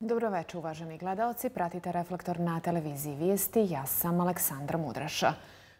Dobroveče, uvaženi gledaoci. Pratite Reflektor na televiziji Vijesti. Ja sam Aleksandra Mudraša.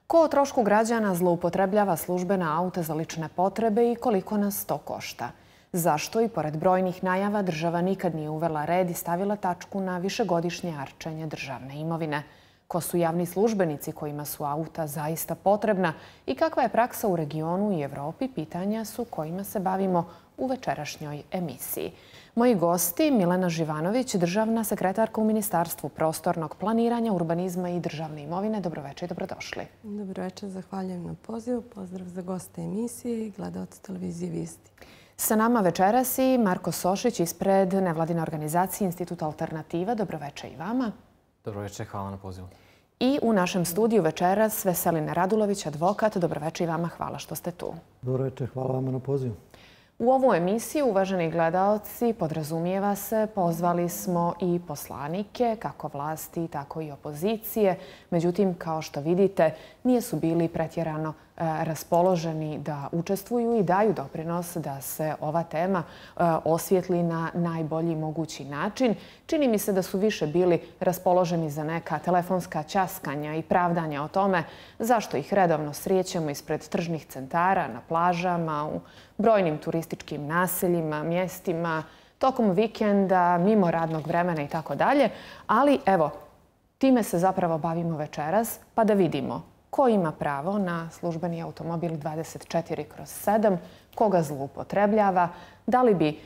Ko o trošku građana zloupotrebljava službena auta za lične potrebe i koliko nas to košta? Zašto i pored brojnih najava država nikad nije uvela red i stavila tačku na višegodišnje arčenje državne imovine? Ko su javni službenici kojima su auta zaista potrebna i kakva je praksa u regionu i Evropi, pitanja su kojima se bavimo u večerašnjoj emisiji. Moji gosti, Milena Živanović, državna sekretarka u Ministarstvu prostornog planiranja, urbanizma i državne imovine. Dobroveče i dobrodošli. Dobroveče, zahvaljujem na pozivu. Pozdrav za goste emisije i gledaoce televizije Vijesti. Sa nama večeras i Marko Sošić ispred nevladine organizacije Institut Alternativa. Dobroveče i vama. Dobroveče, hvala na pozivu. I u našem studiju večeras Veselina Radulović, advokat. Dobroveče i vama, hvala što ste tu. Dobroveče, hvala vama na pozivu. U ovu emisiju, uvaženi gledaoci, podrazumijeva se, pozvali smo i poslanike, kako vlasti, tako i opozicije. Međutim, kao što vidite, nisu bili pretjerano raspoloženi da učestvuju i daju doprinos da se ova tema osvijetli na najbolji mogući način. Čini mi se da su više bili raspoloženi za neka telefonska ćaskanja i pravdanja o tome zašto ih redovno srećemo ispred tržnih centara, na plažama, u brojnim turističkim naseljima, mjestima, tokom vikenda, mimo radnog vremena i tako dalje. Ali evo, time se zapravo bavimo večeras, pa da vidimo ko ima pravo na službeni automobil 24/7, koga zloupotrebljava, da li bi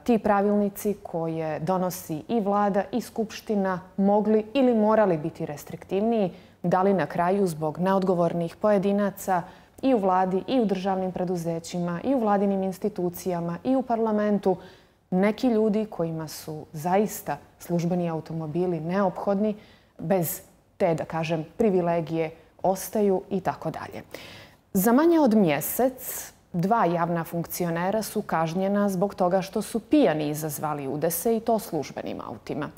ti pravilnici koje donosi i vlada i skupština mogli ili morali biti restriktivniji, da li na kraju zbog neodgovornih pojedinaca i u vladi i u državnim preduzećima i u vladinim institucijama i u parlamentu neki ljudi kojima su zaista službeni automobili neophodni bez te, da kažem, privilegije ostaju i tako dalje. Za manje od mjesec 2 javna funkcionera su kažnjena zbog toga što su pijani izazvali udese i to službenim autima.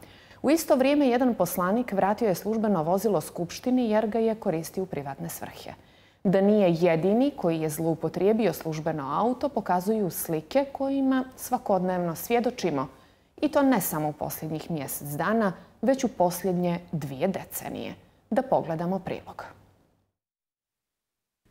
U isto vrijeme jedan poslanik vratio je službeno vozilo Skupštini jer ga je koristio u privatne svrhe. Da nije jedini koji je zloupotrijebio službeno auto pokazuju slike kojima svakodnevno svjedočimo. I to ne samo u posljednjih mjesec dana, već u posljednje 2 decenije. Da pogledamo prilog.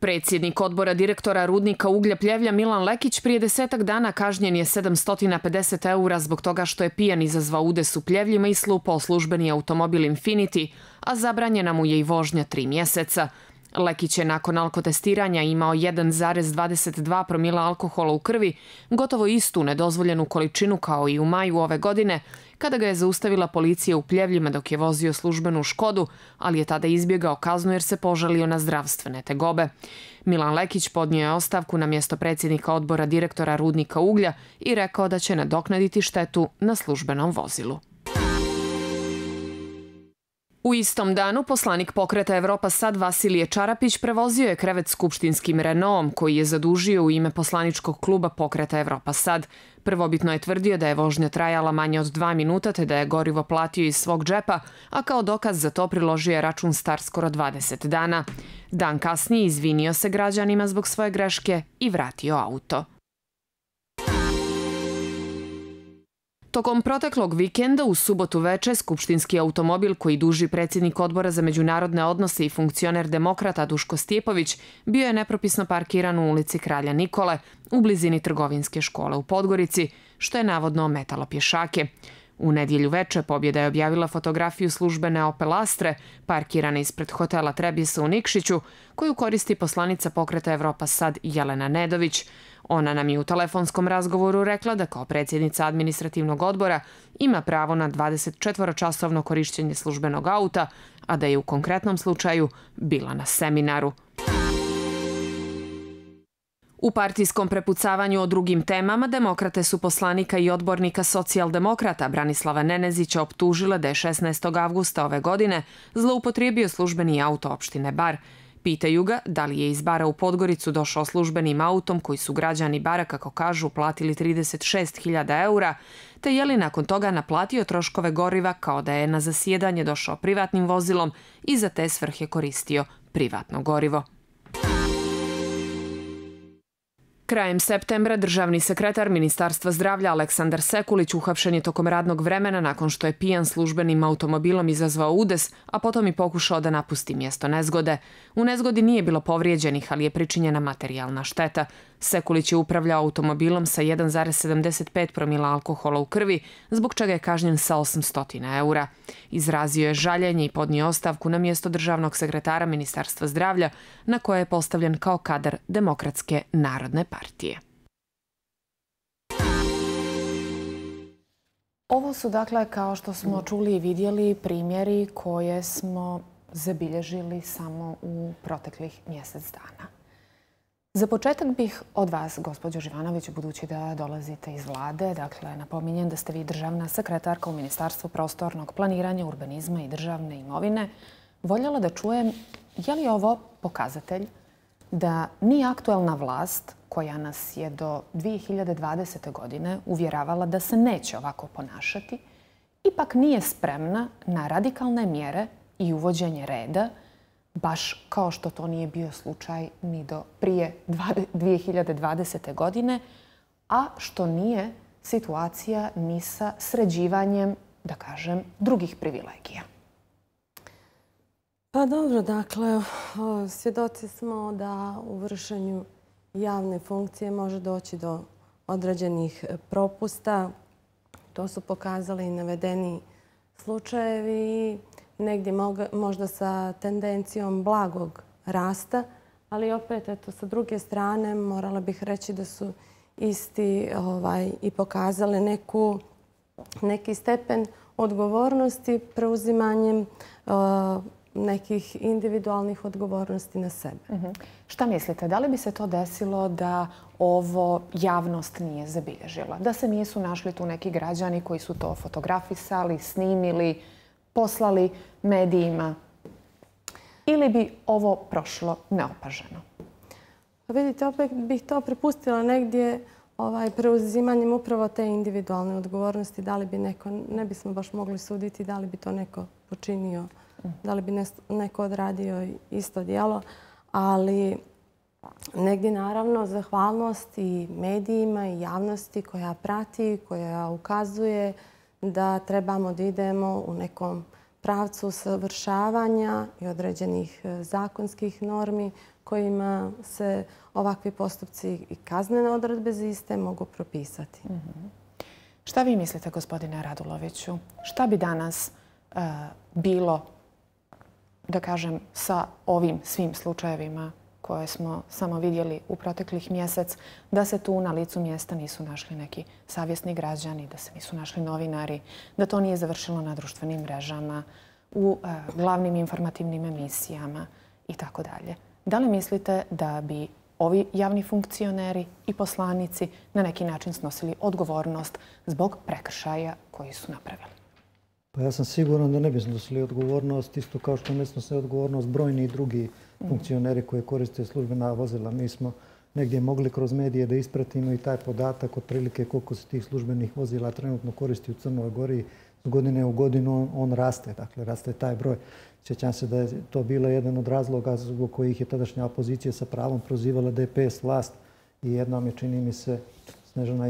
Predsjednik odbora direktora rudnika uglja Pljevlja Milan Lekić prije 10-ak dana kažnjen je 750 € zbog toga što je pijan izazvao udes u Pljevljima i slupao službeni automobil Infiniti, a zabranjena mu je i vožnja 3 mjeseca. Lekić je nakon alkotestiranja imao 1,22 promila alkohola u krvi, gotovo istu nedozvoljenu količinu kao i u maju ove godine, kada ga je zaustavila policija u Pljevljima dok je vozio službenu Škodu, ali je tada izbjegao kaznu jer se požalio na zdravstvene tegobe. Milan Lekić podnio je ostavku na mjesto predsjednika odbora direktora rudnika uglja i rekao da će nadoknaditi štetu na službenom vozilu. U istom danu poslanik Pokreta Evropa Sad Vasilije Čarapić prevozio je krevet skupštinskim Renaultom koji je zadužio u ime poslaničkog kluba Pokreta Evropa Sad. Prvobitno je tvrdio da je vožnja trajala manje od 2 minuta te da je gorivo platio iz svog džepa, a kao dokaz za to priložio je račun star skoro 20 dana. Dan kasnije izvinio se građanima zbog svoje greške i vratio auto. Tokom proteklog vikenda u subotu veče skupštinski automobil koji duži predsjednik odbora za međunarodne odnose i funkcioner demokrata Duško Stjepović bio je nepropisno parkiran u ulici Kralja Nikole u blizini trgovinske škole u Podgorici, što je navodno ometalo pješake. U nedjelju veče Pobjeda je objavila fotografiju službene Opel Astre parkirane ispred hotela Trebisa u Nikšiću, koju koristi poslanica Pokreta Evropa Sad Jelena Nedović. Ona nam je u telefonskom razgovoru rekla da kao predsjednica administrativnog odbora ima pravo na 24-časovno korištenje službenog auta, a da je u konkretnom slučaju bila na seminaru. U partijskom prepucavanju o drugim temama demokrate su poslanika i odbornika socijaldemokrata Branislava Nenezića optužile da je 16. avgusta ove godine zloupotrijebio službeni auto opštine Bar. Pitaju ga da li je iz Bara u Podgoricu došao službenim autom koji su građani Bara, kako kažu, platili 36.000 € te je li nakon toga naplatio troškove goriva kao da je na zasjedanje došao privatnim vozilom i za te svrhe koristio privatno gorivo. Krajem septembra državni sekretar Ministarstva zdravlja Aleksandar Sekulić uhapšen je tokom radnog vremena nakon što je pijan službenim automobilom izazvao udes, a potom i pokušao da napusti mjesto nezgode. U nezgodi nije bilo povrijeđenih, ali je pričinjena materijalna šteta. Sekulić je upravljao automobilom sa 1,75 promila alkohola u krvi, zbog čega je kažnjen sa 800 eura. Izrazio je žaljenje i podnio ostavku na mjesto državnog sekretara Ministarstva zdravlja, na koje je postavljen kao kadar Demokratske narodne partije. Ovo su, dakle, kao što smo čuli i vidjeli, primjeri koje smo zabilježili samo u proteklih mjesec dana. Za početak bih od vas, gospođo Živanović, budući da dolazite iz vlade, dakle, napominjem da ste vi državna sekretarka u Ministarstvu prostornog planiranja, urbanizma i državne imovine, voljela da čujem je li ovo pokazatelj da ni aktuelna vlast, koja nas je do 2020. godine uvjeravala da se neće ovako ponašati, ipak nije spremna na radikalne mjere i uvođenje reda, baš kao što to nije bio slučaj ni do prije 2020. godine, a što nije situacija ni sa sređivanjem, da kažem, drugih privilegija. Pa dobro, dakle, svjedoci smo da u vršenju javne funkcije može doći do određenih propusta. To su pokazali i navedeni slučajevi, negdje možda sa tendencijom blagog rasta, ali opet, eto, sa druge strane morala bih reći da su isti i pokazali neki stepen odgovornosti preuzimanjem nekih individualnih odgovornosti na sebe. Šta mislite, da li bi se to desilo da ovo javnost nije zabilježila? Da se nisu našli tu neki građani koji su to fotografisali, snimili, poslali medijima? Ili bi ovo prošlo neopaženo? Vidite, opet bih to prepustila negdje preuzimanjem upravo te individualne odgovornosti. Da li bi neko, ne bismo baš mogli suditi da li bi to neko počinio, da li bi neko odradio isto djelo, ali negdje naravno zahvalnost i medijima i javnosti koja prati, koja ukazuje da trebamo da idemo u nekom pravcu savršavanja i određenih zakonskih normi kojima se ovakvi postupci i kaznene odredbe za iste mogu propisati. Šta vi mislite, gospodine Raduloviću? Šta bi danas bilo, da kažem, sa ovim svim slučajevima koje smo samo vidjeli u proteklih mjesec, da se tu na licu mjesta nisu našli neki savjesni građani, da se nisu našli novinari, da to nije završilo na društvenim mrežama, u glavnim informativnim emisijama i tako dalje. Da li mislite da bi ovi javni funkcioneri i poslanici na neki način snosili odgovornost zbog prekršaja koji su napravili? Pa ja sam siguran da ne bi snosili odgovornost, isto kao što ne snose odgovornost brojni drugi funkcioneri koji koriste službena vozila. Mi smo negdje mogli kroz medije da ispratimo i taj podatak otprilike koliko se tih službenih vozila trenutno koristi u Crnoj Gori. Z godine u godinu on raste, dakle raste taj broj. Sjećam se da je to bilo jedan od razloga zbog kojih je tadašnja opozicija sa pravom prozivala DPS vlast i jednom je, čini mi se, Snežana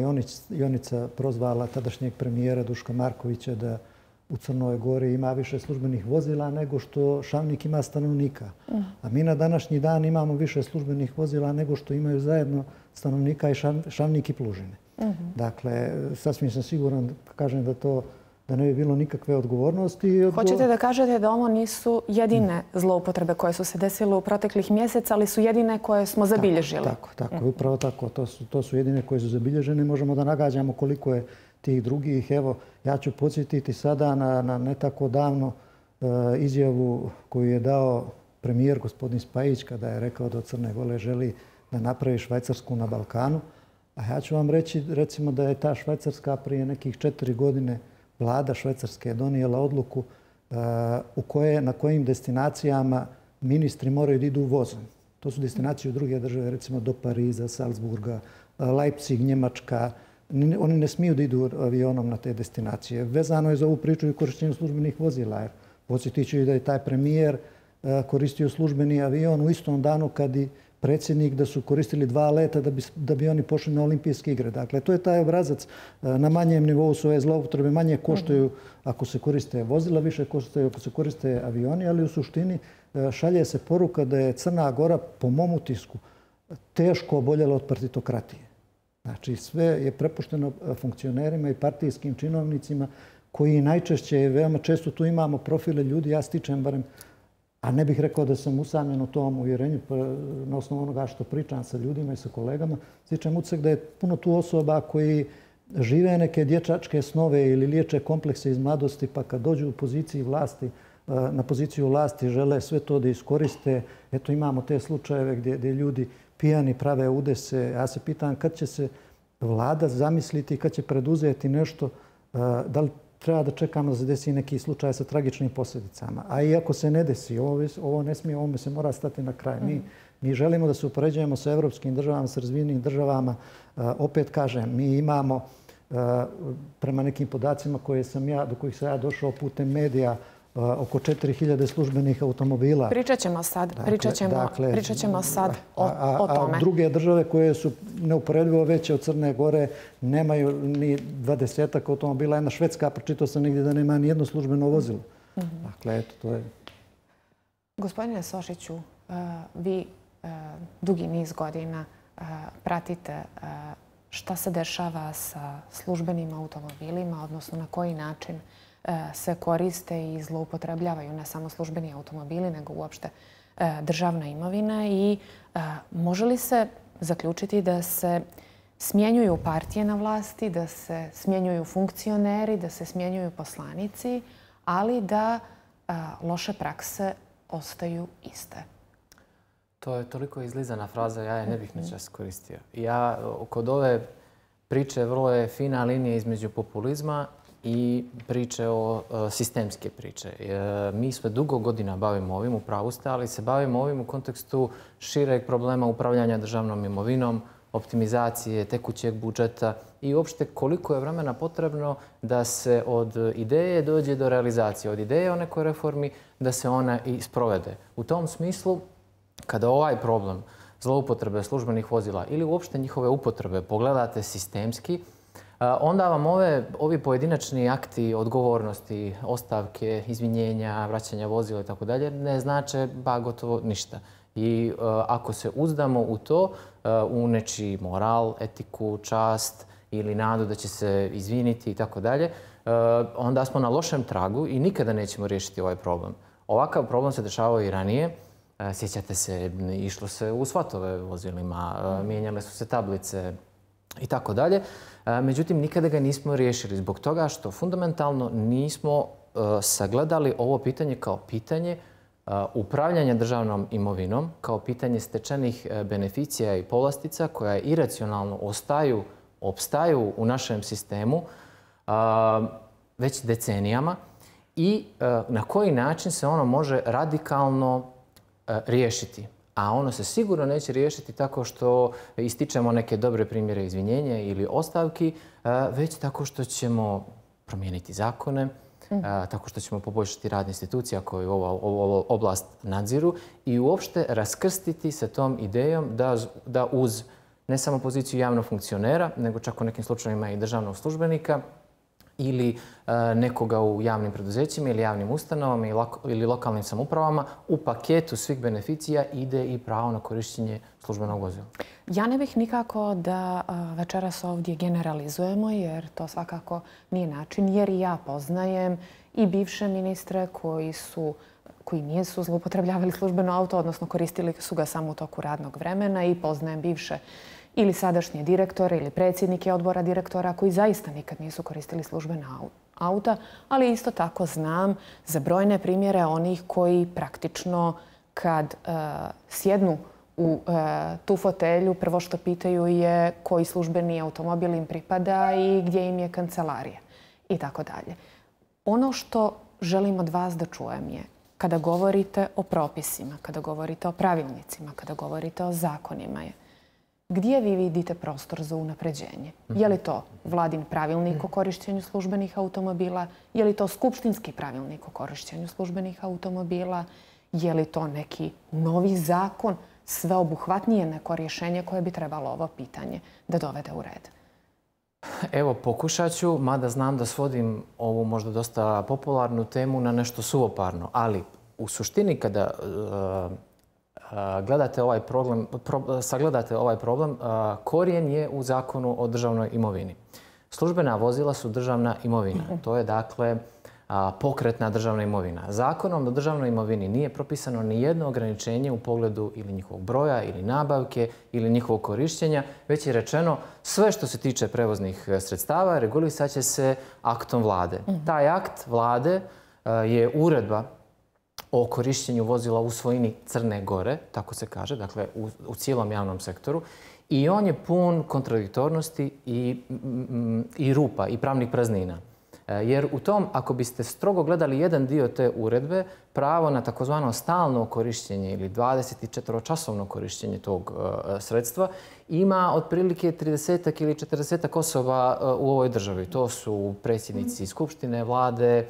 Jonica prozvala tadašnjeg premijera Duška Markovića da u Crnoj Gori ima više službenih vozila nego što Šavnik ima stanovnika. A mi na današnji dan imamo više službenih vozila nego što imaju zajedno stanovnika i Šavnik i Plužine. Dakle, sasvim sam siguran, kažem da ne bi bilo nikakve odgovornosti. Hoćete da kažete da ovo nisu jedine zloupotrebe koje su se desile u proteklih mjeseca, ali su jedine koje smo zabilježili? Tako, upravo tako. To su jedine koje su zabilježene. Možemo da nagađamo koliko je tih drugih. Evo, ja ću podsjetiti sada na ne tako davno izjavu koju je dao premijer gospodin Spajić kada je rekao da od Crne Gore želi da napravi Švajcarsku na Balkanu. A ja ću vam reći recimo da je ta Švajcarska prije nekih 4 godine vlada Švajcarske je donijela odluku na kojim destinacijama ministri moraju da idu vozom. To su destinacije u druge države, recimo do Pariza, Salzburga, Leipzig, Njemačka. Oni ne smiju da idu avionom na te destinacije. Vezano je za ovu priču i korištenju službenih vozila. Podsjetit ću i da je taj premijer koristio službeni avion u istom danu kad i predsjednik da su koristili 2 leta da bi oni pošli na olimpijske igre. Dakle, to je taj obrazac. Na manjem nivou su ove zloupotrebe, manje koštaju ako se koriste vozila, više koštaju ako se koriste avioni, ali u suštini šalje se poruka da je Crna Gora, po mom utisku, teško oboljela od partitokratije. Znači, sve je prepušteno funkcionerima i partijskim činovnicima koji najčešće, veoma često tu imamo profile ljudi, ja stičem barem, a ne bih rekao da sam usamljen u tom uvjerenju, na osnovu onoga što pričam sa ljudima i sa kolegama, stičem utisak da je puno tu osoba koji žive neke dječačke snove ili liječe komplekse iz mladosti, pa kad dođu u poziciji vlasti, na poziciju vlasti žele sve to da iskoriste. Eto, imamo te slučajeve gdje ljudi pijani prave udese. Ja se pitam kad će se vlada zamisliti, kad će preduzeti nešto, da li treba da čekamo da se desi neki slučaj sa tragičnim posljedicama. A i ako se ne desi, ovo ne smije, ovome se mora stati na kraj. Mi želimo da se upoređujemo sa evropskim državama, sa razvijenim državama. Opet kažem, mi imamo prema nekim podacima do kojih sam ja došao putem medija, oko 4000 službenih automobila. Pričat ćemo sad o tome. A druge države koje su neuporedivo veće od Crne Gore nemaju ni 20 automobila. Jedna Švedska, pročitao sam negdje da nema ni jedno službeno vozilo. Dakle, eto, to je... Gospodine Sošiću, vi dugi niz godina pratite šta se dešava sa službenim automobilima, odnosno na koji način se koriste i zloupotrebljavaju ne samo službeni automobili, nego uopšte državna imovina. I može li se zaključiti da se smjenjuju partije na vlasti, da se smjenjuju funkcioneri, da se smjenjuju poslanici, ali da loše prakse ostaju iste? To je toliko izlizana fraza, ja je ne bih načas koristio. Ja kod ove priče vrlo je fina linija između populizma i priče o sistemske priče. Mi sve dugo godina bavimo ovim, u pravu ste, ali se bavimo ovim u kontekstu šireg problema upravljanja državnom imovinom, optimizacije tekućeg budžeta i uopšte koliko je vremena potrebno da se od ideje dođe do realizacije, od ideje o nekoj reformi da se ona i sprovede. U tom smislu, kada ovaj problem zloupotrebe službenih vozila ili uopšte njihove upotrebe pogledate sistemski, onda vam ovi pojedinačni akti odgovornosti, ostavke, izvinjenja, vraćanja vozila i tako dalje ne znače gotovo ništa. I ako se uzdamo u to, u nečiji moral, etiku, čast ili nadu da će se izviniti i tako dalje, onda smo na lošem tragu i nikada nećemo riješiti ovaj problem. Ovakav problem se dešavao i ranije. Sjećate se, išlo se u svatove vozilima, mijenjale su se tablice i tako dalje. Međutim, nikada ga nismo riješili zbog toga što fundamentalno nismo sagledali ovo pitanje kao pitanje upravljanja državnom imovinom, kao pitanje stečenih beneficija i povlastica koja iracionalno opstaju u našem sistemu već decenijama i na koji način se ono može radikalno riješiti. A ono se sigurno neće riješiti tako što ističemo neke dobre primjere izvinjenja ili ostavki, već tako što ćemo promijeniti zakone, tako što ćemo poboljšati rad institucija koje ovu oblast nadziru i uopšte raskrstiti se tom idejom da uz ne samo poziciju javnog funkcionera, nego čak u nekim slučajevima i državnog službenika ili nekoga u javnim preduzećima ili javnim ustanovama ili lokalnim samoupravama, u paketu svih beneficija ide i pravo na korištenje službenog vozila. Ja ne bih nikako da večeras ovdje generalizujemo, jer to svakako nije način, jer i ja poznajem i bivše ministre koji nisu zloupotrebljavali službeno auto, odnosno koristili su ga samo u toku radnog vremena, i poznajem bivše ili sadašnje direktore ili predsjednike odbora direktora koji zaista nikad nisu koristili službena auta, ali isto tako znam za brojne primjere onih koji praktično kad sjednu u tu fotelju, prvo što pitaju je koji službeni automobil im pripada i gdje im je kancelarija i tako dalje. Ono što želim od vas da čujem je, kada govorite o propisima, kada govorite o pravilnicima, kada govorite o zakonima, je gdje vi vidite prostor za unapređenje? Je li to vladin pravilnik o korištenju službenih automobila? Je li to skupštinski pravilnik o korištenju službenih automobila? Je li to neki novi zakon sveobuhvatnije neko rješenje koje bi trebalo ovo pitanje da dovede u red? Evo, pokušat ću, mada znam da svodim ovu možda dosta popularnu temu na nešto suvoparno, ali u suštini kada sagledate ovaj problem, korijen je u Zakonu o državnoj imovini. Službena vozila su državna imovina. To je dakle pokretna državna imovina. Zakonom o državnoj imovini nije propisano ni jedno ograničenje u pogledu ili njihovog broja ili nabavke ili njihovog korištenja, već je rečeno sve što se tiče prevoznih sredstava regulisat će se aktom vlade. Taj akt vlade je uredba o korištenju vozila u svojini Crne Gore, tako se kaže, dakle u cijelom javnom sektoru. I on je pun kontradiktornosti i rupa i pravnih praznina. Jer u tom, ako biste strogo gledali jedan dio te uredbe, pravo na takozvano stalno korištenje ili 24-časovno korištenje tog sredstva ima otprilike 30 ili 40 osoba u ovoj državi. To su predsjednici skupštine, vlade,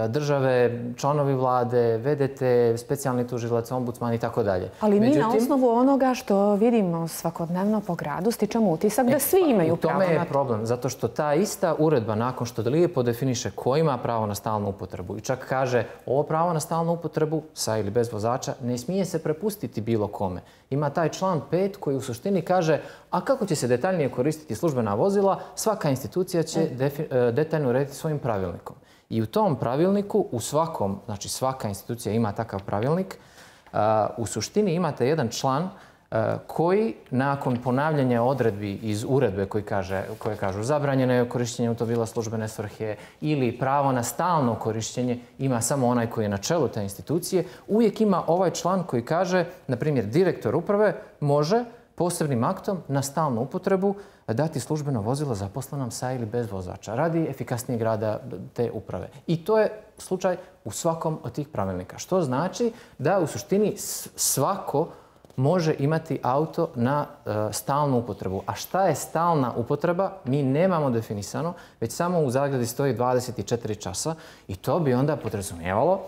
države, članovi vlade, VDT, specijalni tužilac, ombudsman i tako dalje. Ali mi na osnovu onoga što vidimo svakodnevno po gradu stičemo utisak da svi imaju pravo na to. U tome je problem, zato što ta ista uredba nakon što lijepo definiše ko ima pravo na stalnu upotrebu i čak kaže ovo pravo na stalnu upotrebu sa ili bez vozača ne smije se prepustiti bilo kome. Ima taj član 5 koji u suštini kaže a kako će se detaljnije koristiti službena vozila, svaka institucija će detaljno urediti svojim pravilnikom. I u tom pravilniku, u svakom, znači svaka institucija ima takav pravilnik, u suštini imate jedan član koji nakon ponavljanja odredbi iz uredbe koje kažu zabranjeno je korištenje automobila službene svrhe ili pravo na stalno korištenje ima samo onaj koji je na čelu te institucije, uvijek ima ovaj član koji kaže, na primjer, direktor uprave može posebnim aktom na stalnu upotrebu dati službeno vozilo zaposlenom sa ili bez vozača radi efikasnijeg rada te uprave. I to je slučaj u svakom od tih pravilnika. Što znači da u suštini svako može imati auto na stalnu upotrebu. A šta je stalna upotreba? Mi nemamo definisano, već samo u zagradi stoji 24 časa i to bi onda podrazumijevalo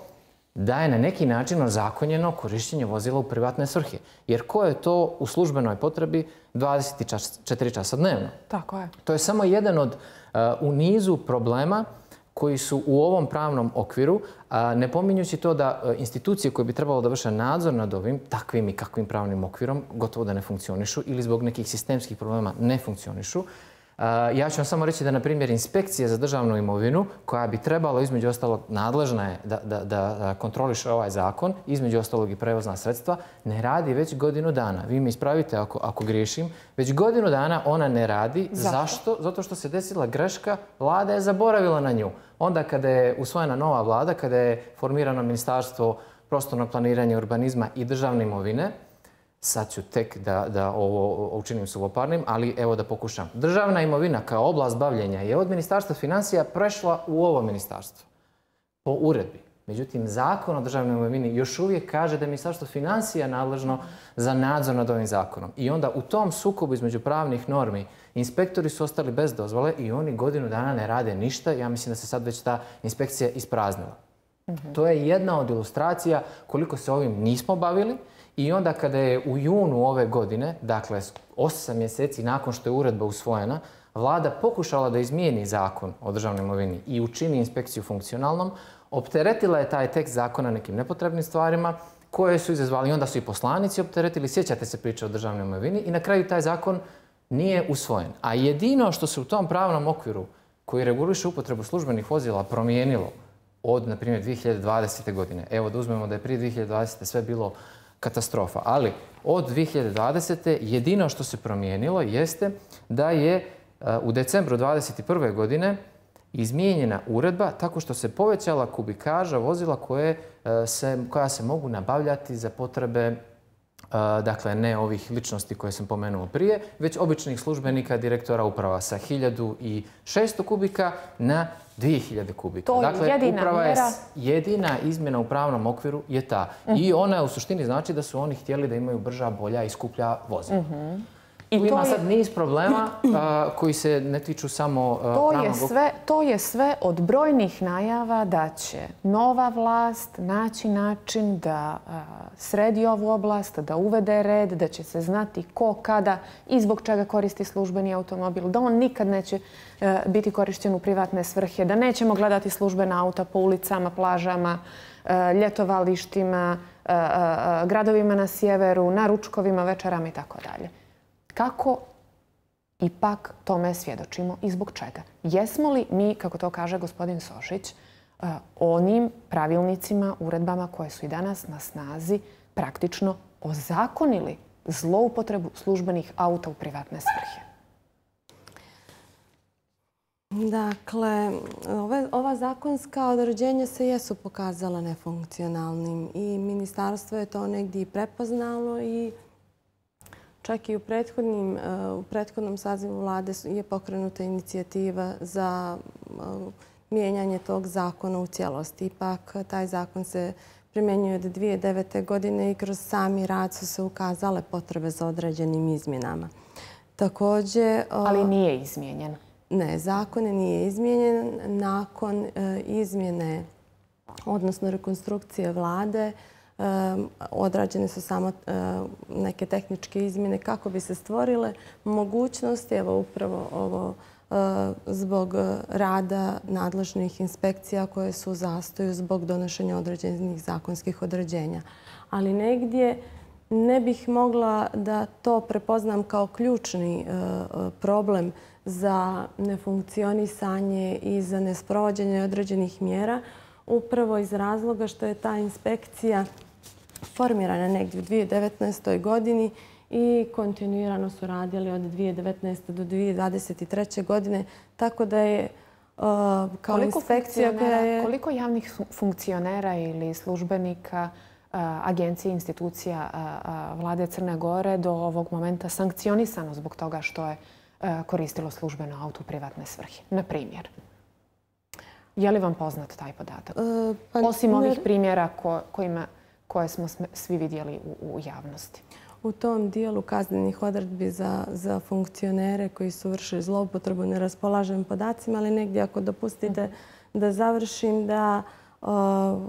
da je na neki način ozakonjeno korištenje vozila u privatne svrhe. Jer ko je to u službenoj potrebi 24 časa dnevno? Tako je. To je samo jedan u nizu problema koji su u ovom pravnom okviru, ne pominjući to da institucije koje bi trebalo da vrše nadzor nad ovim, takvim i kakvim pravnim okvirom, gotovo da ne funkcionišu ili zbog nekih sistemskih problema ne funkcionišu. Ja ću vam samo reći da, na primjer, inspekcija za državnu imovinu, koja bi trebalo, između ostalog, nadležna je da kontroliše ovaj zakon, između ostalog i prevozna sredstva, ne radi već godinu dana. Vi me ispravite ako griješim. Već godinu dana ona ne radi. Zašto? Zato što se desila greška, vlada je zaboravila na nju. Onda kada je usvojena nova vlada, kada je formirano Ministarstvo prostornog planiranja, urbanizma i državne imovine, sad ću tek da ovo učinim suvoparnim, ali evo da pokušam. Državna imovina kao oblast bavljenja je od Ministarstva financija prešla u ovo ministarstvo po uredbi. Međutim, Zakon o državnoj imovini još uvijek kaže da je Ministarstvo financija nadležno za nadzor nad ovim zakonom. I onda u tom sukobu između pravnih normi inspektori su ostali bez dozvole i oni godinu dana ne rade ništa. Ja mislim da se sad već ta inspekcija ispraznila. To je jedna od ilustracija koliko se ovim nismo bavili. I onda kada je u junu ove godine, dakle 8 mjeseci nakon što je uredba usvojena, vlada pokušala da izmijeni Zakon o državnoj imovini i učini inspekciju funkcionalnom, opteretila je taj tekst zakona nekim nepotrebnim stvarima koje su izazvali. I onda su i poslanici opteretili, sjećate se priče o državnoj imovini i na kraju taj zakon nije usvojen. A jedino što se u tom pravnom okviru koji reguliše upotrebu službenih vozila promijenilo od, na primjer, 2020. godine. Evo da uzmemo da je prije 2020. sve bilo katastrofa. Ali od 2020. jedino što se promijenilo jeste da je u decembru 2021. godine izmijenjena uredba tako što se povećala kubikaža vozila koja se mogu nabavljati za potrebe, dakle ne ovih ličnosti koje sam pomenuo prije, već običnih službenika, direktora uprava sa 1600 kubika na 2000 kubika. To je jedina mjera. Jedina izmjena u pravnom okviru je ta. I ona u suštini znači da su oni htjeli da imaju brža, bolja i skuplja vozila. Tu ima sad niz problema koji se ne tiču samo pravnog... To je sve od brojnih najava da će nova vlast naći način da sredi ovu oblast, da uvede red, da će se znati ko, kada i zbog čega koristi službeni automobil, da on nikad neće biti korišten u privatne svrhe, da nećemo gledati službena auta po ulicama, plažama, ljetovalištima, gradovima na sjeveru, na ručkovima, večerama i tako dalje. Kako ipak tome svjedočimo i zbog čega? Jesmo li mi, kako to kaže gospodin Sošić, onim pravilnicima, uredbama koje su i danas na snazi praktično ozakonili zloupotrebu službenih auta u privatne svrhe? Dakle, ova zakonska određenja se jesu pokazala nefunkcionalnim i ministarstvo je to negdje i prepoznalo i čak i u prethodnom sazivu vlade je pokrenuta inicijativa za mijenjanje tog zakona u cijelosti. Ipak taj zakon se primjenjuje od 2009. godine i kroz sami rad su se ukazale potrebe za određenim izmjenama. Također... Ali nije izmijenjen. Ne, zakon nije izmijenjen. Nakon izmjene, odnosno rekonstrukcije vlade, odrađene su samo neke tehničke izmjene kako bi se stvorile mogućnosti, evo upravo ovo zbog rada nadležnih inspekcija koje su u zastoju zbog donošenja određenih zakonskih određenja. Ali negdje ne bih mogla da to prepoznam kao ključni problem za nefunkcionisanje i za nesprovođenje određenih mjera, upravo iz razloga što je ta inspekcija formirana negdje u 2019. godini i kontinuirano su radili od 2019. do 2023. godine, tako da je kao inspekcija koja je... Koliko javnih funkcionera ili službenika agencije, institucija vlade Crne Gore do ovog momenta sankcionisano zbog toga što je koristilo službeno auto u privatne svrhe? Na primjer. Je li vam poznat taj podatak? Osim ovih primjera koje smo svi vidjeli u javnosti. U tom dijelu kaznenih odredbi za funkcionere koji su vršili zloupotrebu ne raspolažem podacima, ali negdje ako dopustite da završim da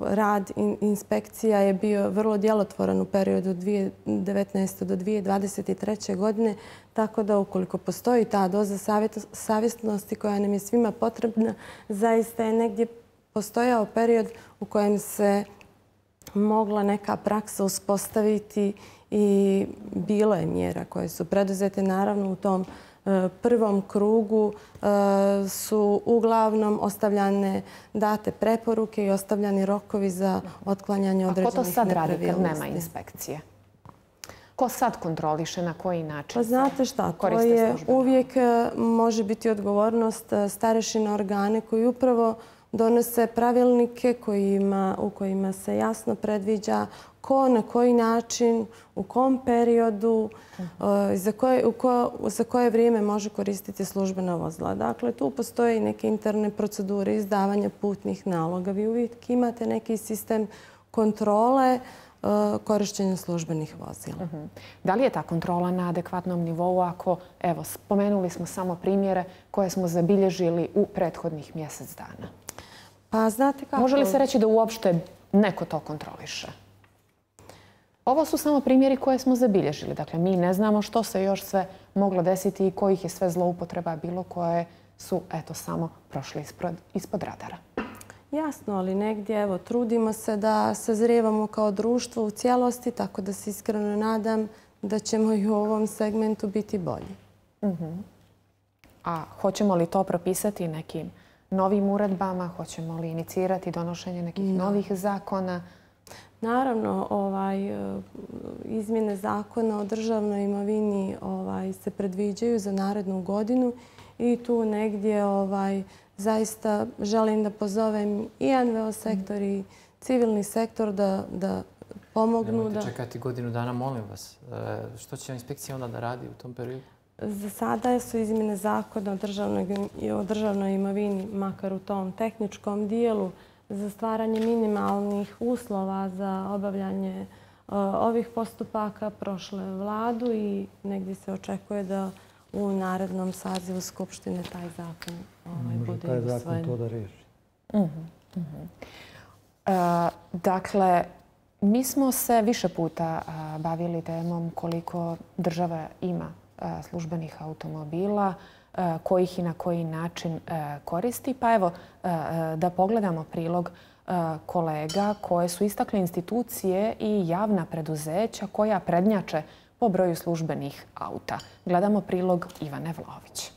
rad inspekcija je bio vrlo djelotvoran u periodu 2019. do 2023. godine, tako da ukoliko postoji ta doza savjesnosti koja nam je svima potrebna, zaista je negdje postojao period u kojem se mogla neka praksa uspostaviti i bilo je mjera koje su preduzete. Naravno, u tom prvom krugu su uglavnom ostavljane date preporuke i ostavljani rokovi za otklanjanje određenih nepravilnosti. A ko to sad radi kad nema inspekcije? Ko sad kontroliše, na koji način? Pa znate šta, to je uvijek može biti odgovornost starešina organe koji upravo donose pravilnike u kojima se jasno predviđa ko, na koji način, u kom periodu, za koje vrijeme može koristiti službena vozila. Dakle, tu postoje i neke interne procedure izdavanja putnih naloga. Vi uvijek imate neki sistem kontrole korištenja službenih vozila. Da li je ta kontrola na adekvatnom nivou ako, evo, spomenuli smo samo primjere koje smo zabilježili u prethodnih mjesec dana? Pa znate kako... Može li se reći da uopšte neko to kontroliše? Ovo su samo primjeri koje smo zabilježili. Dakle, mi ne znamo što se još sve moglo desiti i kojih je sve zloupotreba bilo koje su, eto, samo prošle ispod radara. Jasno, ali negdje, evo, trudimo se da sazrijevamo kao društvo u cijelosti, tako da se iskreno nadam da ćemo i u ovom segmentu biti bolji. A hoćemo li to propisati nekim novim uredbama? Hoćemo li inicirati donošenje nekih novih zakona? Naravno, izmjene zakona o državnoj imovini se predviđaju za narednu godinu i tu negdje zaista želim da pozovem i NVO sektor i civilni sektor da pomognu. Nemojte čekati godinu dana, molim vas. Što će inspekcija onda da radi u tom periodu? Za sada su izmjene zakona o državnoj imovini, makar u tom tehničkom dijelu, za stvaranje minimalnih uslova za obavljanje ovih postupaka prošle vladu i negdje se očekuje da u narednom sazivu Skupštine taj zakon bude taj usvojen. zakon to da riješi. Dakle, mi smo se više puta bavili temom koliko država ima službenih automobila, kojih i na koji način koristi. Pa evo, da pogledamo prilog kolega koje su istakle institucije i javna preduzeća koja prednjače po broju službenih auta. Gledamo prilog Ivane Vlaović.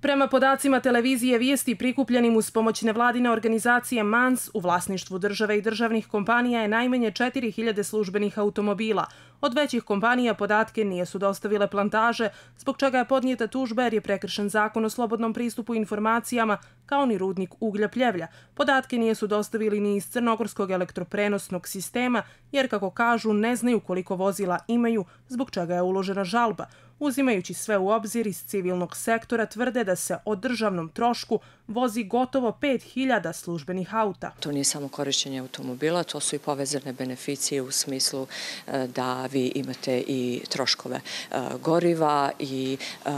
Prema podacima televizije Vijesti prikupljenim uz pomoć nevladine organizacije MANS, u vlasništvu države i državnih kompanija je najmanje 4000 službenih automobila. Od većih kompanija podatke nisu dostavile Plantaže, zbog čega je podnijeta tužba jer je prekršen zakon o slobodnom pristupu informacijama, kao ni rudnik uglja Pljevlja. Podatke nisu dostavili ni iz crnogorskog elektroprenosnog sistema, jer, kako kažu, ne znaju koliko vozila imaju, zbog čega je uložena žalba. Uzimajući sve u obzir, iz civilnog sektora tvrde da se o državnom trošku vozi gotovo 5000 službenih auta. To nije samo korišćenje automobila, to su i povezane beneficije u smislu da vi imate i troškove goriva i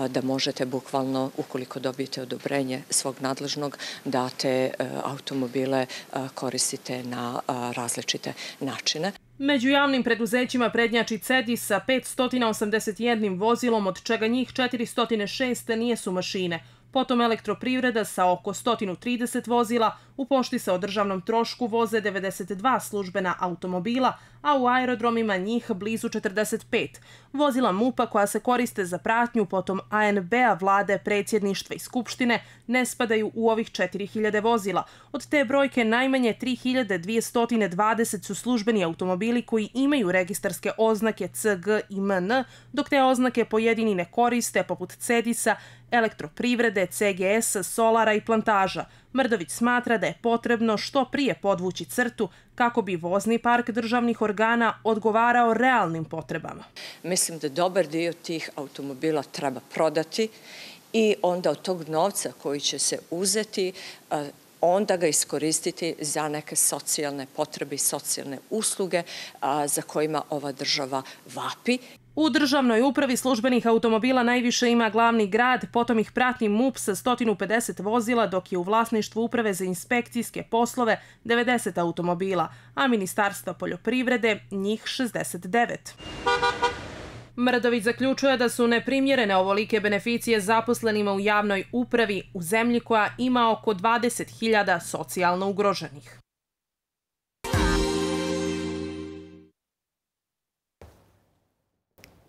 da možete bukvalno, ukoliko dobijete odobrenje svog nadležnog, da te automobile koristite na različite načine. Među javnim preduzećima prednjači CEDI sa 581 vozilom, od čega njih 406 nijesu mašine. Potom Elektroprivreda sa oko 130 vozila, u pošti se o državnom trošku voze 92 službena automobila, a u aerodromima njih blizu 45. Vozila MUP-a koja se koriste za pratnju, potom ANB-a, vlade, predsjedništva i skupštine, ne spadaju u ovih 4000 vozila. Od te brojke najmanje 3220 su službeni automobili koji imaju registarske oznake CG i MN, dok te oznake pojedini ne koriste, poput CEDIS-a, Elektroprivrede, CGS, Solara i Plantaža. Mrdović smatra da je potrebno što prije podvući crtu kako bi vozni park državnih organa odgovarao realnim potrebama. Mislim da dobar dio tih automobila treba prodati i onda od tog novca koji će se uzeti, onda ga iskoristiti za neke socijalne potrebe i socijalne usluge za kojima ova država vapi. U državnoj upravi službenih automobila najviše ima glavni grad, potom ih prati MUP sa 150 vozila, dok je u vlasništvu uprave za inspekcijske poslove 90 automobila, a Ministarstva poljoprivrede njih 69. Mrdović zaključuje da su neprimjerene ovolike beneficije zaposlenima u javnoj upravi u zemlji koja ima oko 20.000 socijalno ugroženih.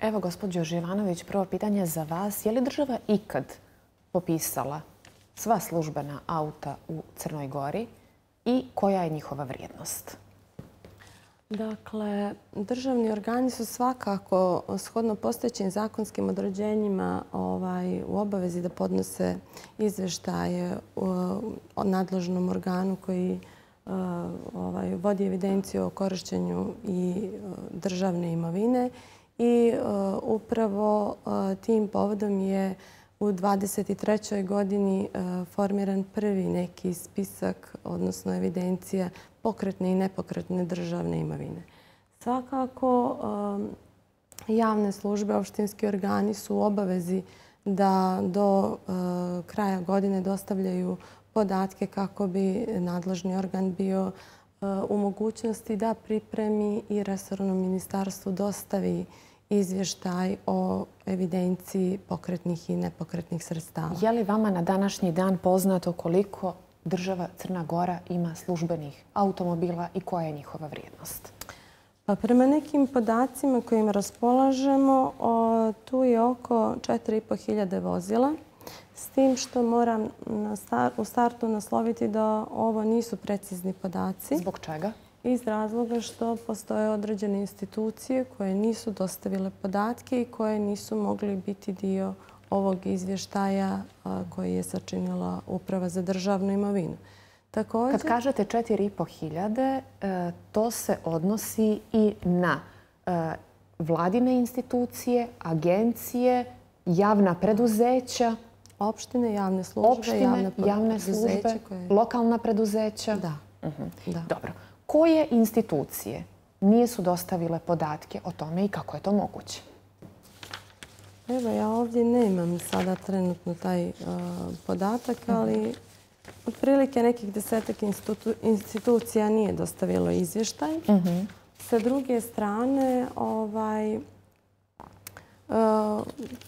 Evo, gospođo Živanović, prvo pitanje za vas. Je li država ikad popisala sva službena auta u Crnoj Gori i koja je njihova vrijednost? Dakle, državni organi su svakako shodno postojećim zakonskim određenjima u obavezi da podnose izveštaje o nadležnom organu koji vodi evidenciju o korišćenju i državne imovine. I upravo tim povodom je u 2023. godini formiran prvi neki spisak, odnosno evidencija pokretne i nepokretne državne imovine. Svakako, javne službe, opštinski organi su u obavezi da do kraja godine dostavljaju podatke kako bi nadležni organ bio u mogućnosti da pripremi i resornom ministarstvu dostavi izvještaj o evidenciji pokretnih i nepokretnih sredstava. Je li vama na današnji dan poznato koliko država Crna Gora ima službenih automobila i koja je njihova vrijednost? Pa prema nekim podacima kojim raspolažemo, tu je oko 4500 vozila. S tim što moram u startu nasloviti da ovo nisu precizni podaci. Zbog čega? Iz razloga što postoje određene institucije koje nisu dostavile podatke i koje nisu mogli biti dio ovog izvještaja koji je sačinila Uprava za državnu imovinu. Kad kažete 4500, to se odnosi i na vladine institucije, agencije, javna preduzeća, opštine, javne službe, javne službe, lokalna preduzeća. Da. Dobro. Koje institucije nisu dostavile podatke o tome i kako je to moguće? Evo, ja ovdje nemam sada trenutno taj podatak, ali otprilike nekih 10 institucija nije dostavilo izvještaj. Sa druge strane,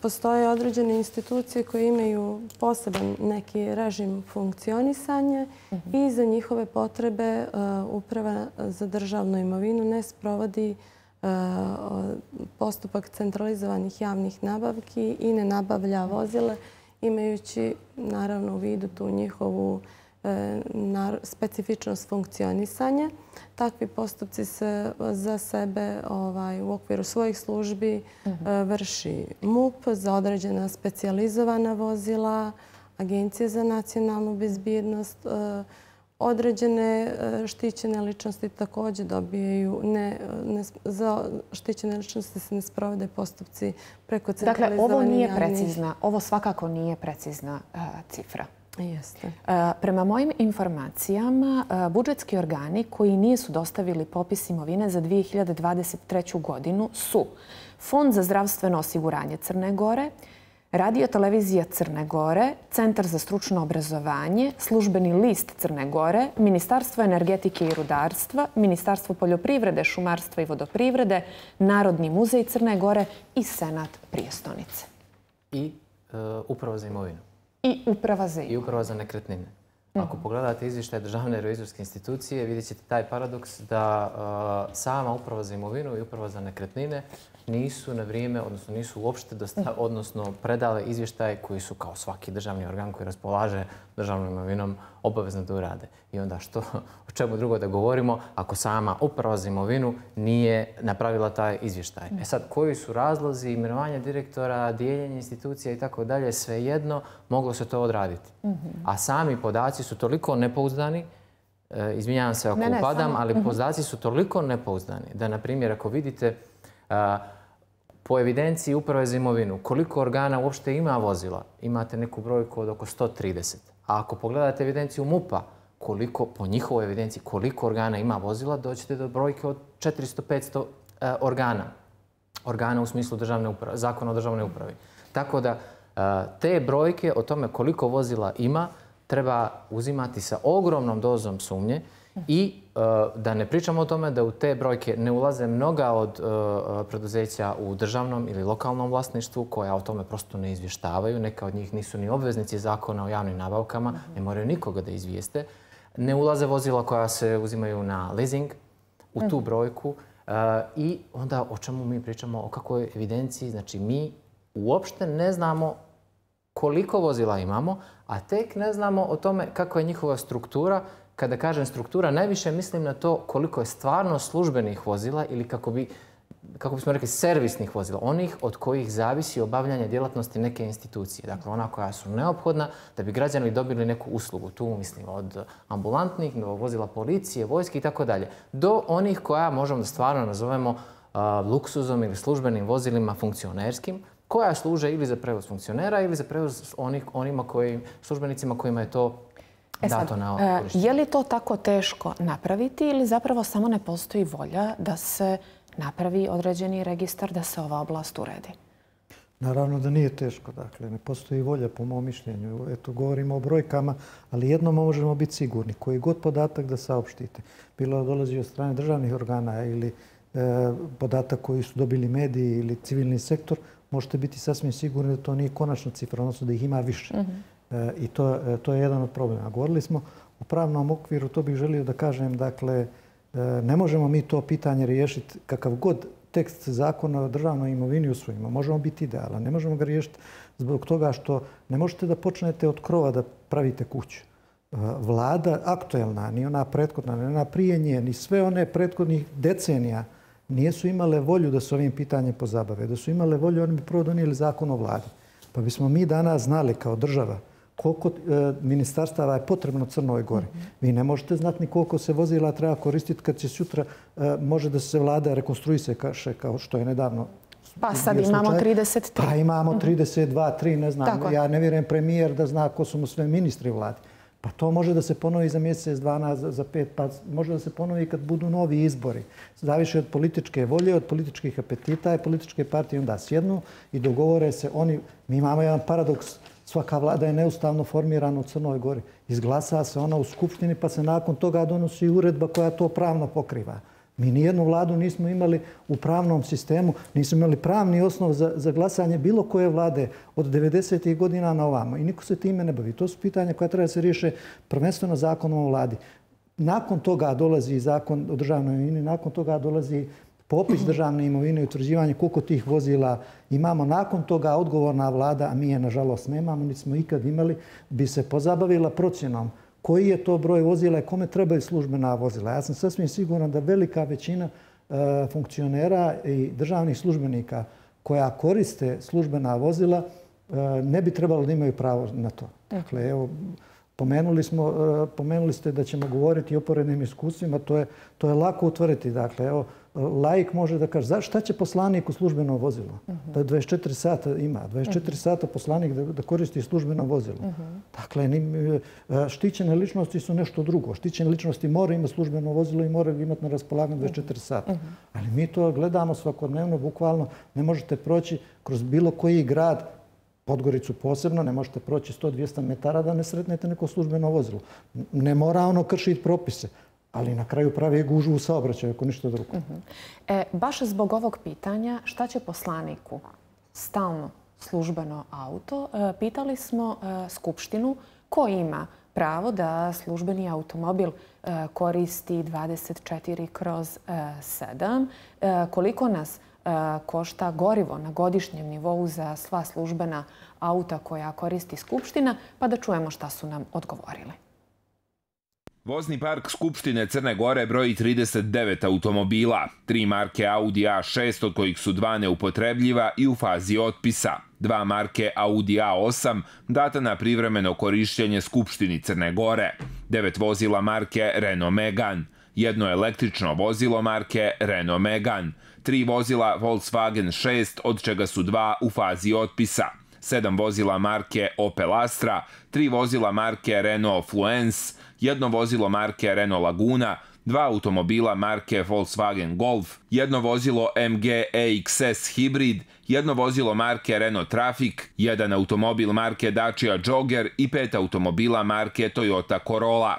postoje određene institucije koje imaju poseban neki režim funkcionisanja i za njihove potrebe Uprava za državnu imovinu ne sprovodi postupak centralizovanih javnih nabavki i ne nabavlja vozile, imajući naravno u vidu tu njihovu specifičnost funkcionisanja. Takvi postupci se za sebe u okviru svojih službi vrši MUP za određena specijalizovana vozila, Agencije za nacionalnu bezbjednost, određene štićene ličnosti također dobijaju, za štićene ličnosti se ne sprovode postupci preko centralizovanih javnih. Dakle, ovo nije precizna, ovo svakako nije precizna cifra. Jeste. Prema mojim informacijama, budžetski organi koji nisu dostavili popis imovine za 2023. godinu su Fond za zdravstveno osiguranje Crne Gore, Radio televizija Crne Gore, Centar za stručno obrazovanje, Službeni list Crne Gore, Ministarstvo energetike i rudarstva, Ministarstvo poljoprivrede, šumarstva i vodoprivrede, Narodni muzej Crne Gore i Senat prijestonice. I Uprava za imovinu. I Uprava za imovinu. I Uprava za nekretnine. Ako pogledate izvještaj Državne revizorske institucije, vidjet ćete taj paradoks da sama Uprava za imovinu i Uprava za nekretnine nisu na vrijeme, odnosno nisu uopšte predale izvještaje koji su kao svaki državni organ koji raspolaže državnom imovinom obavezno da urade. I onda o čemu drugo da govorimo ako sama Uprava za imovinu nije napravila taj izvještaj. E sad, koji su razlozi imenovanja direktora, dijeljenja institucija i tako dalje, svejedno moglo se to odraditi. A sami podaci su toliko nepouzdani, izvinjavam se ako upadam, ali podaci su toliko nepouzdani da, na primjer, ako vidite po evidenciji Uprave za imovinu koliko organa uopšte ima vozila, imate neku brojku od oko 130. A ako pogledate evidenciju MUP-a, po njihovoj evidenciji koliko organa ima vozila, doćete do brojke od 400-500 organa. Organa u smislu zakona o državnoj upravi. Tako da te brojke o tome koliko vozila ima treba uzimati sa ogromnom dozom sumnje i da ne pričamo o tome da u te brojke ne ulaze mnoga od preduzeća u državnom ili lokalnom vlasništvu koja o tome prosto ne izvještavaju. Neka od njih nisu ni obveznici zakona o javnim nabavkama, ne moraju nikoga da izvijeste. Ne ulaze vozila koja se uzimaju na leasing u tu brojku. I onda o čemu mi pričamo, o kakvoj evidenciji? Znači mi uopšte ne znamo koliko vozila imamo, a tek ne znamo o tome kakva je njihova struktura. Kada kažem struktura, najviše mislim na to koliko je stvarno službenih vozila ili kako bismo rekli servisnih vozila, onih od kojih zavisi obavljanje djelatnosti neke institucije. Dakle, ona koja su neophodna da bi građani dobili neku uslugu. Tu mislim od ambulantnih, vozila policije, vojske i tako dalje, do onih koja možemo da stvarno nazovemo luksuzom ili službenim vozilima funkcionerskim, koja služe ili za prevoz funkcionera ili za prevoz onima službenicima kojima je to dato na korištenje. Je li to tako teško napraviti ili zapravo samo ne postoji volja da se napravi određeni registar, da se ova oblast uredi? Naravno da nije teško. Dakle, ne postoji volja po mom mišljenju. Eto, govorimo o brojkama, ali jednom možemo biti sigurni. Koji god podatak da saopštite, bilo da dolazi od strane državnih organa ili podatak koji su dobili mediji ili civilni sektor, možete biti sasvim sigurni da to nije konačna cifra, odnosno da ih ima više. I to je jedan od problema. Govorili smo u pravnom okviru, to bih želio da kažem, dakle, ne možemo mi to pitanje riješiti kakav god tekst zakona o državnoj imovini usvojimo. Možemo biti idealan. Ne možemo ga riješiti zbog toga što ne možete da počnete od krova da pravite kuću. Vlada aktuelna, ni ona prethodna, ni ona prije nje, ni sve one prethodnih decenija nisu imale volju da se ovim pitanjem pozabave. Da su imale volju, oni bi prvo donijeli zakon o vladi. Pa bismo mi danas znali kao država koliko ministarstava je potrebno Crnoj Gori. Vi ne možete znati ni koliko se vozila treba koristiti kad će sutra može da se vlada rekonstruise kao što je nedavno. Pa sad imamo 33. Pa imamo 32, 3, ne znam. Ja ne vjerujem premijer da zna ko su mu sve ministri u vladi. Pa to može da se ponovi za mjesec, 2, za 5, pa može da se ponovi kad budu novi izbori. Zavisi od političke volje, od političkih apetita i političke partije onda sjednu i dogovore se oni. Mi imamo jedan paradoks. Svaka vlada je neustavno formirana u Crnoj Gori. Izglasa se ona u Skupštini pa se nakon toga donosi uredba koja to pravno pokriva. Mi nijednu vladu nismo imali u pravnom sistemu, nismo imali pravni osnov za glasanje bilo koje vlade od 90. godina na ovamo. I niko se time ne bavi. To su pitanja koja treba da se riješe prvenstveno zakonom o vladi. Nakon toga dolazi zakon o državnoj imovini, nakon toga dolazi popis državne imovine i utvrđivanje koliko tih vozila imamo. Nakon toga odgovorna vlada, a mi je nažalost nemamo, niti smo ikad imali, bi se pozabavila procjenom koji je to broj vozila i kome trebaju službena vozila. Ja sam sasvim siguran da velika većina funkcionera i državnih službenika koja koriste službena vozila ne bi trebalo da imaju pravo na to. Dakle, evo, pomenuli ste da ćemo govoriti o porednim iskustvima, to je lako utvrditi. Dakle, evo, laik može da kaže, šta će poslanik u službeno vozilo? Da 24 sata ima, 24 sata poslanik da koristi službeno vozilo. Dakle, štićene ličnosti su nešto drugo. Štićene ličnosti moraju imati službeno vozilo i moraju imati na raspolaganju 24 sata. Ali mi to gledamo svakodnevno, bukvalno ne možete proći kroz bilo koji grad, Podgoricu posebno, ne možete proći 100-200 metara da ne sretnete neko službeno vozilo. Ne mora ono kršiti propise, ali na kraju pravi gužvu u saobraćaju, ako ništa drugo. Baš zbog ovog pitanja, šta će poslaniku stalno službeno auto? Pitali smo Skupštinu ko ima pravo da službeni automobil koristi 24/7. Koliko nas košta gorivo na godišnjem nivou za sva službena auta koja koristi Skupština, pa da čujemo šta su nam odgovorili. Vozni park Skupštine Crne Gore broji 39 automobila, 3 marke Audi A6, od kojih su 2 neupotrebljiva i u fazi otpisa, 2 marke Audi A8 data na privremeno korišćenje Skupštini Crne Gore, 9 vozila marke Renault Megane, 1 električno vozilo marke Renault Megane, 3 vozila Volkswagen 6, od čega su 2 u fazi otpisa, 7 vozila marke Opel Astra, 3 vozila marke Renault Fluence, 1 vozilo marke Renault Laguna, 2 automobila marke Volkswagen Golf, 1 vozilo MG EXS Hybrid, 1 vozilo marke Renault Trafic, 1 automobil marke Dacia Jogger i 5 automobila marke Toyota Corolla.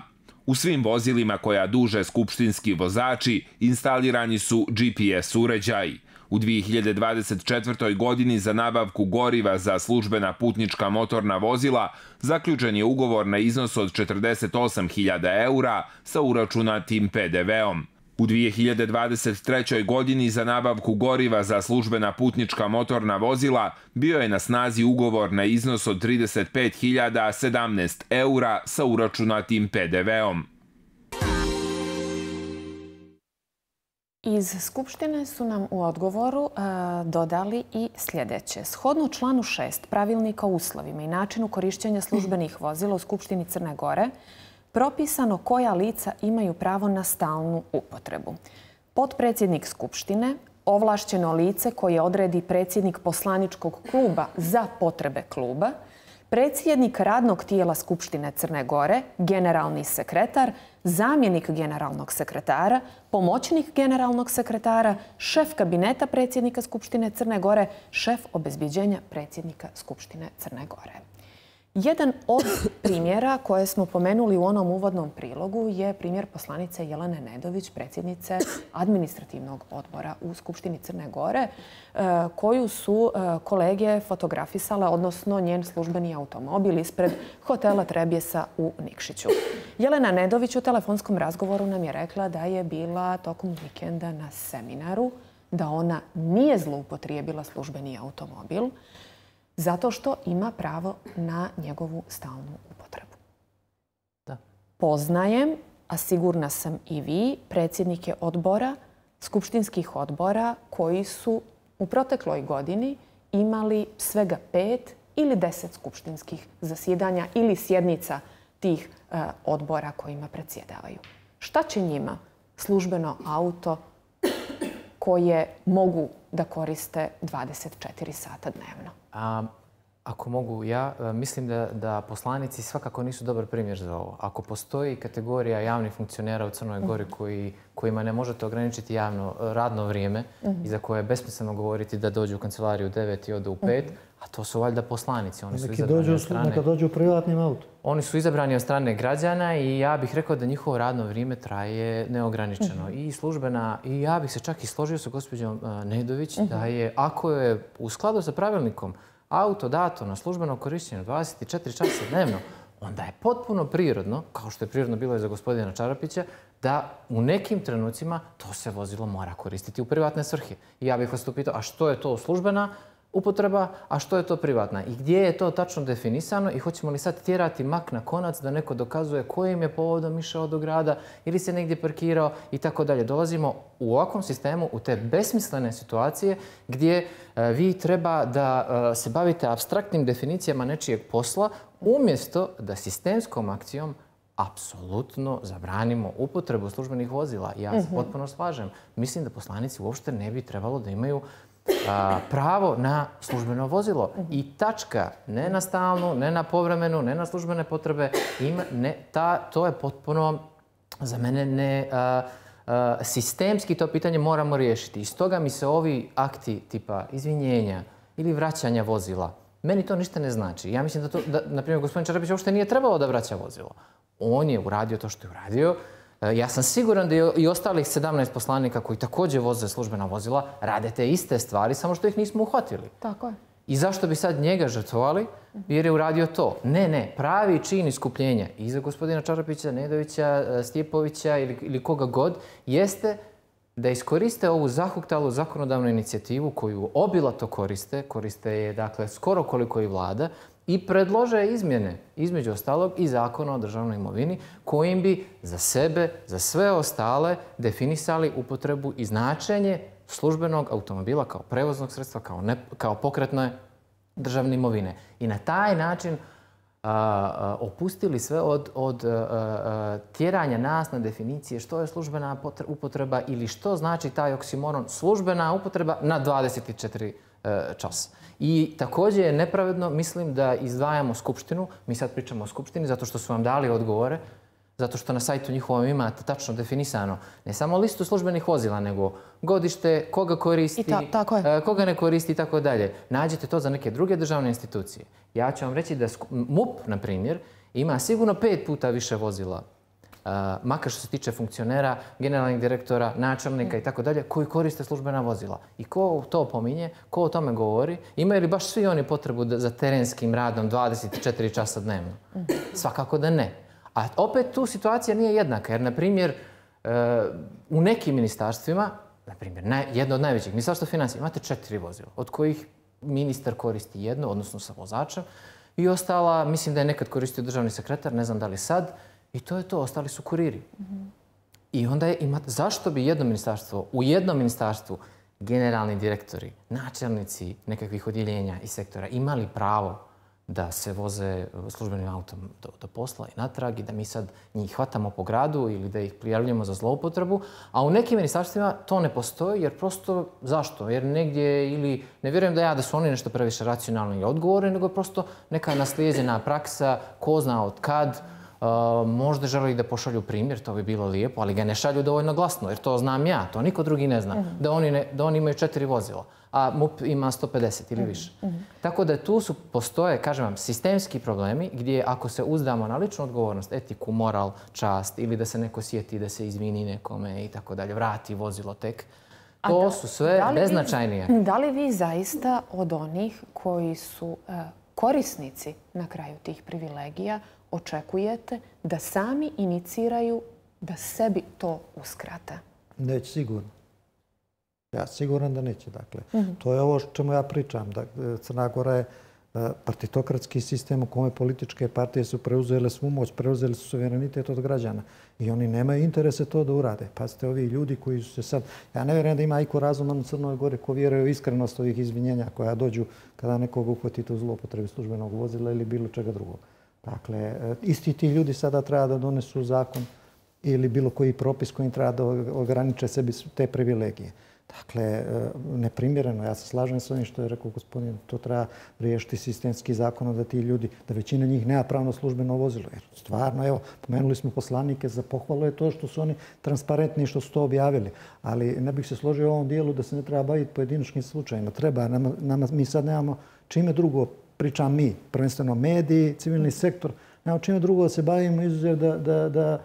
U svim vozilima koja duže skupštinski vozači instalirani su GPS uređaji. U 2024. godini za nabavku goriva za službena putnička motorna vozila zaključen je ugovor na iznos od 48.000 eura sa uračunatim PDV-om. U 2023. godini za nabavku goriva za službena putnička motorna vozila bio je na snazi ugovor na iznos od 35.017 eura sa uračunatim PDV-om. Iz Skupštine su nam u odgovoru dodali i sljedeće. Shodno članu 6 Pravilnika o uslovima i načinu korišćenja službenih vozila u Skupštini Crne Gore, propisano koja lica imaju pravo na stalnu upotrebu. Potpredsjednik Skupštine, ovlašćeno lice koje odredi predsjednik poslaničkog kluba za potrebe kluba, predsjednik radnog tijela Skupštine Crne Gore, generalni sekretar, zamjenik generalnog sekretara, pomoćnik generalnog sekretara, šef kabineta predsjednika Skupštine Crne Gore, šef obezbjeđenja predsjednika Skupštine Crne Gore. Jedan od primjera koje smo pomenuli u onom uvodnom prilogu je primjer poslanice Jelene Nedović, predsjednice administrativnog odbora u Skupštini Crne Gore, koju su kolege fotografisale, odnosno njen službeni automobil ispred hotela Trebjesa u Nikšiću. Jelena Nedović u telefonskom razgovoru nam je rekla da je bila tokom vikenda na seminaru, da ona nije zloupotrijebila službeni automobil, zato što ima pravo na njegovu stalnu upotrebu. Da. Poznajem, a sigurna sam i vi, predsjednike odbora, skupštinskih odbora koji su u protekloj godini imali svega 5 ili 10 skupštinskih zasjedanja ili sjednica tih odbora kojima predsjedavaju. Šta će njima službeno auto koje mogu da koriste 24 sata dnevno? Ako mogu ja, mislim da poslanici svakako nisu dobar primjer za ovo. Ako postoji kategorija javnih funkcionera u Crnoj Gori kojima ne možete ograničiti javno radno vrijeme i za koje je besmisleno govoriti da dođu u kancelariju u 9 i odu u 5, a to su valjda poslanici. Neka dođu u privatnim autom. Oni su izabrani od strane građana i ja bih rekao da njihovo radno vrijeme traje neograničeno. I službena, i ja bih se čak i složio sa gospođom Nedović da je, ako je u skladu sa pravilnikom auto dato na službeno korištenje 24 časa dnevno, onda je potpuno prirodno, kao što je prirodno bilo i za gospodina Čarapića, da u nekim trenucima to se vozilo mora koristiti u privatne svrhe. I ja bih vas tu pitao, a što je to službena upotreba, a što je to privatna? I gdje je to tačno definisano i hoćemo li sad tjerati mak na konac da neko dokazuje kojim je povodom išao do grada ili se negdje parkirao i tako dalje. Dolazimo u ovakvom sistemu u te besmislene situacije gdje vi treba da se bavite apstraktnim definicijama nečijeg posla umjesto da sistemskom akcijom apsolutno zabranimo upotrebu službenih vozila. Ja se potpuno slažem. Mislim da poslanici uopšte ne bi trebalo da imaju pravo na službeno vozilo. I tačka, ne na stalnu, ne na povremenu, ne na službene potrebe. To je potpuno, za mene, sistemski to pitanje moramo riješiti. I stoga mi se ovi akti tipa izvinjenja ili vraćanja vozila, meni to ništa ne znači. Ja mislim da, na primjer, gospodin Čarapić uopšte nije trebalo da vraća vozilo. On je uradio to što je uradio. Ja sam siguran da i ostalih 17 poslanika koji također voze službena vozila rade te iste stvari, samo što ih nismo uhvatili. Tako je. I zašto bi sad njega žrtvovali? Jer je uradio to. Ne, pravi čin iskupljenja i za gospodina Čarapića, Nedovića, Stjepovića ili koga god, jeste da iskoriste ovu zahuktalu zakonodavnu inicijativu koju obilato koriste je dakle skoro koliko i vlada, i predlože izmjene, između ostalog i zakona o državnoj imovini, kojim bi za sebe, za sve ostale definisali upotrebu i značenje službenog automobila kao prevoznog sredstva, kao pokretne državne imovine. I na taj način opustili sve od tjeranja nas na definicije što je službena upotreba ili što znači taj oksimoron službena upotreba na 24 časa. I također je nepravedno, mislim, da izdvajamo Skupštinu. Mi sad pričamo o Skupštini zato što su vam dali odgovore, zato što na sajtu njihovom imate tačno definisano ne samo listu službenih vozila, nego godište, koga koristi, koga ne koristi i tako dalje. Nađete to za neke druge državne institucije. Ja ću vam reći da MUP, na primjer, ima sigurno 5 puta više vozila, makar što se tiče funkcionera, generalnih direktora, načelnika i tako dalje, koji koriste službena vozila. I ko to pominje, ko o tome govori, imaju li baš svi oni potrebu za terenskim radom 24 časa dnevno? Svakako da ne. A opet tu situacija nije jednaka, jer, na primjer, u nekim ministarstvima, na primjer, jedno od najvećih, Ministarstvo financija, imate 4 vozila, od kojih ministar koristi jedno, odnosno sa vozačem, i ostala, mislim da je nekad koristio državni sekretar, ne znam da li sad, i to je to, ostali su kuriri. I onda zašto bi u jednom ministarstvu generalni direktori, načelnici nekakvih odjeljenja i sektora imali pravo da se voze službenim autom do posla i natrag i da mi sad njih hvatamo po gradu ili da ih prijavljujemo za zloupotrebu, a u nekim ministarstvima to ne postoji jer prosto zašto? Jer negdje ili ne vjerujem da su oni nešto previše racionalni i odgovorni, nego je prosto neka naslijeđena praksa, ko zna od kad. Možda želi da pošalju primjer, to bi bilo lijepo, ali ga ne šalju dovoljno glasno, jer to znam ja, to niko drugi ne zna, da oni imaju 4 vozila, a MUP ima 150 ili više. Tako da tu postoje, kažem vam, sistemski problemi gdje ako se uzdamo na ličnu odgovornost, etiku, moral, čast ili da se neko sjeti da se izvini nekome i tako dalje, vrati vozilo tek, to su sve beznačajnije. Da li vi zaista od onih koji su korisnici na kraju tih privilegija očekujete da sami iniciraju da sebi to uskrate? Neće sigurno. Ja siguran da neće. Dakle, to je ovo čemu ja pričam. Crna Gora je partitokratski sistem u kome političke partije su preuzele svu moć, preuzeli su suverenitet od građana. I oni nemaju interese to da urade. Pazite, ovi ljudi koji su se sad... Ja ne vjerujem da ima iko razuman u Crnoj Gori ko vjeruje u iskrenost ovih izvinjenja koja dođu kada nekoga uhvatite u zlopotrebi službenog vozila ili bilo čega drugog. Dakle, isti ti ljudi sada treba da donesu zakon ili bilo koji propis kojim treba da ograniče sebi te privilegije. Dakle, neprimjereno. Ja se slažem s ovim što je rekao gospodin, to treba riješiti sistemski zakon da ti ljudi, da većina njih nema pravno službeno vozilo. Jer stvarno, evo, pomenuli smo poslanike, za pohvalu je to što su oni transparentni i što su to objavili. Ali ne bih se složio u ovom dijelu da se ne treba baviti pojedinačnim slučajima. Treba, mi sad nemamo čime drugo, pričam mi, prvenstveno mediji, civilni sektor, nemamo čime drugo da se bavimo izuzev da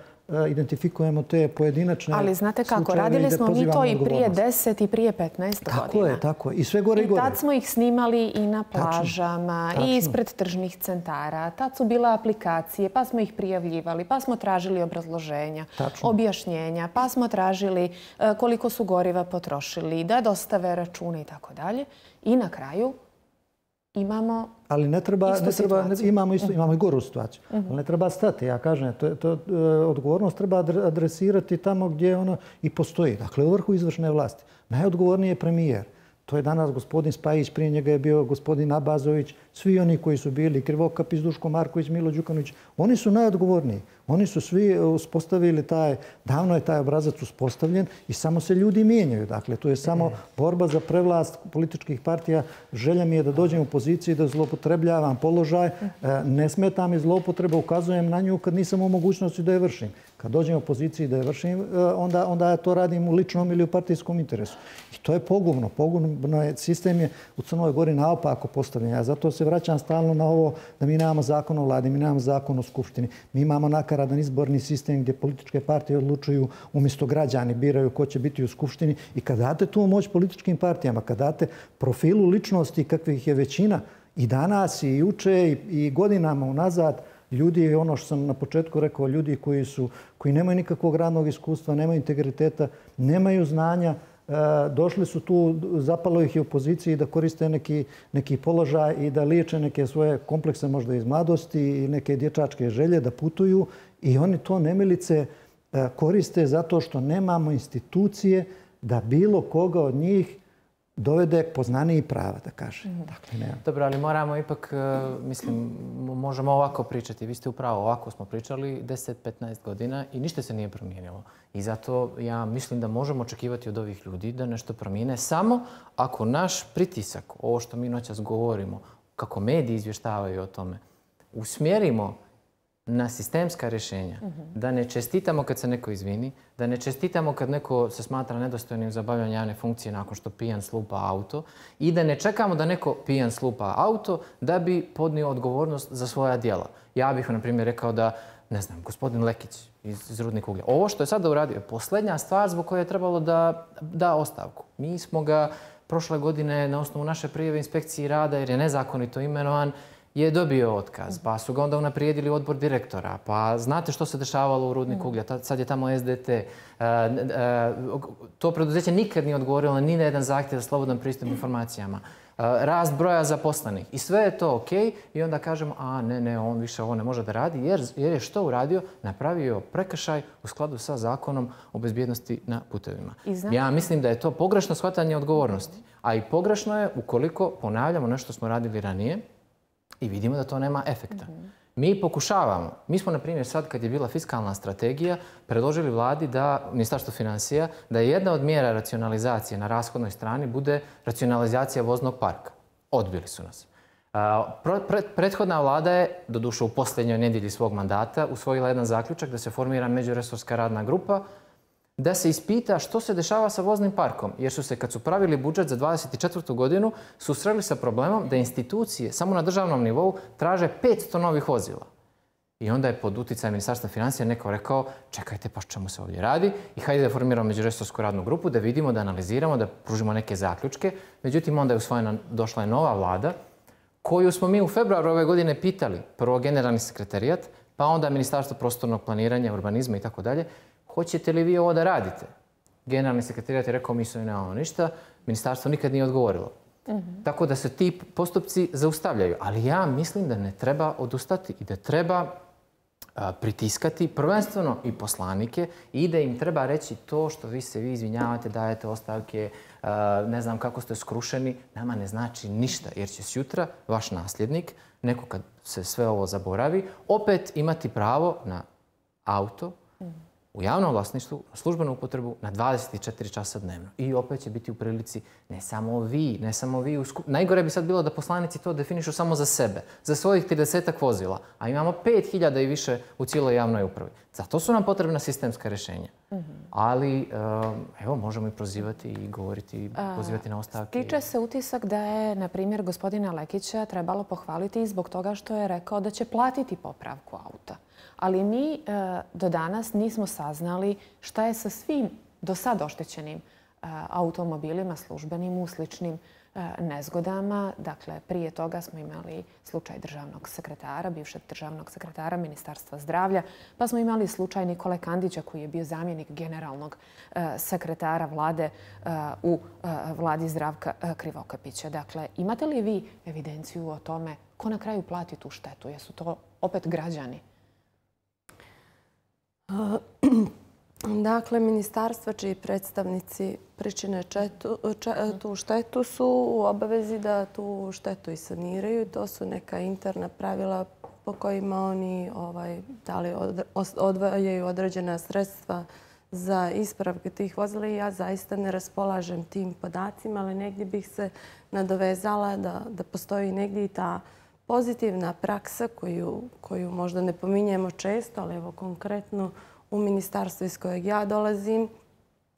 identifikujemo te pojedinačne slučajeve. Ali znate kako, radili smo mi to i prije 10 i prije 15 godina. Tako je, tako je. I sve gore i gore. I tad smo ih snimali i na plažama, i ispred tržnih centara. Tad su bile aplikacije, pa smo ih prijavljivali, pa smo tražili obrazloženja, objašnjenja, pa smo tražili koliko su goriva potrošili, da dostave račune i tako dalje. I na kraju imamo ali ne treba, imamo i goru situaciju. Ali ne treba stati. Ja kažem, odgovornost treba adresirati tamo gdje ona i postoji. Dakle, u vrhu izvršne vlasti. Najodgovorniji je premijer. To je danas gospodin Spajić, prije njega je bio gospodin Abazović, svi oni koji su bili, Krivokapis, Duško Marković, Milo Đukanović, oni su najodgovorniji. Oni su svi uspostavili davno je taj obrazac uspostavljen i samo se ljudi mijenjaju. Dakle, to je samo borba za prevlast političkih partija. Želja mi je da dođem u poziciji da zloupotrebljavam položaj. Ne smeta mi zloupotreba, ukazujem na nju kad nisam u mogućnosti da je vršim. Kad dođem u poziciji da je vršim, onda ja to radim u ličnom ili u partijskom interesu. I to je pogubno. Pogubno je, sistem je u Crnoj Gori naopako postavljen. Ja zato se vraćam stalno na ovo da mi nemamo zakon o vladi, mi nemamo zakon o skupštini. Mi imamo nakaradan izborni sistem gdje političke partije odlučuju umjesto građani biraju ko će biti u skupštini. I kad date tu moć političkim partijama, kad date profilu ličnosti kakvih je većina i danas i juče i godinama unazad, ljudi, ono što sam na početku rekao, ljudi koji nemaju nikakvog radnog iskustva, nemaju integriteta, nemaju znanja, došli su tu, zapalo ih je u poziciji da koriste neki položaj i da liječe neke svoje komplekse možda iz mladosti i neke dječačke želje da putuju i oni to nemilice koriste zato što nemamo institucije da bilo koga od njih dovede poznaniji prava, da kaže. Dobro, ali moramo ipak, mislim, možemo ovako pričati. Vi ste upravo, ovako smo pričali 10-15 godina i ništa se nije promijenilo. I zato ja mislim da možemo očekivati od ovih ljudi da nešto promijene samo ako naš pritisak, ovo što mi noćas govorimo, kako mediji izvještavaju o tome, usmjerimo na sistemska rješenja. Da ne čestitamo kad se neko izvini, da ne čestitamo kad neko se smatra nedostojnim za obavljanje javne funkcije nakon što pijan slupa auto i da ne čekamo da neko pijan slupa auto da bi podnio odgovornost za svoja djela. Ja bih, na primjer, rekao da, ne znam, gospodin Lekić iz Rudnika uglja, ovo što je sada uradio je posljednja stvar zbog koje je trebalo da ostavku. Mi smo ga prošle godine na osnovu naše prijave inspekciji rada, jer je nezakonito imenovan, je dobio otkaz, pa su ga onda unaprijedili odbor direktora, pa znate što se dešavalo u Rudniku uglja, sad je tamo SDT. To preduzeće nikad nije odgovorilo ni na jedan zahtjev za slobodan pristup informacijama. Rast broja zaposlenih i sve je to ok i onda kažemo ne, on više ovo ne može da radi jer je što uradio? Napravio prekršaj u skladu sa zakonom o bezbjednosti na putevima. Ja mislim da je to pogrešno shvatanje odgovornosti, a i pogrešno je ukoliko ponavljamo nešto smo radili ranije i vidimo da to nema efekta. Mi pokušavamo. Mi smo, na primjer, sad kad je bila fiskalna strategija, predložili vladi da, Ministarstvo financija, da je jedna od mjera racionalizacije na rashodnoj strani bude racionalizacija voznog parka. Odbili su nas. Prethodna vlada je, doduše u posljednjoj nedjelji svog mandata, usvojila jedan zaključak da se formira međuresorska radna grupa da se ispita što se dešava sa voznim parkom. Jer su se, kad su pravili budžet za 2024. godinu, susreli sa problemom da institucije samo na državnom nivou traže 500 novih vozila. I onda je pod utjecajem Ministarstva financija neko rekao, čekajte, pa čemu se ovdje radi? I hajde da formiramo međuresorsku radnu grupu, da vidimo, da analiziramo, da pružimo neke zaključke. Međutim, onda je došla je nova vlada, koju smo mi u februaru ove godine pitali, prvo generalni sekretarijat, pa onda Ministarstvo prostornog planiranja, urbanizma i tako dalje, hoćete li vi ovo da radite? Generalni sekretariat je rekao, mi se nemamo ništa, ministarstvo nikad nije odgovorilo. Tako da se ti postupci zaustavljaju. Ali ja mislim da ne treba odustati i da treba pritiskati prvenstveno i poslanike i da im treba reći to što vi se izvinjavate, dajete ostavke, ne znam kako ste skrušeni, nama ne znači ništa. Jer će sutra vaš nasljednik, neko kad se sve ovo zaboravi, opet imati pravo na auto, u javnom vlasništvu, na službenu upotrebu na 24 časa dnevno. I opet će biti u prilici ne samo vi. Najgore bi sad bilo da poslanici to definišu samo za sebe, za svojih 30-ak vozila, a imamo 5000 i više u cijeloj javnoj upravi. Zato su nam potrebna sistemska rješenja. Ali, evo, možemo i prozivati i govoriti i pozivati na ostavke. Stiče se utisak da je, na primjer, gospodina Lekića trebalo pohvaliti i zbog toga što je rekao da će platiti popravku auta. Ali mi do danas nismo saznali šta je sa svim do sad oštećenim automobilima, službenim, u sličnim nezgodama. Dakle, prije toga smo imali slučaj državnog sekretara, bivšeg državnog sekretara Ministarstva zdravlja, pa smo imali slučaj Nikole Kandića koji je bio zamjenik generalnog sekretara vlade u vladi Zdravka Krivokapića. Dakle, imate li vi evidenciju o tome ko na kraju plati tu štetu? Jesu to opet građani? Dakle, ministarstva čiji predstavnici pričine tu štetu su u obavezi da tu štetu i saniraju. To su neka interna pravila po kojima oni odvajaju određena sredstva za ispravke tih vozila i ja zaista ne raspolažem tim podacima, ali negdje bih se nadovezala da postoji negdje i ta pozitivna praksa koju možda ne pominjemo često, ali evo konkretno u ministarstvu iz kojeg ja dolazim.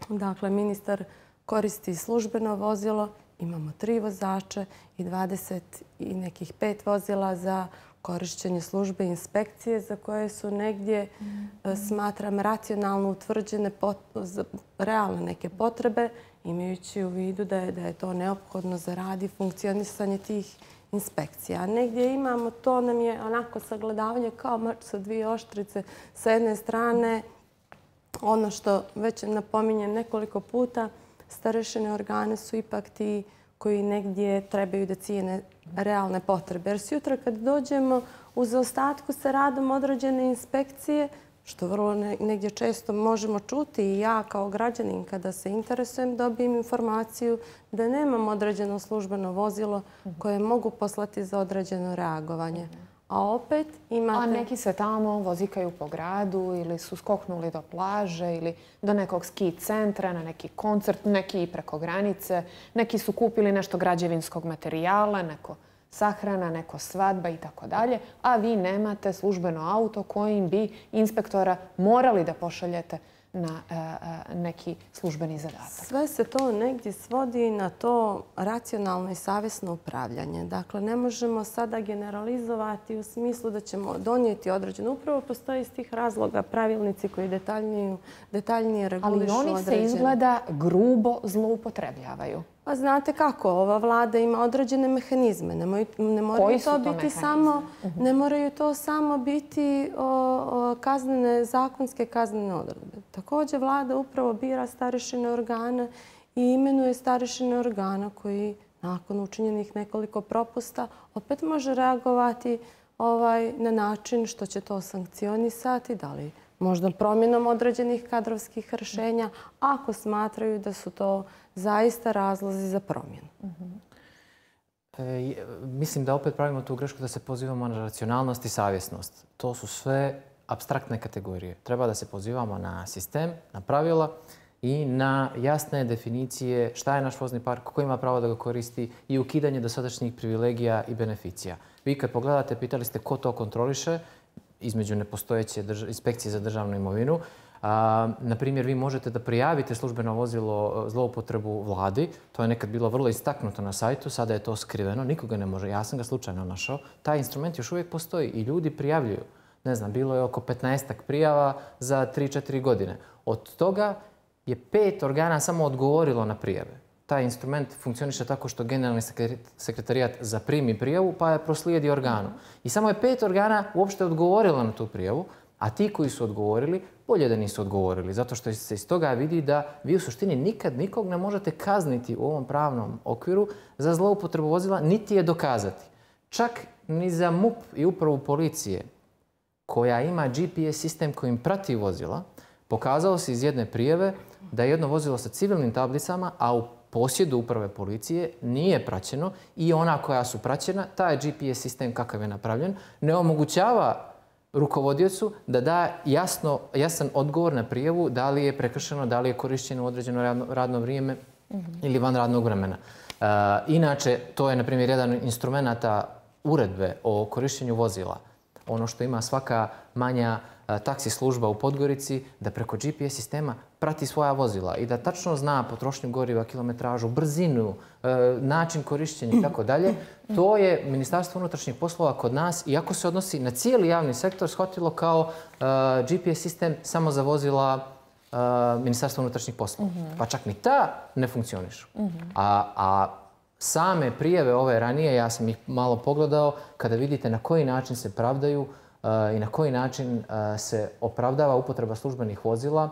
Dakle, ministar koristi službeno vozilo, imamo 3 vozača i 20 i nekih 5 vozila za korišćenje službe inspekcije za koje su negdje, smatram, racionalno utvrđene realne neke potrebe, imajući u vidu da je to neophodno za rad i funkcionisanje tih inspekcija. Negdje imamo, to nam je onako sagledavanje kao mač sa 2 oštrice. Sa jedne strane, ono što već napominjem nekoliko puta, starešine organe su ipak ti koji negdje trebaju da cijene realne potrebe. Jer sutra kad dođemo u zaostatku sa radom određene inspekcije, što vrlo negdje često možemo čuti i ja kao građanin kada se interesujem dobijem informaciju da nemam određeno službeno vozilo koje mogu poslati za određeno reagovanje. A opet imate... A neki se tamo vozikaju po gradu ili su skoknuli do plaže ili do nekog ski centra, na neki koncert, neki i preko granice. Neki su kupili nešto građevinskog materijala, neko sahrana, neko svadba i tako dalje, a vi nemate službeno auto kojim bi inspektora morali da pošaljete na neki službeni zadatak. Sve se to negdje svodi na to racionalno i savjesno upravljanje. Dakle, ne možemo sada generalizovati u smislu da ćemo donijeti određeno. Upravo postoji iz tih razloga pravilnici koji detaljnije regulišu određene. Ali oni se izgleda grubo zloupotrebljavaju. Pa znate kako, ova vlada ima određene mehanizme. Ne moraju to samo biti zakonske kaznene odredbe. Također vlada upravo bira starešine organa i imenuje starešine organa koji nakon učinjenih nekoliko propusta opet može reagovati na način što će to sankcionisati, da li možda promjenom određenih kadrovskih rješenja, ako smatraju da su to zaista razlozi za promjenu. Mislim da opet pravimo tu grešku da se pozivamo na racionalnost i savjesnost. To su sve apstraktne kategorije. Treba da se pozivamo na sistem, na pravila i na jasne definicije šta je naš vozni park, ko ima pravo da ga koristi i ukidanje dosadašnjih privilegija i beneficija. Vi kad pogledate, pitali ste ko to kontroliše, između nepostojeće inspekcije za državnu imovinu. Na primjer, vi možete da prijavite službeno vozilo zloupotrebu vladi. To je nekad bilo vrlo istaknuto na sajtu, sada je to skriveno, nikoga ne može. Ja sam ga slučajno našao. Taj instrument još uvijek postoji i ljudi prijavljuju. Ne znam, bilo je oko 15-ak prijava za 3-4 godine. Od toga je 5 organa samo odgovorilo na prijave. Taj instrument funkcioniše tako što generalni sekretarijat zaprimi prijavu pa je proslijedi organu. I samo je 5 organa uopšte odgovorilo na tu prijavu, a ti koji su odgovorili, bolje da nisu odgovorili. Zato što se iz toga vidi da vi u suštini nikad nikog ne možete kazniti u ovom pravnom okviru za zloupotrebu vozila, niti je dokazati. Čak ni za MUP i upravu policije, koja ima GPS sistem kojim prati vozila, pokazalo se iz jedne prijave da je jedno vozilo sa civilnim tablicama, a u posjedu uprave policije nije praćeno i ona koja su praćena, taj GPS sistem kakav je napravljen, ne omogućava rukovodiocu da da jasan odgovor na prijavu da li je prekršeno, da li je korišćeno određeno radno vrijeme ili van radnog vremena. Inače, to je, na primjer, jedan instrumenta uredbe o korišćenju vozila. Ono što ima svaka manja taksi služba u Podgorici, da preko GPS sistema prati svoja vozila i da tačno zna potrošnju goriva, kilometražu, brzinu, način korišćenja i tako dalje. To je Ministarstvo unutrašnjih poslova kod nas, iako se odnosi na cijeli javni sektor, shvatilo kao GPS sistem samo za vozila Ministarstva unutrašnjih poslova. Pa čak ni ta ne funkcionišu. A same prijave ove ranije, ja sam ih malo pogledao, kada vidite na koji način se pravdaju i na koji način se opravdava upotreba službenih vozila,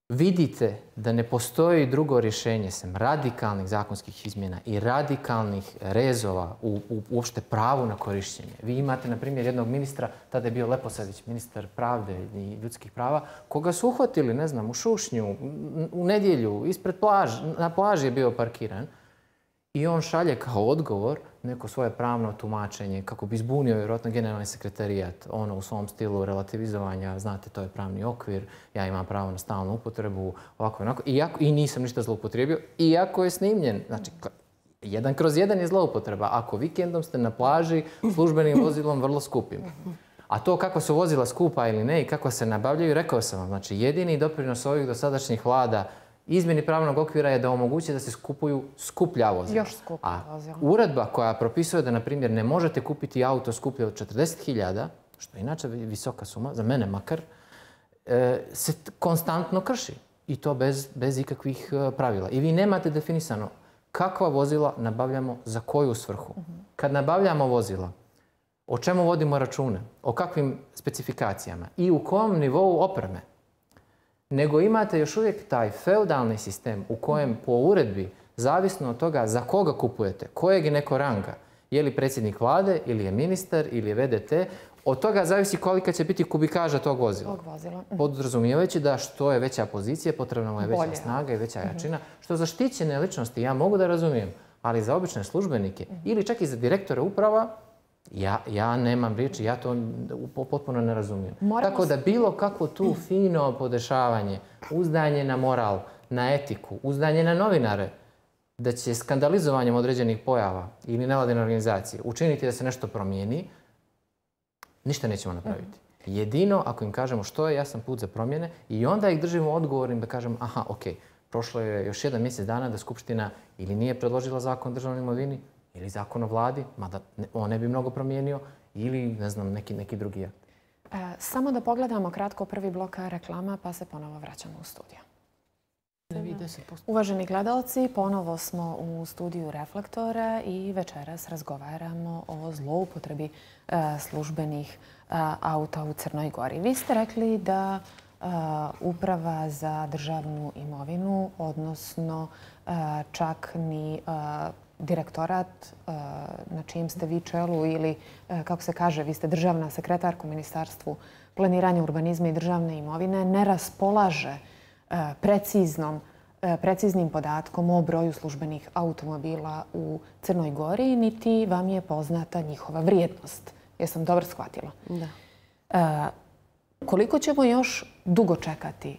vidite da ne postoji drugo rješenje sem radikalnih zakonskih izmjena i radikalnih rezova u uopšte pravu na korišćenje. Vi imate, na primjer, jednog ministra, tada je bio Leposadić, ministar pravde i ljudskih prava, koga su uhvatili, ne znam, u Šušnju, u nedjelju, na plaži je bio parkiran. I on šalje kao odgovor neko svoje pravno tumačenje kako bi zbunio vjerojatno generalni sekretarijat, ono u svom stilu relativizovanja, znate, to je pravni okvir, ja imam pravo na stalnu upotrebu, ovako i onako, i nisam ništa zloupotrijebio, iako je snimljen. Znači, 1/1 je zloupotreba. Ako vikendom ste na plaži službenim vozilom vrlo skupim. A to kako su vozila skupa ili ne i kako se nabavljaju, rekao sam vam, znači jedini doprinos ovih dosadašnjih vlada izmjeni pravnog okvira je da omogući da se kupuju skuplja vozila. Još skuplja vozila. A uredba koja propisuje da, na primjer, ne možete kupiti auto skuplje od 40.000, što je inače visoka suma, za mene makar, se konstantno krši. I to bez ikakvih pravila. I vi nemate definisano kakva vozila nabavljamo za koju svrhu. Kad nabavljamo vozila, o čemu vodimo račune, o kakvim specifikacijama i u kom nivou opreme, nego imate još uvijek taj feudalni sistem u kojem po uredbi, zavisno od toga za koga kupujete, kojeg je neko ranga, je li predsjednik vlade, ili je ministar, ili je VDT, od toga zavisi kolika će biti kubikaža tog vozila. Podrazumijevajući da što je veća pozicija, potrebna mu je veća snaga i veća jačina, što za štićene ličnosti ja mogu da razumijem, ali za obične službenike ili čak i za direktore uprava, ja nemam riječi, ja to potpuno ne razumijem. Tako da bilo kako tu fino podešavanje, uzdanje na moral, na etiku, uzdanje na novinare, da će skandalizovanjem određenih pojava ili nevladine organizacije učiniti da se nešto promijeni, ništa nećemo napraviti. Jedino ako im kažemo što je jasan put za promjene i onda ih držimo odgovornim da kažemo aha, ok, prošlo je još 1 mjesec dana da Skupština ili nije predložila zakon o državnoj imovini, ili zakon o vladi, mada on ne bi mnogo promijenio, ili, ne znam, neki drugi akt. Samo da pogledamo kratko prvi blok reklama, pa se ponovo vraćamo u studiju. Uvaženi gledalci, ponovo smo u studiju Reflektora i večeras razgovaramo o zloupotrebi službenih auta u Crnoj Gori. Vi ste rekli da Uprava za državnu imovinu, odnosno čak ni direktorat na čijem ste vi čelu ili, kako se kaže, vi ste državna sekretarka u Ministarstvu planiranja, urbanizma i državne imovine, ne raspolaže preciznim podatkom o broju službenih automobila u Crnoj Gori, niti vam je poznata njihova vrijednost. Jesam dobro shvatila? Da. Koliko ćemo još dugo čekati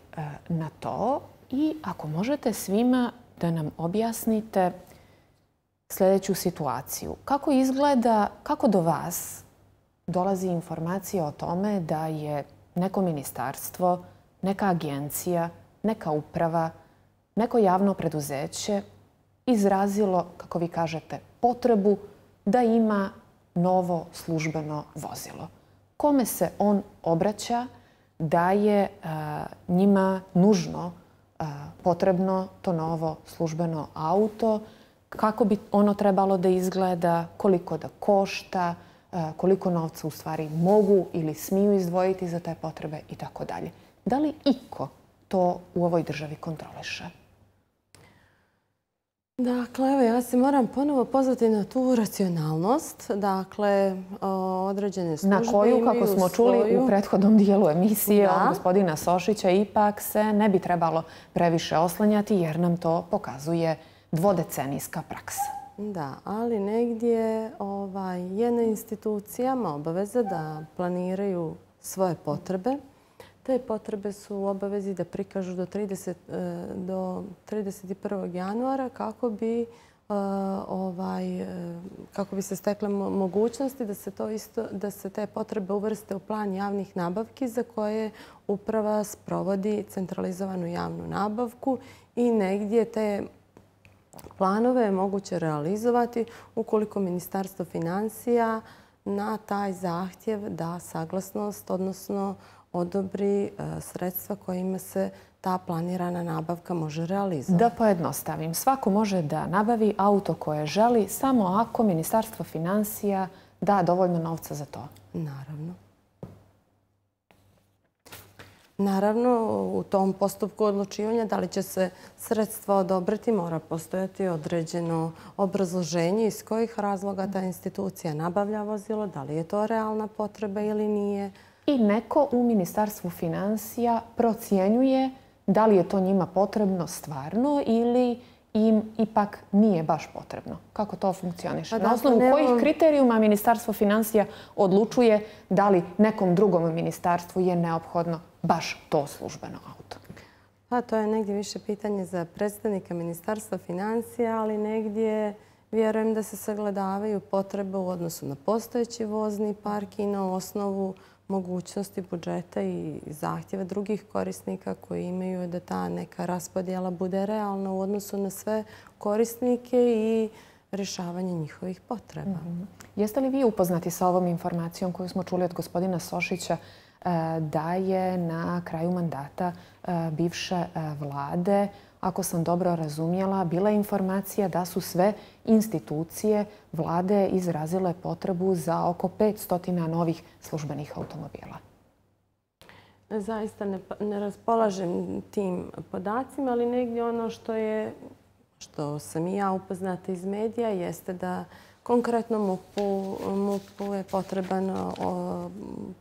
na to i ako možete svima da nam objasnite sljedeću situaciju. Kako izgleda, kako do vas dolazi informacija o tome da je neko ministarstvo, neka agencija, neka uprava, neko javno preduzeće izrazilo, kako vi kažete, potrebu da ima novo službeno vozilo? Kome se on obraća da je njima nužno potrebno to novo službeno auto? Kako bi ono trebalo da izgleda, koliko da košta, koliko novca u stvari mogu ili smiju izdvojiti za te potrebe i tako dalje. Da li iko to u ovoj državi kontroliše? Dakle, evo ja se moram ponovo pozvati na tu racionalnost. Dakle, određene službe na koju, kako smo čuli u prethodnom dijelu emisije od gospodina Sošića, ipak se ne bi trebalo previše oslanjati jer nam to pokazuje dvodecenijska praksa. Da, ali negdje je na institucijama obaveza da planiraju svoje potrebe. Te potrebe su u obavezi da prikažu do 31. januara kako bi se stekle mogućnosti da se te potrebe uvrste u plan javnih nabavki za koje uprava sprovodi centralizovanu javnu nabavku i negdje te planove je moguće realizovati ukoliko Ministarstvo finansija na taj zahtjev da saglasnost, odnosno odobri sredstva kojima se ta planirana nabavka može realizovati. Da pojednostavim, svako može da nabavi auto koje želi samo ako Ministarstvo finansija da dovoljno novca za to. Naravno. Naravno, u tom postupku odlučivanja da li će se sredstva odobriti mora postojati određeno obrazloženje iz kojih razloga ta institucija nabavlja vozilo, da li je to realna potreba ili nije. I neko u Ministarstvu finansija procjenjuje da li je to njima potrebno stvarno ili im ipak nije baš potrebno. Kako to funkcioniše? Na osnovu kojih kriterijuma Ministarstvo finansija odlučuje da li nekom drugom ministarstvu je neophodno baš to službeno auto? Pa to je negdje više pitanje za predstavnika Ministarstva finansija, ali negdje vjerujem da se sagledavaju potrebe u odnosu na postojeći vozni park i na osnovu mogućnosti budžeta i zahtjeva drugih korisnika koji imaju da ta neka raspodjela bude realna u odnosu na sve korisnike i rješavanje njihovih potreba. Jeste li vi upoznati sa ovom informacijom koju smo čuli od gospodina Sošića da je na kraju mandata bivše vlade, ako sam dobro razumjela, bila informacija da su sve institucije vlade izrazile potrebu za oko 500 novih službenih automobila? Zaista ne raspolažem tim podacima, ali negdje ono što sam i ja upoznata iz medija jeste da konkretno MUP-u je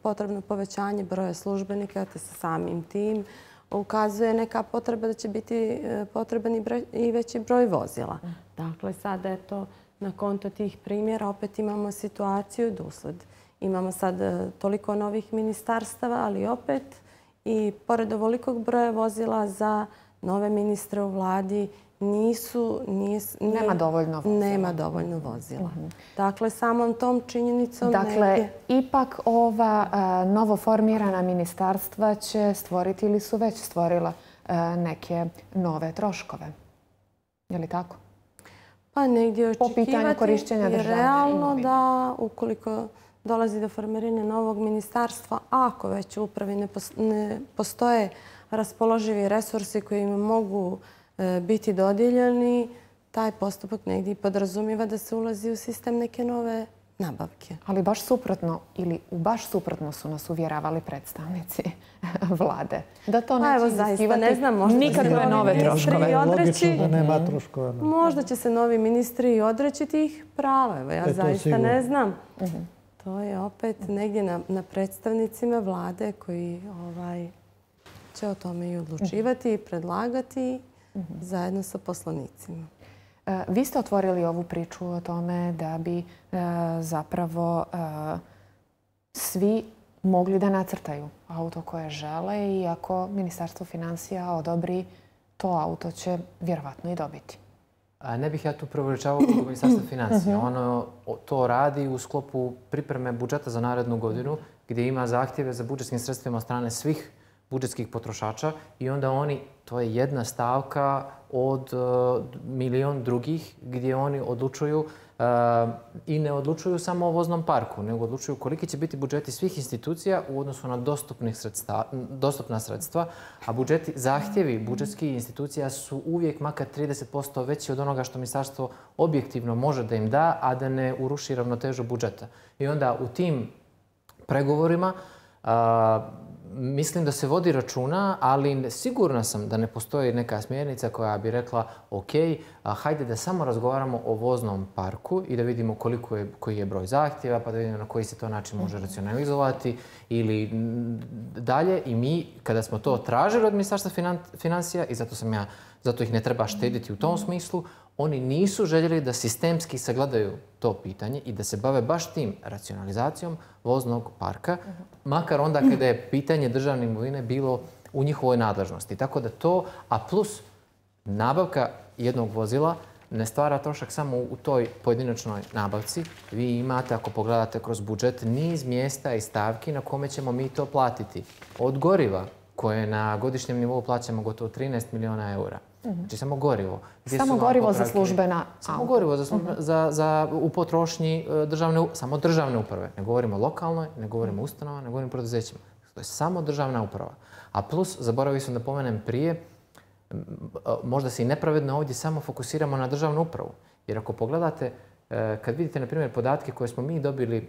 potrebno povećanje broja službenika, te sa samim tim ukazuje neka potreba da će biti potreban i veći broj vozila. Dakle, sada eto, na konto tih primjera opet imamo situaciju da usled imamo sad toliko novih ministarstava, ali opet i pored ovolikog broja vozila za nove ministre u vladi nema dovoljno vozila. Dakle, samom tom činjenicom... Dakle, ipak ova novoformirana ministarstva će stvoriti ili su već stvorila neke nove troškove. Je li tako? Pa negdje očekivati je realno da ukoliko dolazi do formiranja novog ministarstva, ako već u upravi ne postoje raspoloživi resursi koji im mogu biti dodijeljeni, taj postupak negdje podrazumijeva da se ulazi u sistem neke nove nabavke. Ali baš suprotno ili baš suprotno su nas uvjeravali predstavnici vlade. Da to neće iziskivati nikakve nove troškove. Možda će se novi ministri odreći tih prava. Evo, ja zaista ne znam. To je opet negdje na predstavnicima vlade koji će o tome i odlučivati i predlagati zajedno sa poslanicima. Vi ste otvorili ovu priču o tome da bi zapravo svi mogli da nacrtaju auto koje žele i ako Ministarstvo finansija odobri, to auto će vjerovatno i dobiti. Ne bih ja tu preuveličavao kod Ministarstva finansija. Ono to radi u sklopu pripreme budžeta za narednu godinu gdje ima zahtjeve za budžetskim sredstvima od strane svih budžetskih potrošača i onda oni, to je jedna stavka od milion drugih gdje oni odlučuju i ne odlučuju samo o voznom parku, nego odlučuju koliki će biti budžeti svih institucija u odnosu na dostupna sredstva, a zahtjevi budžetskih institucija su uvijek makar 30% veći od onoga što ministarstvo objektivno može da im da, a da ne uruši ravnotežu budžeta. I onda u tim pregovorima mislim da se vodi računa, ali sigurna sam da ne postoji neka smjernica koja bi rekla ok, hajde da samo razgovaramo o voznom parku i da vidimo koji je broj zahtjeva, pa da vidimo na koji se to način može racionalizovati ili dalje. I mi, kada smo to tražili od Ministarstva financija, i zato sam ja zato ih ne treba štediti u tom smislu. Oni nisu željeli da sistemski sagledaju to pitanje i da se bave baš tim racionalizacijom voznog parka, makar onda kada je pitanje državne imovine bilo u njihovoj nadležnosti. Tako da to, a plus nabavka jednog vozila ne stvara trošak samo u toj pojedinačnoj nabavci. Vi imate, ako pogledate kroz budžet, niz mjesta i stavki na kome ćemo mi to platiti. Od goriva, koje na godišnjem nivou plaćamo gotovo 13 miliona eura. Znači samo gorivo. Samo gorivo za službena auta. Samo gorivo u potrošnji samo državne uprave. Ne govorimo o lokalnoj, ne govorimo o ustanovama, ne govorimo o preduzećima. To je samo državna uprava. A plus, zaboravio sam da pomenem prije, možda se i nepravedno ovdje samo fokusiramo na državnu upravu. Jer ako pogledate, kad vidite, na primjer, podatke koje smo mi dobili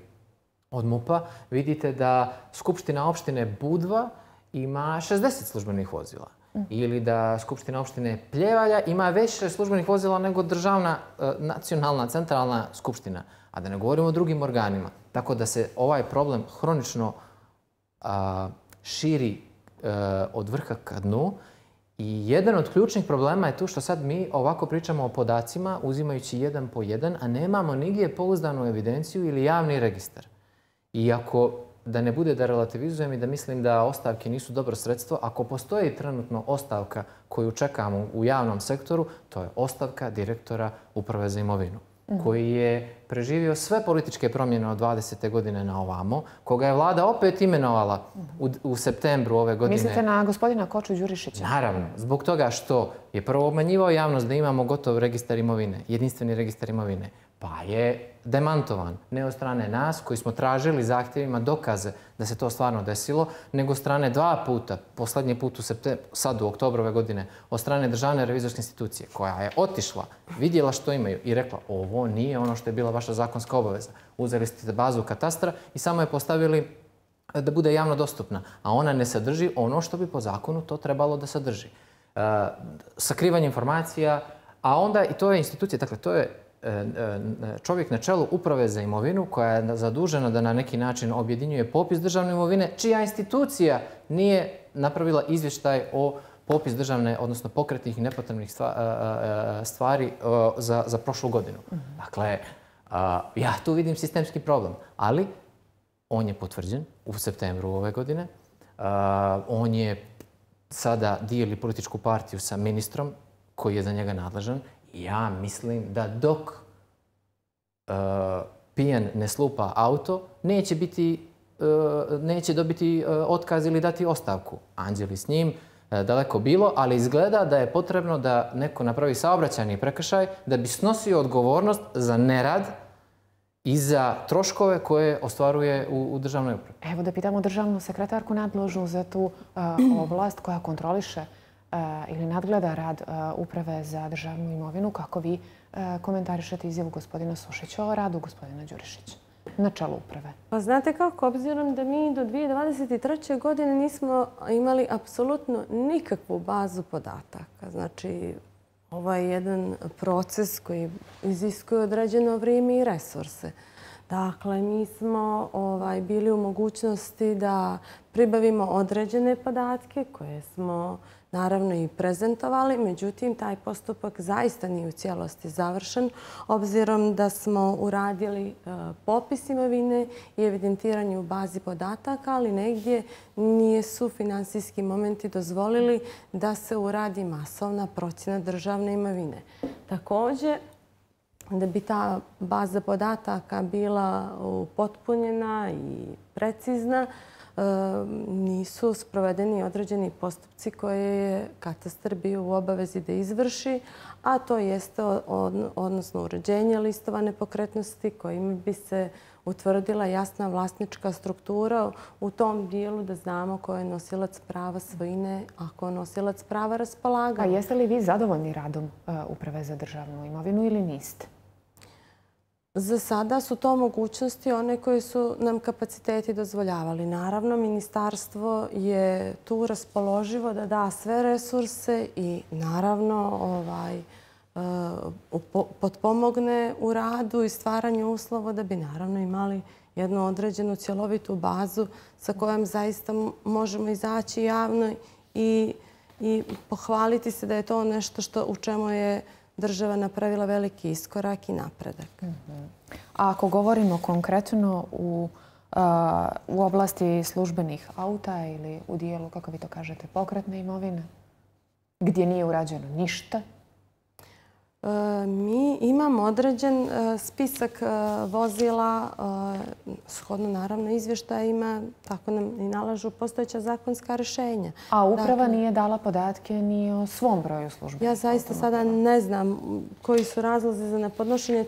od MUP-a, vidite da Skupština opštine Budva ima 60 službenih vozila. Ili da Skupština opštine Pljevalja ima više službenih vozila nego državna, nacionalna, centralna skupština. A da ne govorimo o drugim organima. Tako da se ovaj problem hronično širi od vrha ka dnu. I jedan od ključnih problema je tu što sad mi ovako pričamo o podacima uzimajući jedan po jedan, a nemamo nigdje pouzdanu evidenciju ili javni registar. Iako, da ne bude da relativizujem i da mislim da ostavke nisu dobro sredstvo, ako postoji trenutno ostavka koju čekamo u javnom sektoru, to je ostavka direktora Uprave za imovinu, koji je preživio sve političke promjene od 20. godine na ovamo, koga je vlada opet imenovala u septembru ove godine. Mislite na gospodina Koču Đurišića? Naravno, zbog toga što je prvo obmanjivao javnost da imamo gotov registar imovine, jedinstveni registar imovine, pa je demantovan. Ne od strane nas, koji smo tražili zahtjevima dokaze da se to stvarno desilo, nego od strane dva puta, poslednji put sad u oktobru ove godine, od strane Državne revizorske institucije, koja je otišla, vidjela što imaju i rekla ovo nije ono što je bila vaša zakonska obaveza. Uzeli ste bazu katastra i samo je postavili da bude javno dostupna, a ona ne sadrži ono što bi po zakonu to trebalo da sadrži. Sakrivanje informacija, a onda i to je institucija, dakle to je čovjek na čelu Uprave za imovinu koja je zadužena da na neki način objedinjuje popis državne imovine, čija institucija nije napravila izvještaj o popis državne, odnosno pokretnih i nepotrebnih stvari za prošlu godinu. Dakle, ja tu vidim sistemski problem, ali on je potvrđen u septembru ove godine. On je sada dijeli političku partiju sa ministrom koji je za njega nadležan. Ja mislim da dok pijan ne slupa auto, neće dobiti otkaz ili dati ostavku. Anđeli s njim, daleko bilo, ali izgleda da je potrebno da neko napravi saobraćajni prekršaj da bi snosio odgovornost za nerad i za troškove koje ostvaruje u državnoj upravi. Evo da pitamo državnu sekretarku nadležnu za tu oblast koja kontroliše ili nadgleda rad Uprave za državnu imovinu. Kako vi komentarišete izjavu gospodina Sušića o radu gospodina Đurišića na čelu uprave? Pa znate kako, obzirom da mi do 2023. godine nismo imali apsolutno nikakvu bazu podataka. Znači, ovo je jedan proces koji iziskuje određeno vrijeme i resurse. Dakle, mi smo bili u mogućnosti da pribavimo određene podatke koje smo naravno i prezentovali, međutim, taj postupak zaista nije u cijelosti završen, obzirom da smo uradili popis imovine i evidentiranje u bazi podataka, ali negdje nisu finansijski momenti dozvolili da se uradi masovna procjena državne imovine. Također, da bi ta baza podataka bila upotpunjena i precizna, nisu sprovedeni određeni postupci koje je katastar bio u obavezi da izvrši, a to jeste odnosno uređenje listova nepokretnosti kojim bi se utvrdila jasna vlasnička struktura u tom dijelu da znamo ko je nosilac prava svojine, a ko je nosilac prava raspolaganja. A jeste li vi zadovoljni radom Uprave za državnu imovinu ili niste? Za sada su to mogućnosti one koje su nam kapaciteti dozvoljavali. Naravno, ministarstvo je tu raspoloživo da da sve resurse i naravno potpomogne u radu i stvaranju uslova da bi naravno imali jednu određenu cjelovitu bazu sa kojom zaista možemo izaći javno i i pohvaliti se da je to nešto u čemu je država napravila veliki iskorak i napredak. A ako govorimo konkretno u oblasti službenih auta ili u dijelu, kako vi to kažete, pokretne imovine, gdje nije urađeno ništa? Mi imamo određen spisak vozila, shodno naravno izvještajima, tako nam i nalažu postojeća zakonska rješenja. A uprava nije dala podatke ni o svom broju službenih? Ja zaista sada ne znam koji su razlozi za nepodnošenje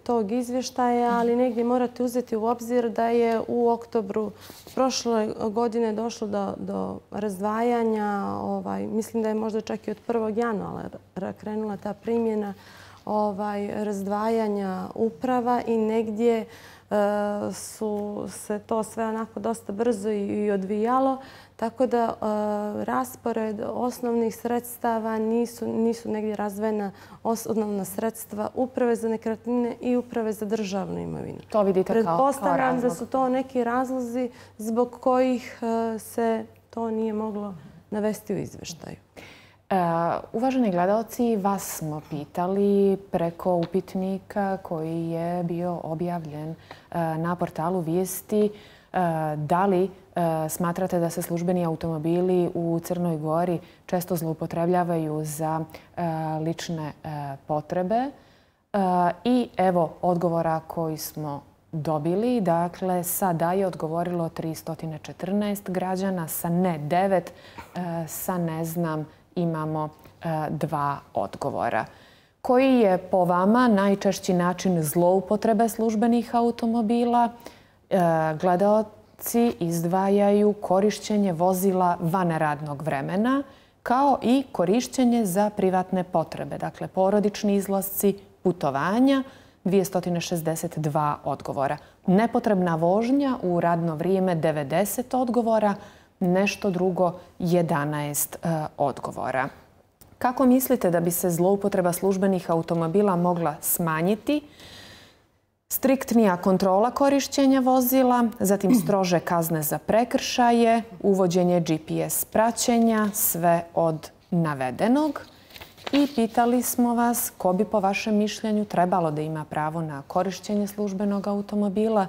tog izvještaja, ali negdje morate uzeti u obzir da je u oktobru prošle godine došlo do razdvajanja. Mislim da je možda čak i od 1. januara krenula ta primjena razdvajanja uprava i negdje su se to sve onako dosta brzo i odvijalo. Tako da raspored osnovnih sredstava nisu negdje razdvojena osnovna sredstva uprave za nekretnine i uprave za državnu imovinu. To vidite kao razlog? Pretpostavljam da su to neki razlozi zbog kojih se to nije moglo navesti u izvještaju. Uvaženi gledalci, vas smo pitali preko upitnika koji je bio objavljen na portalu Vijesti da li smatrate da se službeni automobili u Crnoj Gori često zloupotrebljavaju za lične potrebe. I evo odgovora koji smo dobili. Dakle, sa da je odgovorilo 314 građana, sa ne 9, sa ne znam imamo 2 odgovora. Koji je po vama najčešći način zloupotrebe službenih automobila? Gledaoci izdvajaju korišćenje vozila van radnog vremena kao i korišćenje za privatne potrebe. Dakle, porodični izlasci, putovanja, 262 odgovora. Nepotrebna vožnja u radno vrijeme 90 odgovora, nešto drugo 11 odgovora. Kako mislite da bi se zloupotreba službenih automobila mogla smanjiti? Striktnija kontrola korišćenja vozila, zatim strože kazne za prekršaje, uvođenje GPS praćenja, sve od navedenog. I pitali smo vas ko bi po vašem mišljenju trebalo da ima pravo na korišćenje službenog automobila.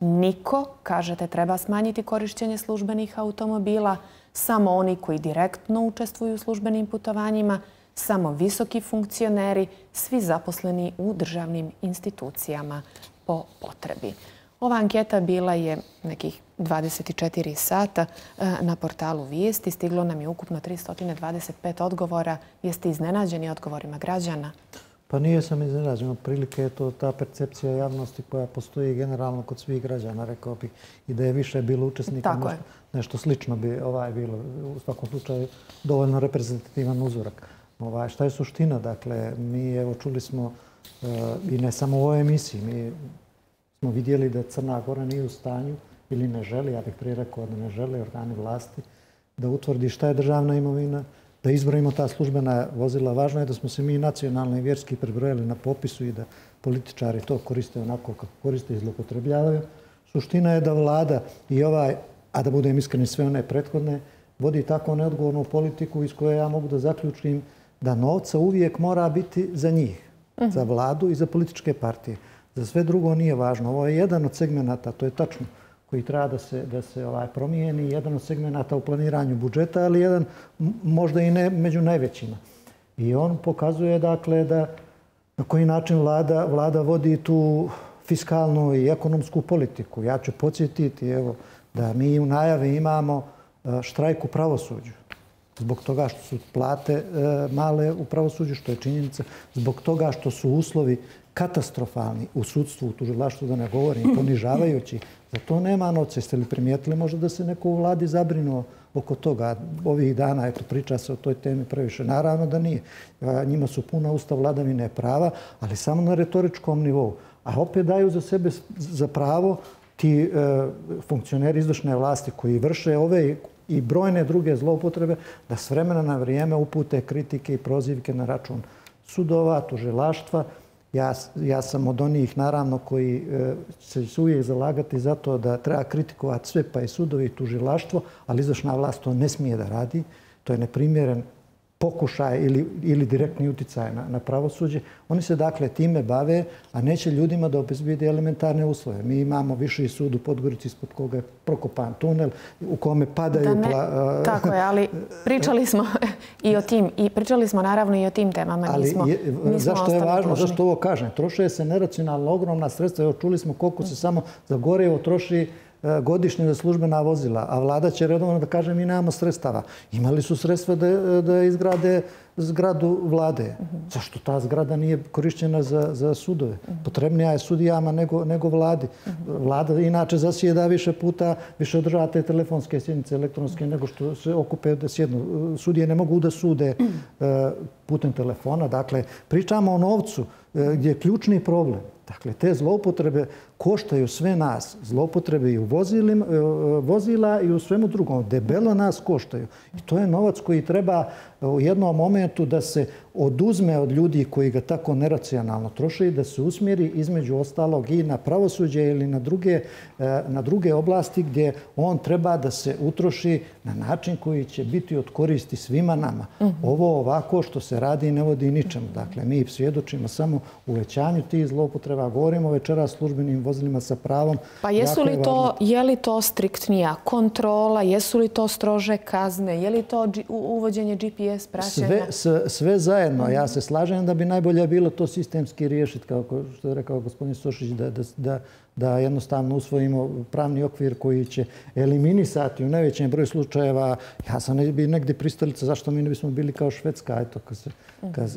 Niko, kažete, treba smanjiti korišćenje službenih automobila, samo oni koji direktno učestvuju u službenim putovanjima, samo visoki funkcioneri, svi zaposleni u državnim institucijama po potrebi. Ova anketa bila je nekih 24 sata na portalu Vijesti. Stiglo nam je ukupno 325 odgovora. Jeste iznenađeni odgovorima građana? Pa nije sam iznenađen. Otprilike je to ta percepcija javnosti koja postoji generalno kod svih građana, rekao bih, i da je više bilo učesnika. Nešto slično bi bilo u svakom slučaju dovoljno reprezentativan uzorak. Šta je suština? Dakle, mi evo čuli smo i ne samo u ovoj emisiji, mi smo vidjeli da Crna Gora nije u stanju ili ne želi, ja bih prije rekao da ne žele organi vlasti, da utvrdi šta je državna imovina, da izbrojimo ta službena vozila. Važno je da smo se mi nacionalno i vjerski prebrojali na popisu i da političari to koriste onako kako koriste i zloupotrebljavaju. Suština je da vlada i a da budem iskren, sve one prethodne, vodi tako neodgovornu politiku iz koje ja mogu da zaključim da novca uvijek mora biti za njih, za vladu i za političke partije. Za sve drugo nije važno. Ovo je jedan od segmenata, to je tačno, koji treba da se promijeni, jedan od segmenata u planiranju budžeta, ali jedan možda i ne među najvećima. I on pokazuje dakle da na koji način vlada vodi tu fiskalnu i ekonomsku politiku. Ja ću podsjetiti da mi u najavi imamo štrajk u pravosuđu. Zbog toga što su plate male u pravosuđu, što je činjenica, zbog toga što su uslovi katastrofalni u sudstvu, u tužilaštvu, da ne govorim, ponižavajući. Za to nema novca. Jeste li primijetili možda da se neko u vladi zabrinuo oko toga? Ovih dana, priča se o toj temi previše. Naravno da nije. Njima su puna usta vladavine prava, ali samo na retoričkom nivou. A opet daju za sebe za pravo ti funkcioneri izvršne vlasti koji vrše ove i brojne druge zloupotrebe da s vremena na vrijeme upute kritike i prozivke na račun sudova, tužilaštva. Ja sam od onih, naravno, koji se uvijek zalagati za to da treba kritikovati sve, pa i sudovi i tužilaštvo, ali izvršna vlast to ne smije da radi. to je neprimjeren pokušaj ili direktni uticaj na pravosuđe. Oni se dakle time bave, a neće ljudima da obezbijede elementarne uslove. Mi imamo Viši sud u Podgorici ispod koga je prokopan tunel u kome padaju... Tako je, ali pričali smo i o tim, i pričali smo naravno i o tim temama. Ali zašto je važno, zašto ovo kažem? Troše se neracionalno ogromna sredstva. Evo čuli smo koliko se samo za gorivo troši godišnje za službena vozila, a vlada će redovno da kaže mi nemamo sredstava. Imali su sredstva da izgrade zgradu vlade. Zašto ta zgrada nije korišćena za sudove? Potrebnija je sudijama nego vladi. Vlada inače zasjeda više puta, više održava te telefonske sjednice elektronske nego što se okupe da sjednu. Sudije ne mogu da sude putem telefona. Dakle, pričamo o novcu gdje je ključni problem. Dakle, te zloupotrebe koštaju sve nas. Zloupotrebe i u vozila i u svemu drugom. Debelo nas koštaju. I to je novac koji treba u jednom momentu da se oduzme od ljudi koji ga tako neracionalno troše i da se usmjeri između ostalog i na pravosuđe ili na druge oblasti gdje on treba da se utroši na način koji će biti od koristi svima nama. Ovo ovako što se radi ne vodi ničemu. Dakle, mi svjedočimo samo uvećanju tih zloupotreba. Govorimo večeras službenim vozilima sa pravom. Pa je li to striktnija kontrola, jesu li to strože kazne, je li to uvođenje GPS praćenja? Sve zajedno. Ja se slažem da bi najbolje bilo to sistemski riješiti, kao što je rekao gospodin Sošić, da jednostavno usvojimo pravni okvir koji će eliminisati u najvećem broju slučajeva. Ja sam negdje pristalica zašto mi ne bismo bili kao Švedska, eto,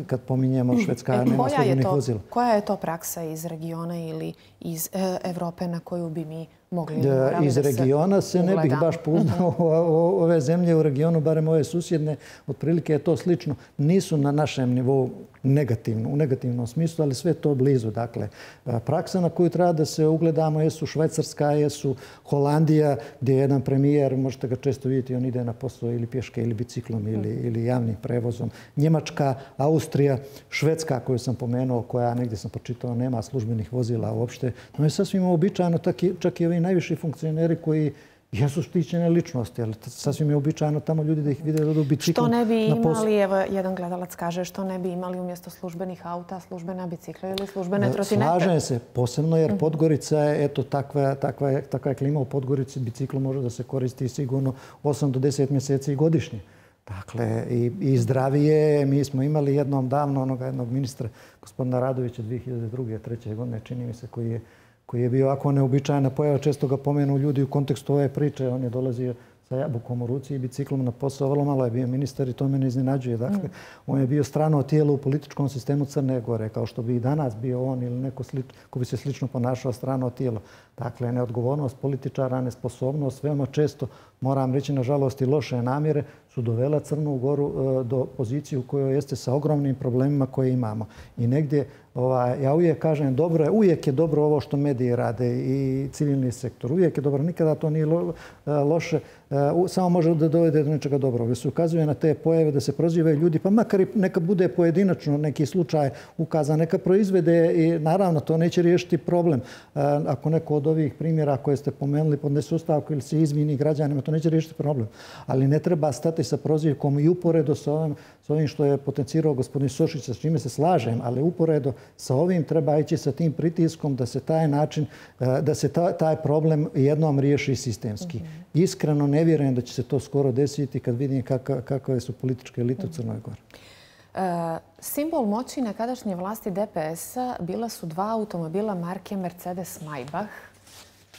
kad pominjemo Švedska nema službenih vozila. Koja je to praksa iz regiona ili iz Evrope na koju bi mi mogli iz regiona se ne bih baš pouzdao ove zemlje u regionu, barem ove susjedne, otprilike je to slično. Nisu na našem nivou u negativnom smislu, ali sve to blizu. Dakle, praksa na koju treba da se ugledamo jesu Švajcarska, jesu Holandija, gdje je jedan premijer, možete ga često vidjeti, on ide na posao ili pješke ili biciklom ili javnim prevozom. Njemačka, Austrija, Švedska koju sam pomenuo, koja negdje sam počitao nema službenih vozila uopšte. To je sasvim uobičajeno, čak i ovi najviši funkcioneri koji jesu štićene ličnosti, ali sasvim je uobičajeno tamo ljudi da ih vide da idu biciklom. Što ne bi imali, evo jedan gledalac kaže, što ne bi imali umjesto službenih auta, službena bicikla ili službene trotinete? Slažem se, posebno jer Podgorica je, eto, takva je klima u Podgorici, biciklo može da se koristi sigurno 8 do 10 mjeseci godišnje. Dakle, i zdravije. Mi smo imali jednom davno jednog ministra, gospodina Radovića, 2002. 2003. godine, čini mi se, koji je bio ovako neobičajna pojava. Često ga pomenu ljudi u kontekstu ove priče. On je dolazio sa jabukom u ruci i biciklom na posao. Vrlo malo je bio ministar i to me ne iznenađuje. Dakle, on je bio strano tijelo u političkom sistemu Crne Gore, kao što bi i danas bio on ili neko ko bi se slično ponašao strano tijelo. Dakle, neodgovornost političara, nesposobnost, veoma često, moram reći, nažalost, i loše namjere su dovela Crnu Goru do pozicije u kojoj jeste sa ogromnim problemima koje imamo. I negdje, ja uvijek kažem, uvijek je dobro ovo što mediji rade i civilni sektor. Uvijek je dobro, nikada to nije loše, samo može da dovede do nečega dobrog. Da se ukazuje na te pojave, da se prozivaju ljudi, pa makar i neka bude pojedinačno neki slučaj ukazan, neka proizvede i naravno to neće riješiti problem. Ako neko od ovih primjera koje ste pomenuli podnese ostavku ili se izvini građanima, to neće riješiti problem. Ali ne treba stati sa prozivkom i uporedo sa ovim što je potencirao gospodin Sošić, sa čime se slažem, ali uporedo sa ovim treba ići sa tim pritiskom da se taj način, da se taj problem jednom riješi sistemski. Iskreno ne vjerujem da će se to skoro desiti kad vidim kakve su političke elite u Crnoj Gori. Simbol moći nekadašnje vlasti DPS-a bila su dva automobila marke Mercedes-Maybach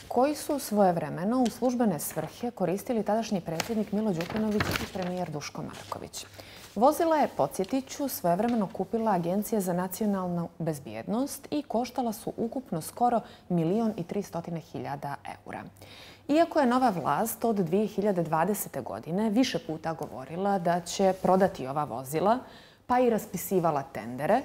koji su svojevremeno u službene svrhe koristili tadašnji predsjednik Milo Đukanović i premijer Duško Marković. Vozila je, podsjetit ću, svojevremeno kupila Agencija za nacionalnu bezbjednost i koštala su ukupno skoro 1.300.000 eura. Iako je nova vlast od 2020. godine više puta govorila da će prodati ova vozila, pa i raspisivala tendere,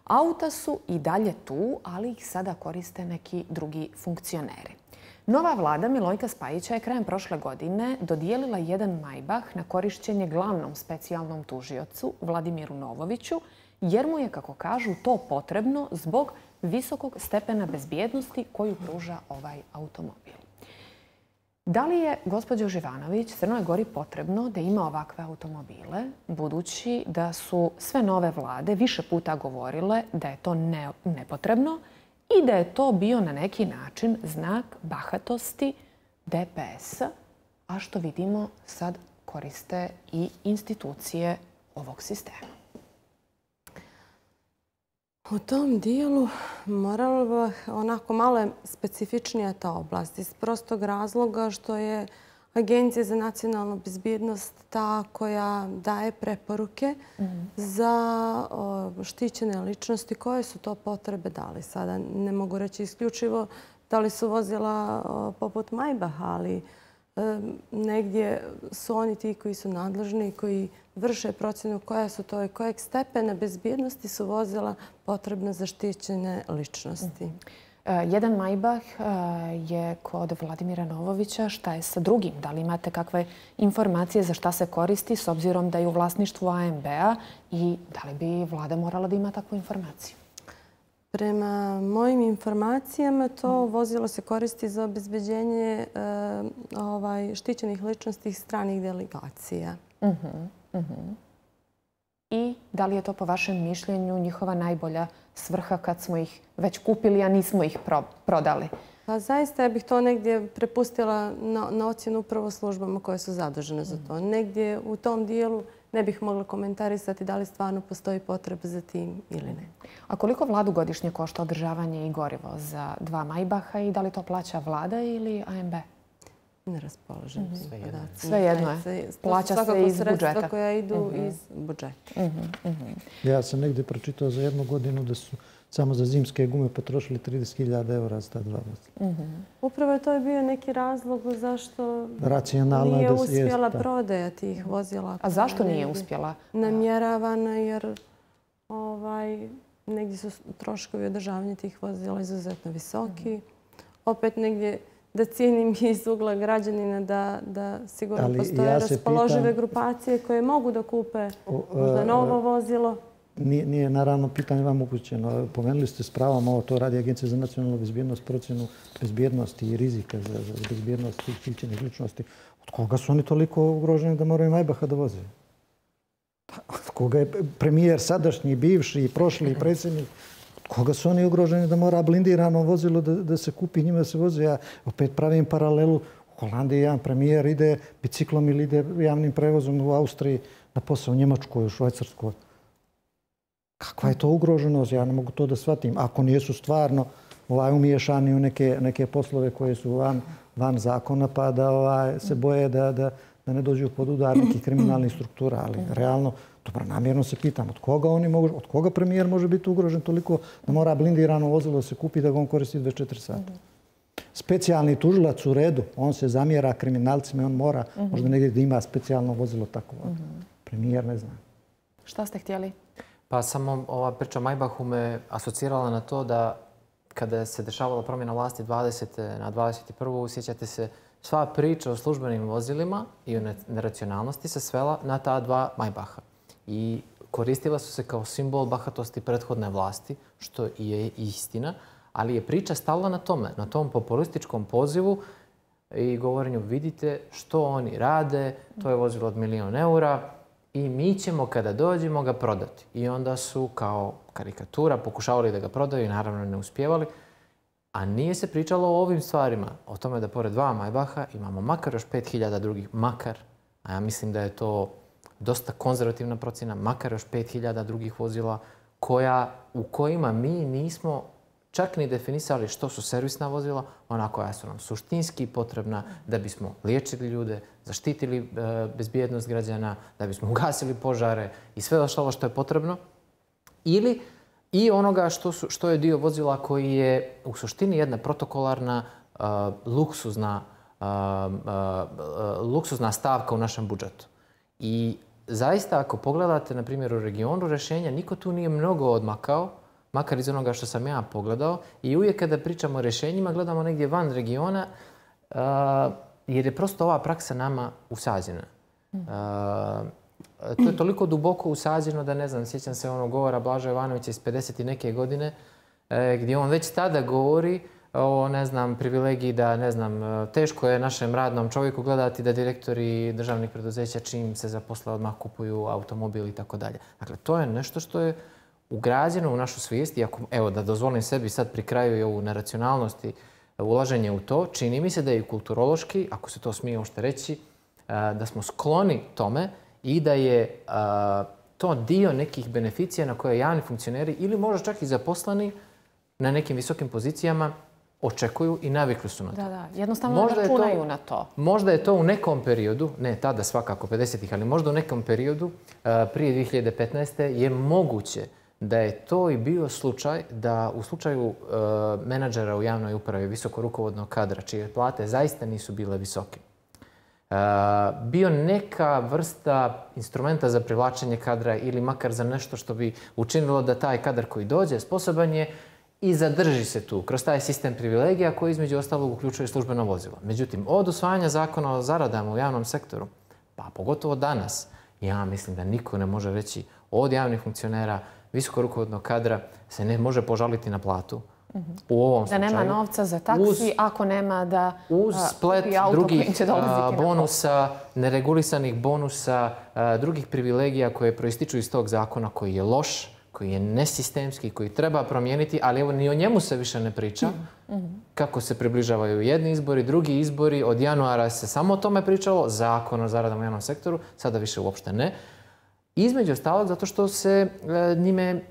auta su i dalje tu, ali ih sada koriste neki drugi funkcioneri. Nova vlada Milojka Spajića je krajem prošle godine dodijelila jedan Maybach na korišćenje glavnom specijalnom tužiocu Vladimiru Novoviću, jer mu je, kako kažu, to potrebno zbog visokog stepena bezbjednosti koju pruža ovaj automobil. Da li je, gospođo Živanović, Crnoj Gori potrebno da ima ovakve automobile, budući da su sve nove vlade više puta govorile da je to nepotrebno i da je to bio na neki način znak bahatosti DPS-a, a što vidimo sad koriste i institucije ovog sistema? U tom dijelu moralo bi onako malo specifičnija ta oblast iz prostog razloga što je Agencija za nacionalnu bezbjednost ta koja daje preporuke za štićene ličnosti. Koje su to potrebe dali? Sada ne mogu reći isključivo da li su vozila poput Maybacha, ali negdje su oni ti koji su nadležni i koji vrše procjenu koja su to i kojeg stepena bezbjednosti su vozila potrebna za štićene ličnosti. Jedan Maybach je kod Vladimira Novovića. Šta je sa drugim? Da li imate kakve informacije za šta se koristi s obzirom da je u vlasništvu AMB-a i da li bi vlada morala da ima takvu informaciju? Prema mojim informacijama to vozilo se koristi za obezbeđenje štićenih ličnosti stranih delegacija. I da li je to po vašem mišljenju njihova najbolja svrha kad smo ih već kupili, a nismo ih prodali? Pa zaista ja bih to negdje prepustila na ocjenu upravo službama koje su zadužene za to. Negdje u tom dijelu ne bih mogla komentarisati da li stvarno postoji potreba za tim ili ne. A koliko vladu godišnje košta održavanje i gorivo za 2 Maybacha i da li to plaća vlada ili AMB? Ne raspolažem tim podacima. Svejedno je. Plaća se iz budžeta. Sredstva koja idu iz budžeta. Ja sam negdje pročitao za 1 godinu da su samo za zimske gume potrošili 30.000 eura za ta 2 vozila. Upravo to je bio neki razlog zašto racionalno nije uspjela prodaja tih vozila. A zašto nije uspjela? Namjeravana jer negdje su troškovi održavanja tih vozila izuzetno visoki. Opet negdje da cijenim iz ugla građanina da sigurno postoje raspoložive grupacije koje mogu da kupe možda novo vozilo. Nije naravno pitanje vam upućeno. Pomenuli ste s pravom, ovo to radi Agencija za nacionalnu bezbjednost, procjenu bezbjednosti i rizika za bezbjednost tih štićenih ličnosti. Od koga su oni toliko ugroženi da moraju Maybacha da voze? Od koga je premijer sadašnji, bivši, prošli predsjednik? Od koga su oni ugroženi da mora blindirano vozilo da se kupi, njima se voze? Ja opet pravim paralelu. U Holandiji jedan premijer ide biciklom ili ide javnim prevozom u Austriji na posao, u Njemačkoj, u Švajcarskoj. Kakva je to ugroženost? Ja ne mogu to da shvatim. Ako nisu stvarno umiješani u neke poslove koje su van zakona, pa da se boje da ne dođu pod udar nekih kriminalnih struktura. Ali realno, dobronamjerno se pitam od koga premijer može biti ugrožen toliko da mora blindirano vozilo da se kupi da ga on koristi 24 sata. Specijalni tužilac u redu, on se zamjera kriminalcima i on mora možda negdje da ima specijalno vozilo tako. Premijer ne zna. Šta ste htjeli? Pa samo ova priča Maybachu me asocirala na to da kada se dešavala promjena vlasti 20. na 21. sjećate se, sva priča o službenim vozilima i o neracionalnosti se svela na ta 2 Maybacha. I koristila su se kao simbol bahatosti prethodne vlasti, što i je istina, ali je priča stala na tome, na tom populističkom pozivu i govorenju vidite što oni rade, to je vozilo od 1.000.000 eura, i mi ćemo kada dođemo ga prodati. I onda su kao karikatura pokušavali da ga prodaju i naravno ne uspjevali. A nije se pričalo o ovim stvarima. O tome da pored 2 Maybacha imamo makar još 5.000 drugih. Makar. A ja mislim da je to dosta konzervativna procjena. Makar još 5.000 drugih vozila u kojima mi nismo čak ni definisali što su servisna vozila, ona koja su nam suštinski potrebna da bismo liječili ljude, zaštitili bezbjednost građana, da bismo ugasili požare i sve ostalo što je potrebno. Ili i onoga što je dio vozila koji je u suštini jedna protokolarna, luksuzna stavka u našem budžetu. I zaista ako pogledate, na primjer, u regionu rješenja, niko tu nije mnogo odmakao, makar iz onoga što sam ja pogledao. I uvijek kada pričamo o rješenjima, gledamo negdje van regiona, jer je prosto ova praksa nama usađena. To je toliko duboko usađeno da ne znam, sjećam se onog govora Blaža Jovanovića iz 50 i neke godine, gdje on već tada govori o, ne znam, privilegiji da, ne znam, teško je našem radnom čovjeku gledati da direktori državnih preduzeća čim se zaposle odmah kupuju automobil i tako dalje. Dakle, to je nešto što je ugrađeno u našu svijest i ako, evo, da dozvolim sebi sad pri kraju i ovu neracionalnost i ulaženje u to, čini mi se da je i kulturološki, ako se to smije uopšte reći, da smo skloni tome i da je to dio nekih beneficija na koje javni funkcioneri ili možda čak i zaposleni na nekim visokim pozicijama očekuju i navikli su na to. Da, jednostavno računaju na to. Možda je to u nekom periodu, ne tada svakako 50-ih, ali možda u nekom periodu prije 2015. je moguće da je to i bio slučaj da u slučaju menadžera u javnoj upravi, visoko rukovodnog kadra, čije plate zaista nisu bile visoke, bio neka vrsta instrumenta za privlačenje kadra ili makar za nešto što bi učinilo da taj kadar koji dođe sposoban je i zadrži se tu kroz taj sistem privilegija koji između ostalog uključuje službeno vozilo. Međutim, od usvajanja zakona o zaradama u javnom sektoru, pa pogotovo danas, ja mislim da niko ne može reći od javnih funkcionera, visoko rukovodnog kadra se ne može požaliti na platu. U ovom slučaju. Da nema novca za taksi ako nema da uz splet drugih bonusa, neregulisanih bonusa, drugih privilegija koje proističu iz tog zakona koji je loš, koji je nesistemski, koji treba promijeniti, ali evo ni o njemu se više ne priča. Kako se približavaju jedni izbori, drugi izbori. Od januara se samo o tome pričalo, zakon o zaradama u javnom sektoru, sada više uopšte ne. Između ostalog zato što se njime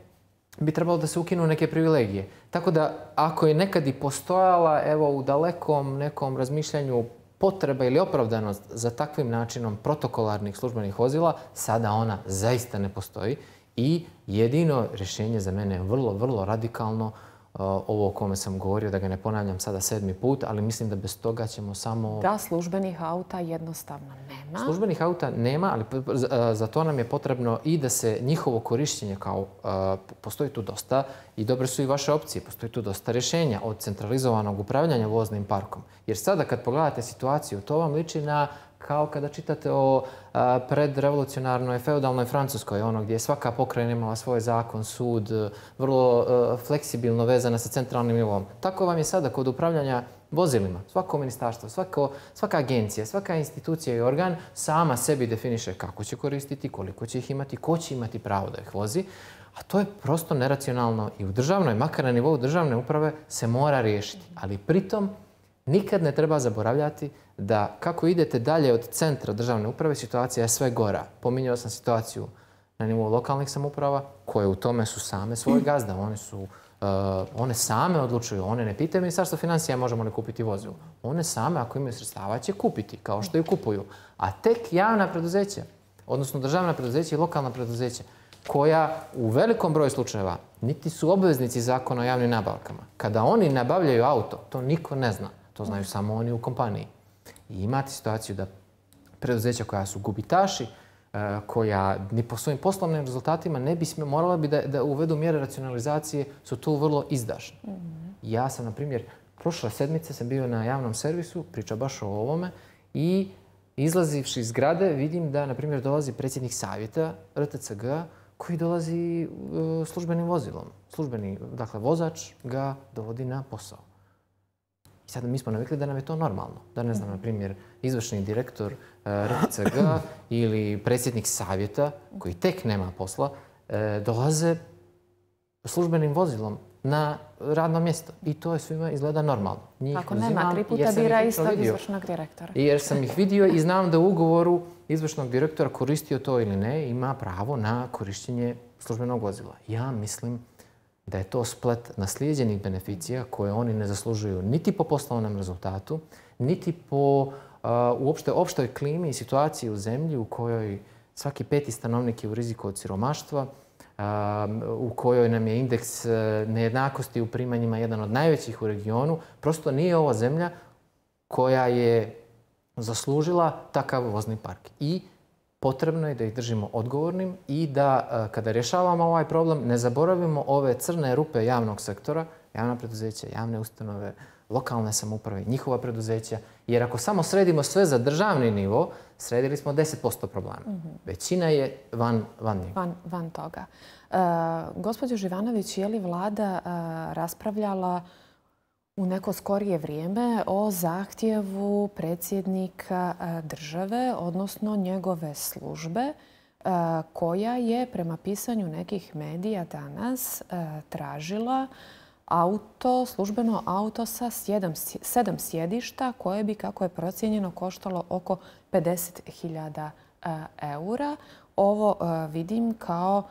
bi trebalo da se ukinu neke privilegije. Tako da ako je nekad i postojala evo u dalekom nekom razmišljanju potreba ili opravdanost za takvim načinom protokolarnih službenih vozila, sada ona zaista ne postoji i jedino rješenje za mene je vrlo, vrlo radikalno, ovo o kome sam govorio, da ga ne ponavljam sada 7. put, ali mislim da bez toga ćemo samo... Da, službenih auta jednostavno nema. Službenih auta nema, ali za to nam je potrebno i da se njihovo korištenje kao... Postoji tu dosta i dobre su i vaše opcije. Postoji tu dosta rješenja od centralizovanog upravljanja voznim parkom. Jer sada kad pogledate situaciju, to vam liči na kao kada čitate o predrevolucionarnoj feudalnoj Francuskoj, ono gdje je svaka pokrajina imala svoj zakon, sud, vrlo fleksibilno vezana sa centralnim nivom. Tako vam je sada kod upravljanja vozilima. Svako ministarstvo, svaka agencija, svaka institucija i organ sama sebi definiše kako će koristiti, koliko će ih imati, ko će imati pravo da ih vozi. A to je prosto neracionalno i u državnoj, makar na nivou državne uprave, se mora riješiti. Ali pritom nikad ne treba zaboravljati da kako idete dalje od centra državne uprave, situacija je sve gora. Pominjao sam situaciju na nivou lokalnih samouprava, koje u tome su same svoj gazda. One same odlučuju. One ne pitaju Ministarstvo financija možemo li kupiti vozilo. One same, ako imaju sredstava, će kupiti, kao što i kupuju. A tek javna preduzeća, odnosno državna preduzeća i lokalna preduzeća, koja u velikom broju slučajeva niti su obveznici zakona o javnim nabavkama. Kada oni nabavljaju auto, to niko ne zna. To znaju samo oni u kompaniji. I imate situaciju da preduzeća koja su gubitaši, koja ni po svojim poslovnim rezultatima ne bi morala bi da uvedu mjere racionalizacije, su tu vrlo izdašne. Ja sam, na primjer, prošle sedmice sam bio na javnom servisu, priča baš o ovome, i izlazivši iz zgrade vidim da, na primjer, dolazi predsjednik savjeta RTCG koji dolazi službenim vozilom. Službeni, dakle, vozač ga dovodi na posao. I sada mi smo navikli da nam je to normalno. Da, ne znam, na primjer, izvršni direktor RTCG ili predsjednik savjeta, koji tek nema posla, dolaze službenim vozilom na radno mjesto. I to je svima izgleda normalno. Ako nema, 3 puta bira istog izvršnog direktora. Jer sam ih vidio i znam da u ugovoru izvršnog direktora, koristio to ili ne, ima pravo na korištenje službenog vozila. Ja mislim da je to splet naslijeđenih beneficija koje oni ne zaslužuju niti po poslovnom rezultatu, niti po uopšte opštoj klimi i situaciji u zemlji u kojoj svaki 5. stanovnik je u riziku od siromaštva, u kojoj nam je indeks nejednakosti u primanjima jedan od najvećih u regionu. Prosto nije ovo zemlja koja je zaslužila takav vozni park. I potrebno je da ih držimo odgovornim i da kada rješavamo ovaj problem ne zaboravimo ove crne rupe javnog sektora, javna preduzeća, javne ustanove, lokalne samouprave, njihova preduzeća. Jer ako samo sredimo sve za državni nivo, sredili smo 10% problema. Većina je van njega. Van toga. Gospođo Živanović, je li vlada raspravljala u neko skorije vrijeme o zahtjevu predsjednika države, odnosno njegove službe, koja je prema pisanju nekih medija danas tražila službeno auto sa 7 sjedišta koje bi, kako je procijenjeno, koštalo oko 50.000 eura. Ovo vidim kao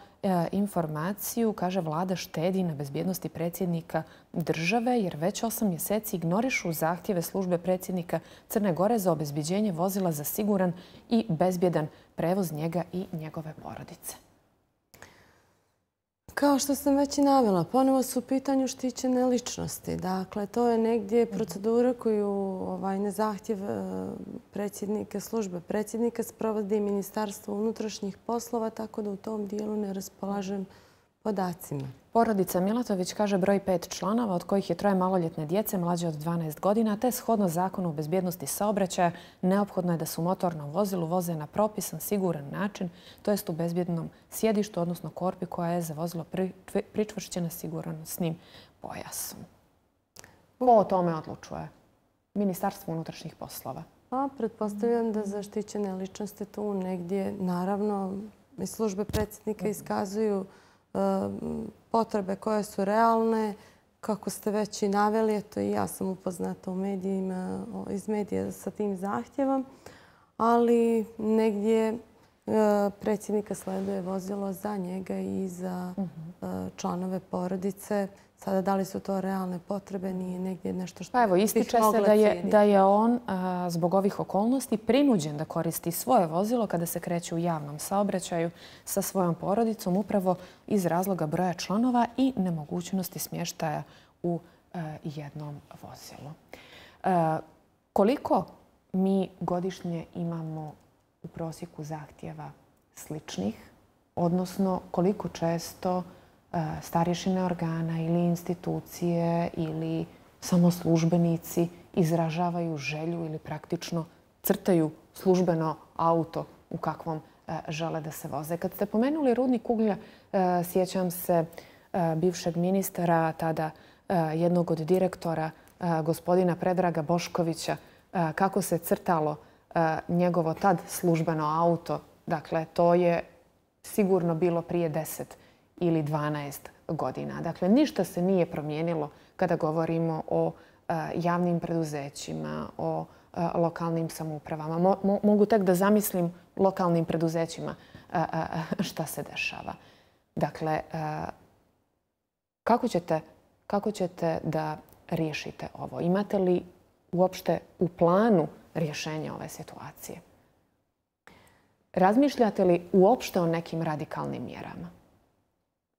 informaciju, kaže vlada štedi na bezbjednosti predsjednika države jer već 8 mjeseci ignorišu zahtjeve službe predsjednika Crne Gore za obezbjeđenje vozila za siguran i bezbjedan prevoz njega i njegove porodice. Kao što sam već i navela, ponovo su u pitanju štićene ličnosti. Dakle, to je negdje procedura koju na zahtjev predsjednika, službe predsjednika sprovodi Ministarstvo unutrašnjih poslova, tako da u tom dijelu ne raspolažem podacima. Porodica Milatović kaže broj 5 članova, od kojih je 3 maloljetne djece mlađe od 12 godina, te shodno Zakonu o bezbjednosti saobraćaja neophodno je da su motorno vozilu voze na propisan, siguran način, to jest u bezbjednom sjedištu, odnosno korpi koja je za vozilo pričvršćena sigurnosnim pojasom. Ko o tome odlučuje? Ministarstvo unutrašnjih poslova. Pretpostavljam da zaštićene ličnosti tu negdje, naravno, i službe predsjednika iskazuju potrebe koje su realne, kako ste već i naveli, eto i ja sam upoznata iz medija sa tim zahtjevom, ali negdje predsjednika sleduje vozilo za njega i za članove porodice. Sada, da li su to realne potrebe, nije negdje nešto što evo, ističe se da je on zbog ovih okolnosti prinuđen da koristi svoje vozilo kada se kreće u javnom saobraćaju sa svojom porodicom, upravo iz razloga broja članova i nemogućnosti smještaja u jednom vozilu. Koliko mi godišnje imamo u prosjeku zahtjeva sličnih, odnosno koliko često starješine organa ili institucije ili samo službenici izražavaju želju ili praktično crtaju službeno auto u kakvom žele da se voze. Kad ste pomenuli rudnik uglja, sjećam se bivšeg ministara, tada jednog od direktora, gospodina Predraga Boškovića, kako se crtalo njegovo tad službeno auto. Dakle, to je sigurno bilo prije 10 ili 12 godina. Dakle, ništa se nije promijenilo kada govorimo o javnim preduzećima, o lokalnim samoupravama. Mogu tek da zamislim lokalnim preduzećima šta se dešava. Dakle, kako ćete da riješite ovo? Imate li uopšte u planu rješenja ove situacije? Razmišljate li uopšte o nekim radikalnim mjerama?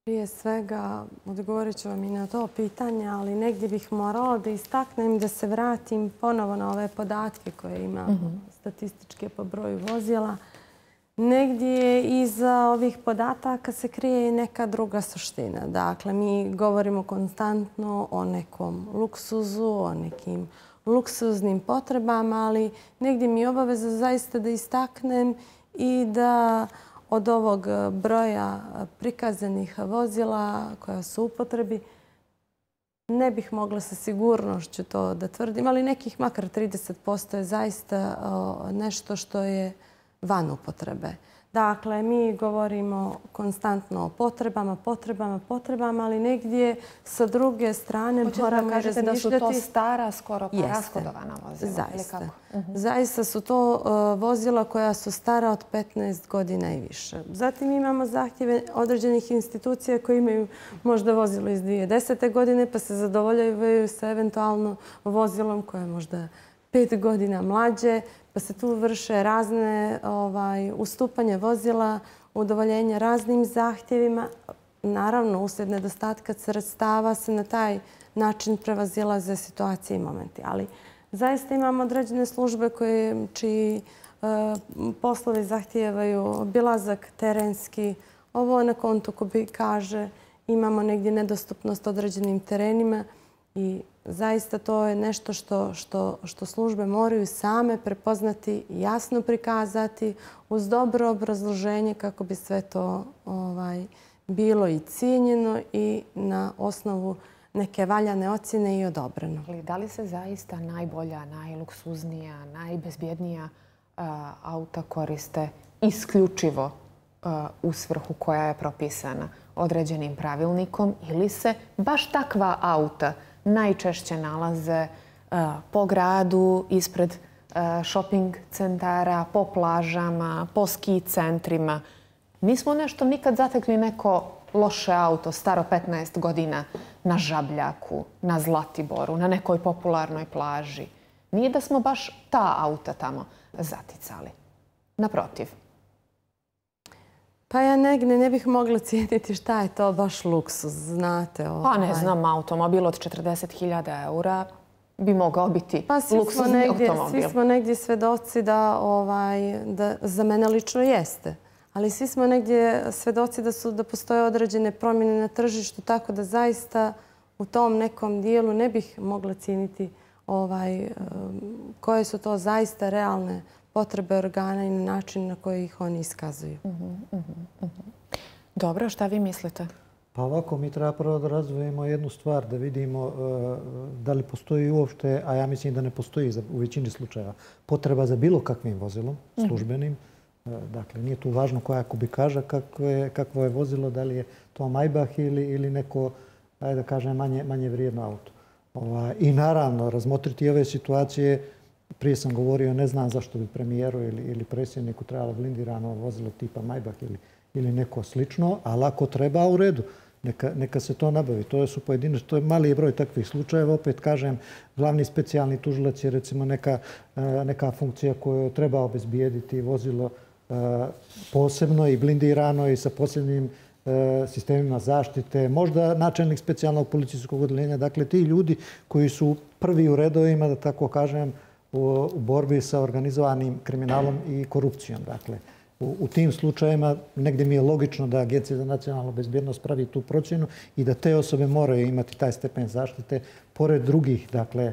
Prije svega, odgovorit ću vam i na to pitanje, ali negdje bih morala da istaknem da se vratim ponovo na ove podatke koje imamo statističke po broju vozila. Negdje iza ovih podataka se krije i neka druga suština. Dakle, mi govorimo konstantno o nekom luksuzu, o nekim luksuznim potrebama, ali negdje mi je obaveza zaista da istaknem i da od ovog broja prikazanih vozila koja su u upotrebi ne bih mogla sa sigurnošću to da tvrdim, ali nekih makar 30% je zaista nešto što je van upotrebe. Dakle, mi govorimo konstantno o potrebama, ali negdje sa druge strane moramo razmišljati... da su to stara, skoro pa rashodovana vozila. Zaista. Zaista su to vozila koja su stara od 15 godina i više. Zatim imamo zahtjeve određenih institucija koje imaju možda vozilo iz 2010. godine pa se zadovoljavaju sa eventualno vozilom koje je možda 5 godina mlađe, pa se tu vrše razne ustupanje vozila, udovoljenja raznim zahtjevima. Naravno, uslijed nedostatka sredstava se na taj način prevazilaze situacije i momenti. Ali zaista imamo određene službe čiji poslovi zahtijevaju obilazak terenski. Ovo na kontu ko bi kaže imamo negdje nedostupnost određenim terenima i zaista to je nešto što službe moraju same prepoznati, jasno prikazati uz dobro obrazloženje kako bi sve to bilo i cijenjeno i na osnovu neke valjane ocjene i odobreno. Da li se zaista najbolja, najluksuznija, najbezbjednija auta koriste isključivo u svrhu koja je propisana određenim pravilnikom ili se baš takva auta najčešće nalaze po gradu, ispred shopping centara, po plažama, po ski centrima? Nismo nešto nikad zatekli neko loše auto, staro 15 godina, na Žabljaku, na Zlatiboru, na nekoj popularnoj plaži. Nije da smo baš ta auta tamo zaticali. Naprotiv. Pa ja negdje ne bih mogla cijeniti šta je to baš luksuz, znate. Pa ne znam, automobil od 40.000 eura bi mogao biti luksuzni automobil. Svi smo negdje svedoci da za mene lično jeste. Ali svi smo negdje svedoci da postoje određene promjene na tržištu, tako da zaista u tom nekom dijelu ne bih mogla cijeniti koje su to zaista realne potrebe organa i način na koji ih oni iskazuju. Dobro, šta vi mislite? Pa ovako, mi treba prvo da razvojimo jednu stvar, da vidimo da li postoji uopšte, a ja mislim da ne postoji u većini slučajeva, potreba za bilo kakvim vozilom, službenim. Dakle, nije tu važno koja kubikaža, kakvo je vozilo, da li je to Maybach ili neko, ajde da kažem, manje vrijedno auto. I naravno, razmotriti ove situacije. Prije sam govorio, ne znam zašto bi premijeru ili predsjedniku trebalo blindirano vozilo tipa Maybach ili neko slično, ali ako treba, u redu. Neka se to nabavi. To su pojedinačni, to je mali broj takvih slučajeva. Opet kažem, glavni specijalni tužilac je recimo neka funkcija koju treba obezbijediti vozilo posebno i blindirano i sa posebnim sistemima zaštite. Možda načelnik specijalnog policijskog odeljenja. Dakle, ti ljudi koji su prvi u redovima, da tako kažem, u borbi sa organizovanim kriminalom i korupcijom. Dakle, u tim slučajevima negdje mi je logično da Agencija za nacionalnu bezbjednost pravi tu procjenu i da te osobe moraju imati taj stepen zaštite pored drugih, dakle,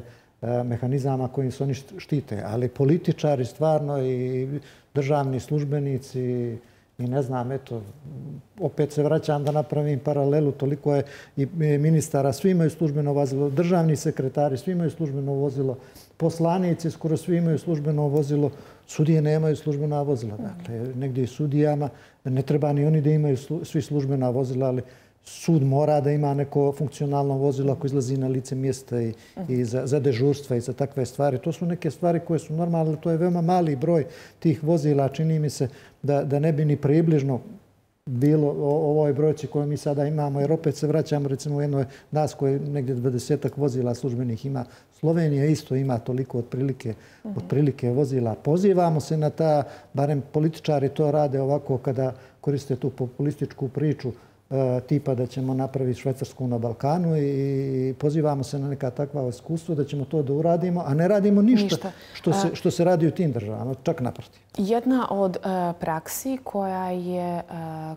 mehanizama kojim se oni štite. Ali političari stvarno i državni službenici i ne znam, eto, opet se vraćam da napravim paralelu, toliko je i ministara, svi imaju službeno vozilo, državni sekretari, svi imaju službeno vozilo, poslanici skoro svi imaju službeno vozilo, sudije nemaju službena vozila. Dakle, negdje i sudijama ne treba ni oni da imaju svi službena vozila, ali sud mora da ima neko funkcionalno vozilo ako izlazi na lice mjesta i za dežurstva i za takve stvari. To su neke stvari koje su normalne, to je veoma mali broj tih vozila. Čini mi se da ne bi ni približno bilo ovoj brojci koju mi sada imamo, jer opet se vraćamo recimo u jednoj nas koje negdje 20 vozila službenih ima. Slovenija isto ima toliko otprilike vozila. Pozivamo se na ta, barem političari to rade ovako kada koriste tu populističku priču tipa da ćemo napraviti Švajcarsku na Balkanu i pozivamo se na neka takva iskustva da ćemo to da uradimo, a ne radimo ništa što se radi u tim državama, čak naprotiv. Jedna od praksi koja je,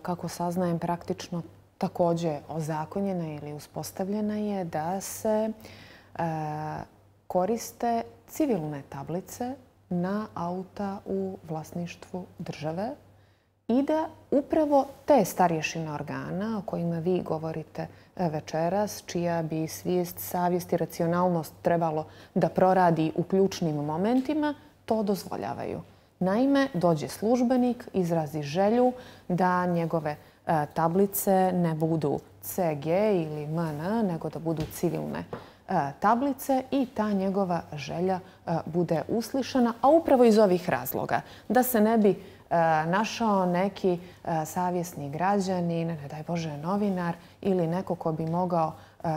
kako saznajem, praktično također ozakonjena ili uspostavljena je da se koriste civilne tablice na auta u vlasništvu države i da upravo te starješine organa o kojima vi govorite večeras, čija bi svijest, savjest i racionalnost trebalo da proradi u ključnim momentima, to dozvoljavaju. Naime, dođe službenik, izrazi želju da njegove tablice ne budu CG ili MN, nego da budu civilne tablice i ta njegova želja bude uslišana, a upravo iz ovih razloga. Da se ne bi našao neki savjesni građanin, ne daj Bože novinar ili neko ko bi mogao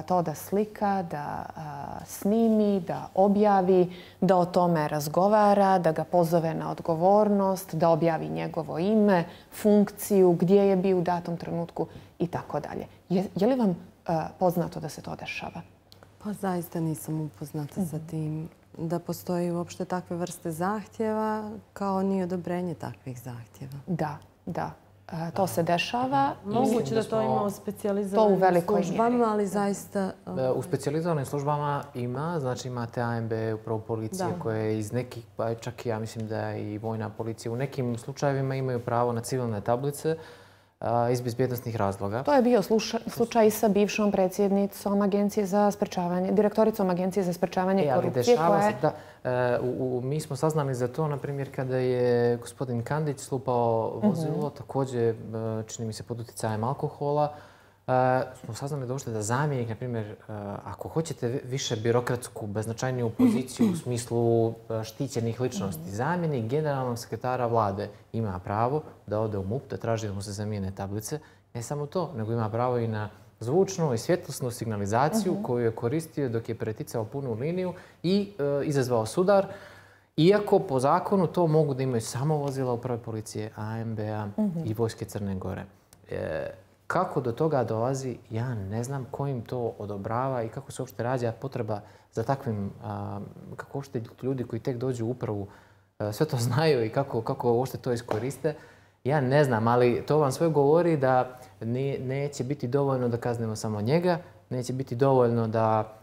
to da slika, da snimi, da objavi, da o tome razgovara, da ga pozove na odgovornost, da objavi njegovo ime, funkciju, gdje je bio u datom trenutku i tako dalje. Je li vam poznato da se to dešava? Pa zaista nisam upoznata sa tim da postoji uopšte takve vrste zahtjeva kao ni odobrenje takvih zahtjeva. Da. To se dešava. Moguće da to ima u specijalizovanim službama, ali zaista... U specijalizovanim službama ima, znači imate ANB, upravo policije koje iz nekih, pa čak i ja mislim da i vojna policija u nekim slučajevima imaju pravo na civilne tablice. iz bezbjednostnih razloga. To je bio slučaj sa bivšom predsjednicom Agencije za sprečavanje, direktoricom Agencije za sprečavanje korupcije. Mi smo saznali za to, na primjer, kada je gospodin Kandić slupao vozilo, također, čini mi se, pod utjecajem alkohola. Smo saznali da zamjenik, na primjer, ako hoćete više birokratsku, beznačajniju poziciju u smislu štićenih ličnosti, zamjenik generalnog sekretara vlade ima pravo da ode u MUP, da traži da mu se zamijene tablice. Ne samo to, nego ima pravo i na zvučnu i svjetlosnu signalizaciju koju je koristio dok je preticao punu liniju i izazvao sudar. Iako po zakonu to mogu da imaju samo vozila uprave policije, AMB-a i Vojske Crne Gore. Kako do toga dolazi, ja ne znam ko im to odobrava i kako se uopšte rađa potreba za takvim, kako uopšte ljudi koji tek dođu u upravu sve to znaju i kako uopšte to iskoriste. Ja ne znam, ali to vam sve govori da neće biti dovoljno da kaznimo samo njega, neće biti dovoljno da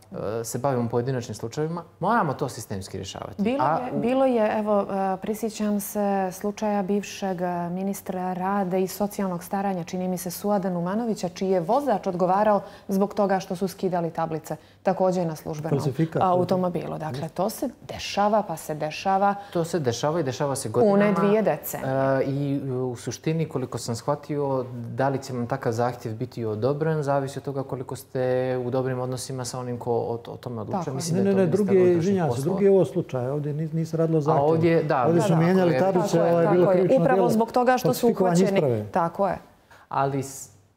se bavimo pojedinačnim slučajevima. Moramo to sistemski rješavati. Bilo je, evo, prisjećam se slučaja bivšeg ministra rada i socijalnog staranja, čini mi se Suada Numanovića, čiji je vozač odgovarao zbog toga što su skidali tablice također na službenom automobilu. Dakle, to se dešava, pa se dešava. To se dešava i dešava se godinama. Pune 2 decenije. I u suštini, koliko sam shvatio, da li će vam takav zahtjev biti odobren, zavisi od toga koliko ste u dobrim odnosima sa onim ko o tome odlučuje. Ne, drugi je ovo slučaj. Ovdje nisi radilo zahtjev. Ovdje su mijenjali tablice, je bilo krivično djelo. Upravo zbog toga što su uhvaćeni. Tako je. Ali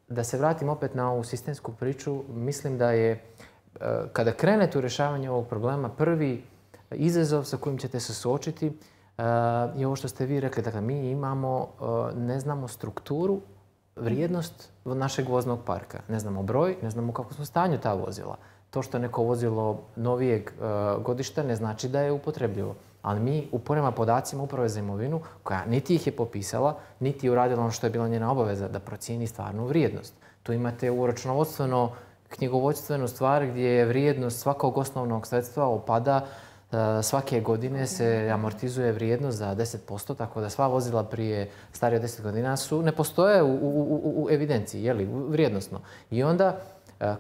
da se vratim opet na ovu sistemsku priču, mislim da je kada krenete u rješavanje ovog problema, prvi izazov sa kojim ćete se suočiti je ovo što ste vi rekli. Dakle, mi imamo, ne znamo strukturu, vrijednost našeg voznog parka. Ne znamo broj, ne znamo kako su stanju ta vozila. To što je neko vozilo novijeg godišta ne znači da je upotrebljivo. Ali mi prema podacima Uprave za imovinu, koja niti ih je popisala, niti je uradila ono što je bila njena obaveza, da procijeni stvarnu vrijednost. Tu imate u računovodstveno knjigovodstvenu stvar gdje je vrijednost svakog osnovnog sredstva opada. Svake godine se amortizuje vrijednost za 10%, tako da sva vozila prije starije od 10 godina ne postoje u evidenciji, vrijednosno. I onda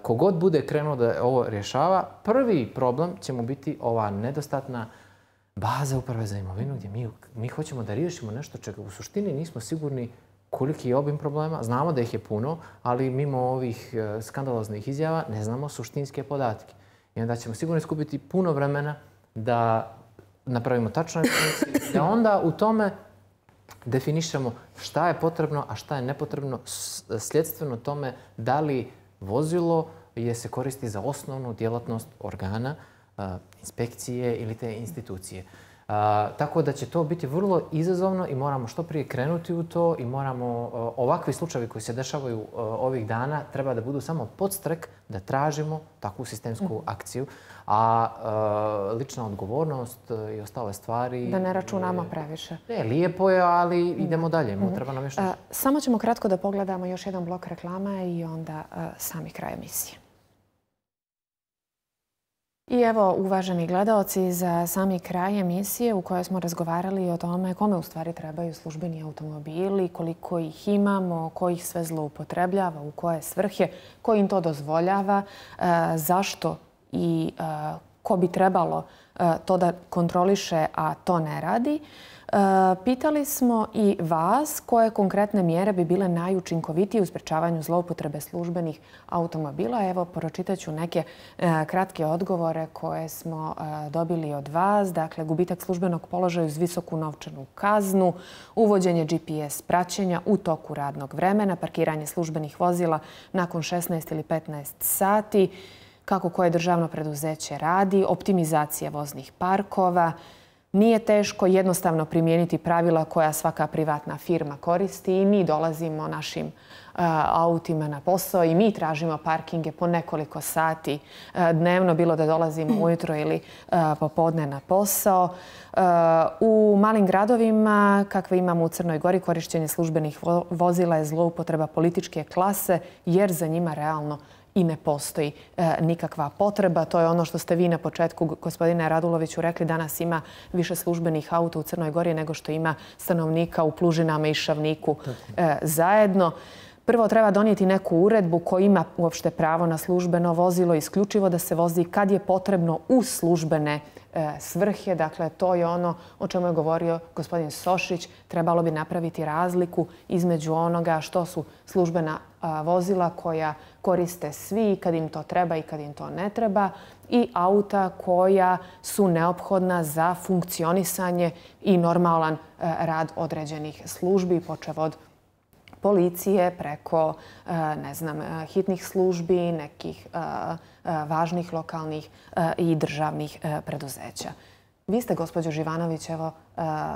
kogod bude krenuo da ovo rješava, prvi problem će mu biti ova nedostatna baza Uprave za imovinu gdje mi hoćemo da riješimo nešto čega u suštini nismo sigurni koliki je obim problema. Znamo da ih je puno, ali mimo ovih skandaloznih izjava ne znamo suštinske podatke. I onda ćemo sigurno iskupiti puno vremena da napravimo tačnu evidenciju, da onda u tome definišemo šta je potrebno, a šta je nepotrebno, sljedstveno tome da li vozilo se koristi za osnovnu djelatnost organa, inspekcije ili te institucije. Tako da će to biti vrlo izazovno i moramo što prije krenuti u to i moramo, ovakvi slučajevi koji se dešavaju ovih dana, treba da budu samo podstrek da tražimo takvu sistemsku akciju, a lična odgovornost i ostale stvari... Da ne računamo previše. Ne, lijepo je, ali idemo dalje. Treba nam još nešto. Samo ćemo kratko da pogledamo još jedan blok reklama i onda sami kraj emisije. I evo, uvaženi gledaoci, za sami kraj emisije u kojoj smo razgovarali o tome kome u stvari trebaju službeni automobili, koliko ih imamo, ko ih sve zloupotrebljava, u koje svrhe, ko im to dozvoljava, zašto i ko bi trebalo to da kontroliše, a to ne radi. Pitali smo i vas koje konkretne mjere bi bile najučinkovitije u sprečavanju zloupotrebe službenih automobila. Evo, pročitat ću neke kratke odgovore koje smo dobili od vas. Dakle, gubitak službenog položaja uz visoku novčanu kaznu, uvođenje GPS praćenja u toku radnog vremena, parkiranje službenih vozila nakon 16 ili 15 sati, kako koje državno preduzeće radi, optimizacija voznih parkova. Nije teško jednostavno primijeniti pravila koja svaka privatna firma koristi i mi dolazimo našim autima na posao i mi tražimo parkinge po nekoliko sati dnevno, bilo da dolazimo ujutro ili popodne na posao. U malim gradovima, kakve imamo u Crnoj Gori, korištenje službenih vozila je zloupotreba političke klase jer za njima realno i ne postoji nikakva potreba. To je ono što ste vi na početku, gospodine Raduloviću, rekli. Danas ima više službenih auta u Crnoj Gori nego što ima stanovnika u Plužinama i Šavniku zajedno. Prvo treba donijeti neku uredbu koja ima uopšte pravo na službeno vozilo, isključivo da se vozi kad je potrebno u službene svrhe. Dakle, to je ono o čemu je govorio gospodin Sošić. Trebalo bi napraviti razliku između onoga što su službena vozila koja koriste svi kad im to treba i kad im to ne treba i auta koja su neophodna za funkcionisanje i normalan rad određenih službi, počev od policije, preko, ne znam, hitnih službi, nekih važnih lokalnih i državnih preduzeća. Vi ste, gospođo Živanović, evo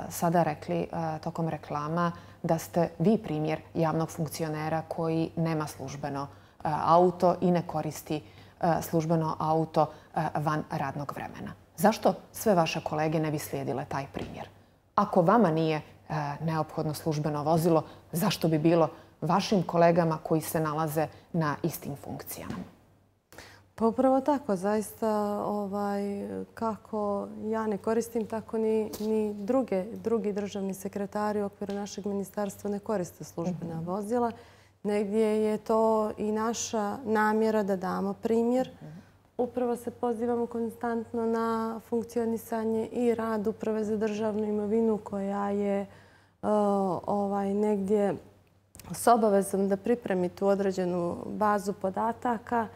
sada rekli tokom reklama da ste vi primjer javnog funkcionera koji nema službeno auto i ne koristi službeno auto van radnog vremena. Zašto sve vaše kolege ne bi slijedile taj primjer? Ako vama nije neophodno službeno vozilo, zašto bi bilo vašim kolegama koji se nalaze na istim funkcijama? Pa upravo tako, zaista kako ja ne koristim, tako ni drugi državni sekretari u okviru našeg ministarstva ne koriste službena vozila. Negdje je to i naša namjera da damo primjer. Upravo se pozivamo konstantno na funkcionisanje i rad Uprave za državnu imovinu koja je negdje s obavezom da pripremi tu određenu bazu podataka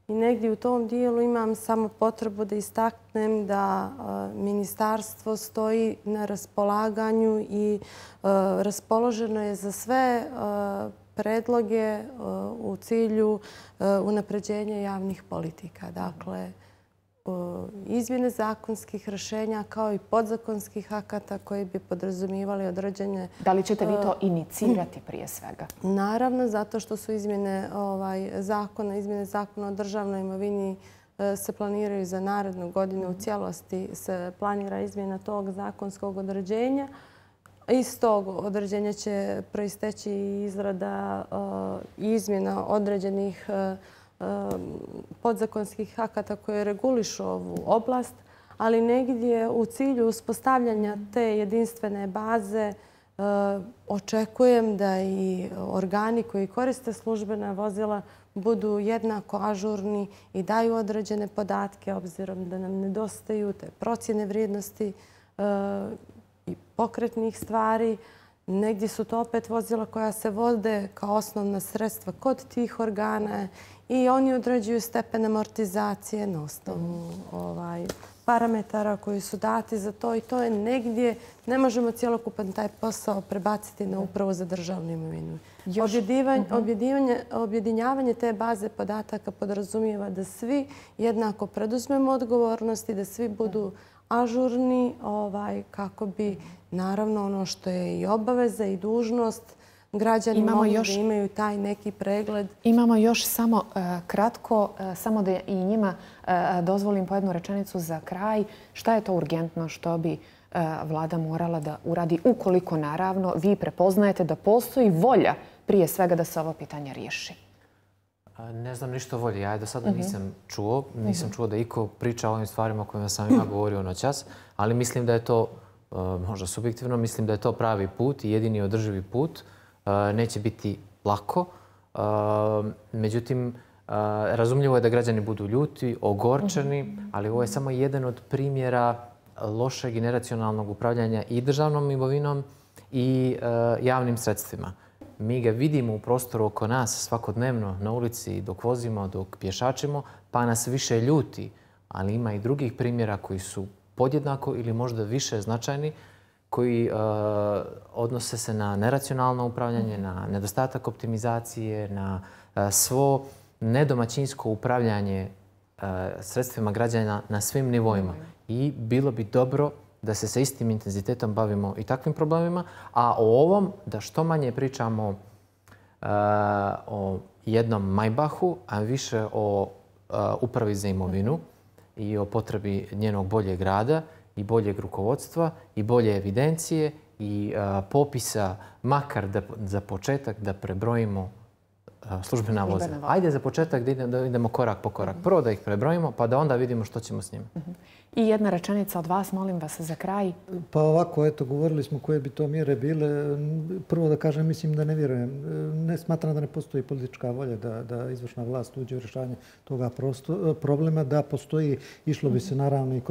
i negdje u tom dijelu imam samo potrebu da istaknem da ministarstvo stoji na raspolaganju i raspoloženo je za sve predloge u cilju unapređenja javnih politika. Dakle, izmjene zakonskih rješenja kao i podzakonskih akata koji bi podrazumijevali određene... Da li ćete vi to inicirati prije svega? Naravno, zato što su izmjene zakona o državnoj imovini se planiraju za narednu godinu. U cijelosti se planira izmjena tog zakonskog određenja. Iz tog određenja će proisteći izrada izmjena određenih podzakonskih akata koje regulišu ovu oblast, ali negdje u cilju uspostavljanja te jedinstvene baze očekujem da i organi koji koriste službena vozila budu jednako ažurni i daju određene podatke, obzirom da nam nedostaju te procjene vrijednosti i pokretnih stvari. Negdje su to opet vozila koja se vode kao osnovna sredstva kod tih organa i oni određuju stepen amortizacije na osnovu parametara koji su dati za to i to je negdje, ne možemo cjelokupan taj posao prebaciti na Upravu za državnu imovinu. Objedinjavanje te baze podataka podrazumijeva da svi jednako preduzmemo odgovornosti, da svi budu ažurni kako bi naravno ono što je i obaveza i dužnost građani mogli da imaju taj neki pregled. Imamo još samo kratko, samo da i njima dozvolim po jednu rečenicu za kraj. Šta je to urgentno što bi vlada morala da uradi ukoliko naravno vi prepoznajete da postoji volja prije svega da se ovo pitanje riješi? Ne znam ništa o volji. Ja do sada nisam čuo. Nisam čuo da iko priča o ovim stvarima o kojima sam ja govorio noćas, ali mislim da je to, možda subjektivno, mislim da je to pravi put i jedini održivi put. Neće biti lako. Međutim, razumljivo je da građani budu ljuti, ogorčeni, ali ovo je samo jedan od primjera lošeg i neracionalnog upravljanja i državnom imovinom i javnim sredstvima. Mi ga vidimo u prostoru oko nas svakodnevno na ulici dok vozimo, dok pješačimo, pa nas više ljuti. Ali ima i drugih primjera koji su podjednako ili možda više značajni, koji odnose se na neracionalno upravljanje, na nedostatak optimizacije, na svo nedomaćinsko upravljanje sredstvima građana na svim nivoima. I bilo bi dobro da se sa istim intenzitetom bavimo i takvim problemima, a o ovom da što manje pričamo o jednom Maybachu, a više o Upravi za imovinu i o potrebi njenog boljeg rada i boljeg rukovodstva i bolje evidencije i popisa, makar za početak da prebrojimo službena vozila. Ajde za početak da idemo korak po korak. Prvo da ih prebrojimo, pa da onda vidimo što ćemo s njima. I jedna rečenica od vas, molim vas, za kraj. Pa ovako, eto, govorili smo koje bi to mjere bile. Prvo da kažem, mislim da ne vjerujem. Ne smatram da ne postoji politička volja da izvršna vlast uđe u rješavanje toga problema. Da postoji, išlo bi se naravno i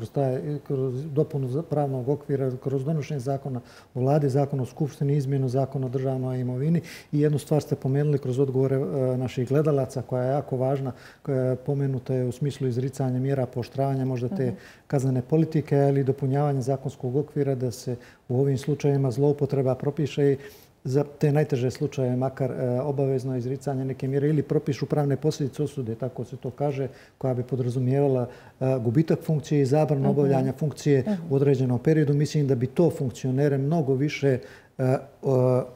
kroz dopunu pravnog okvira, kroz donošenje zakona o vladi, zakon o skupštini, izmjenu zakona o državnoj imovini. I jednu stvar ste pomenuli kroz odgovore naših gledalaca koja je jako važna, koja pomenuta je u smislu izricanja mjera pooštravanja možda te kaznene politike, ali i dopunjavanje zakonskog okvira da se u ovim slučajevima zloupotreba propiše i za te najteže slučaje makar obavezno izricanje neke mjere ili propišu pravne posljedice osude, tako se to kaže, koja bi podrazumijevala gubitak funkcije i zabranu obavljanja funkcije u određenom periodu. Mislim da bi to funkcionere mnogo više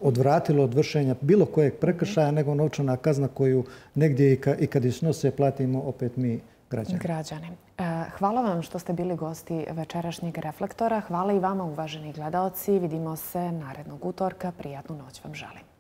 odvratilo od vršenja bilo kojeg prekršaja nego novčana kazna koju negdje i kad je snose platimo opet mi građani. Hvala vam što ste bili gosti večerašnjeg Reflektora. Hvala i vama, uvaženi gledaoci. Vidimo se narednog utorka. Prijatnu noć vam želim.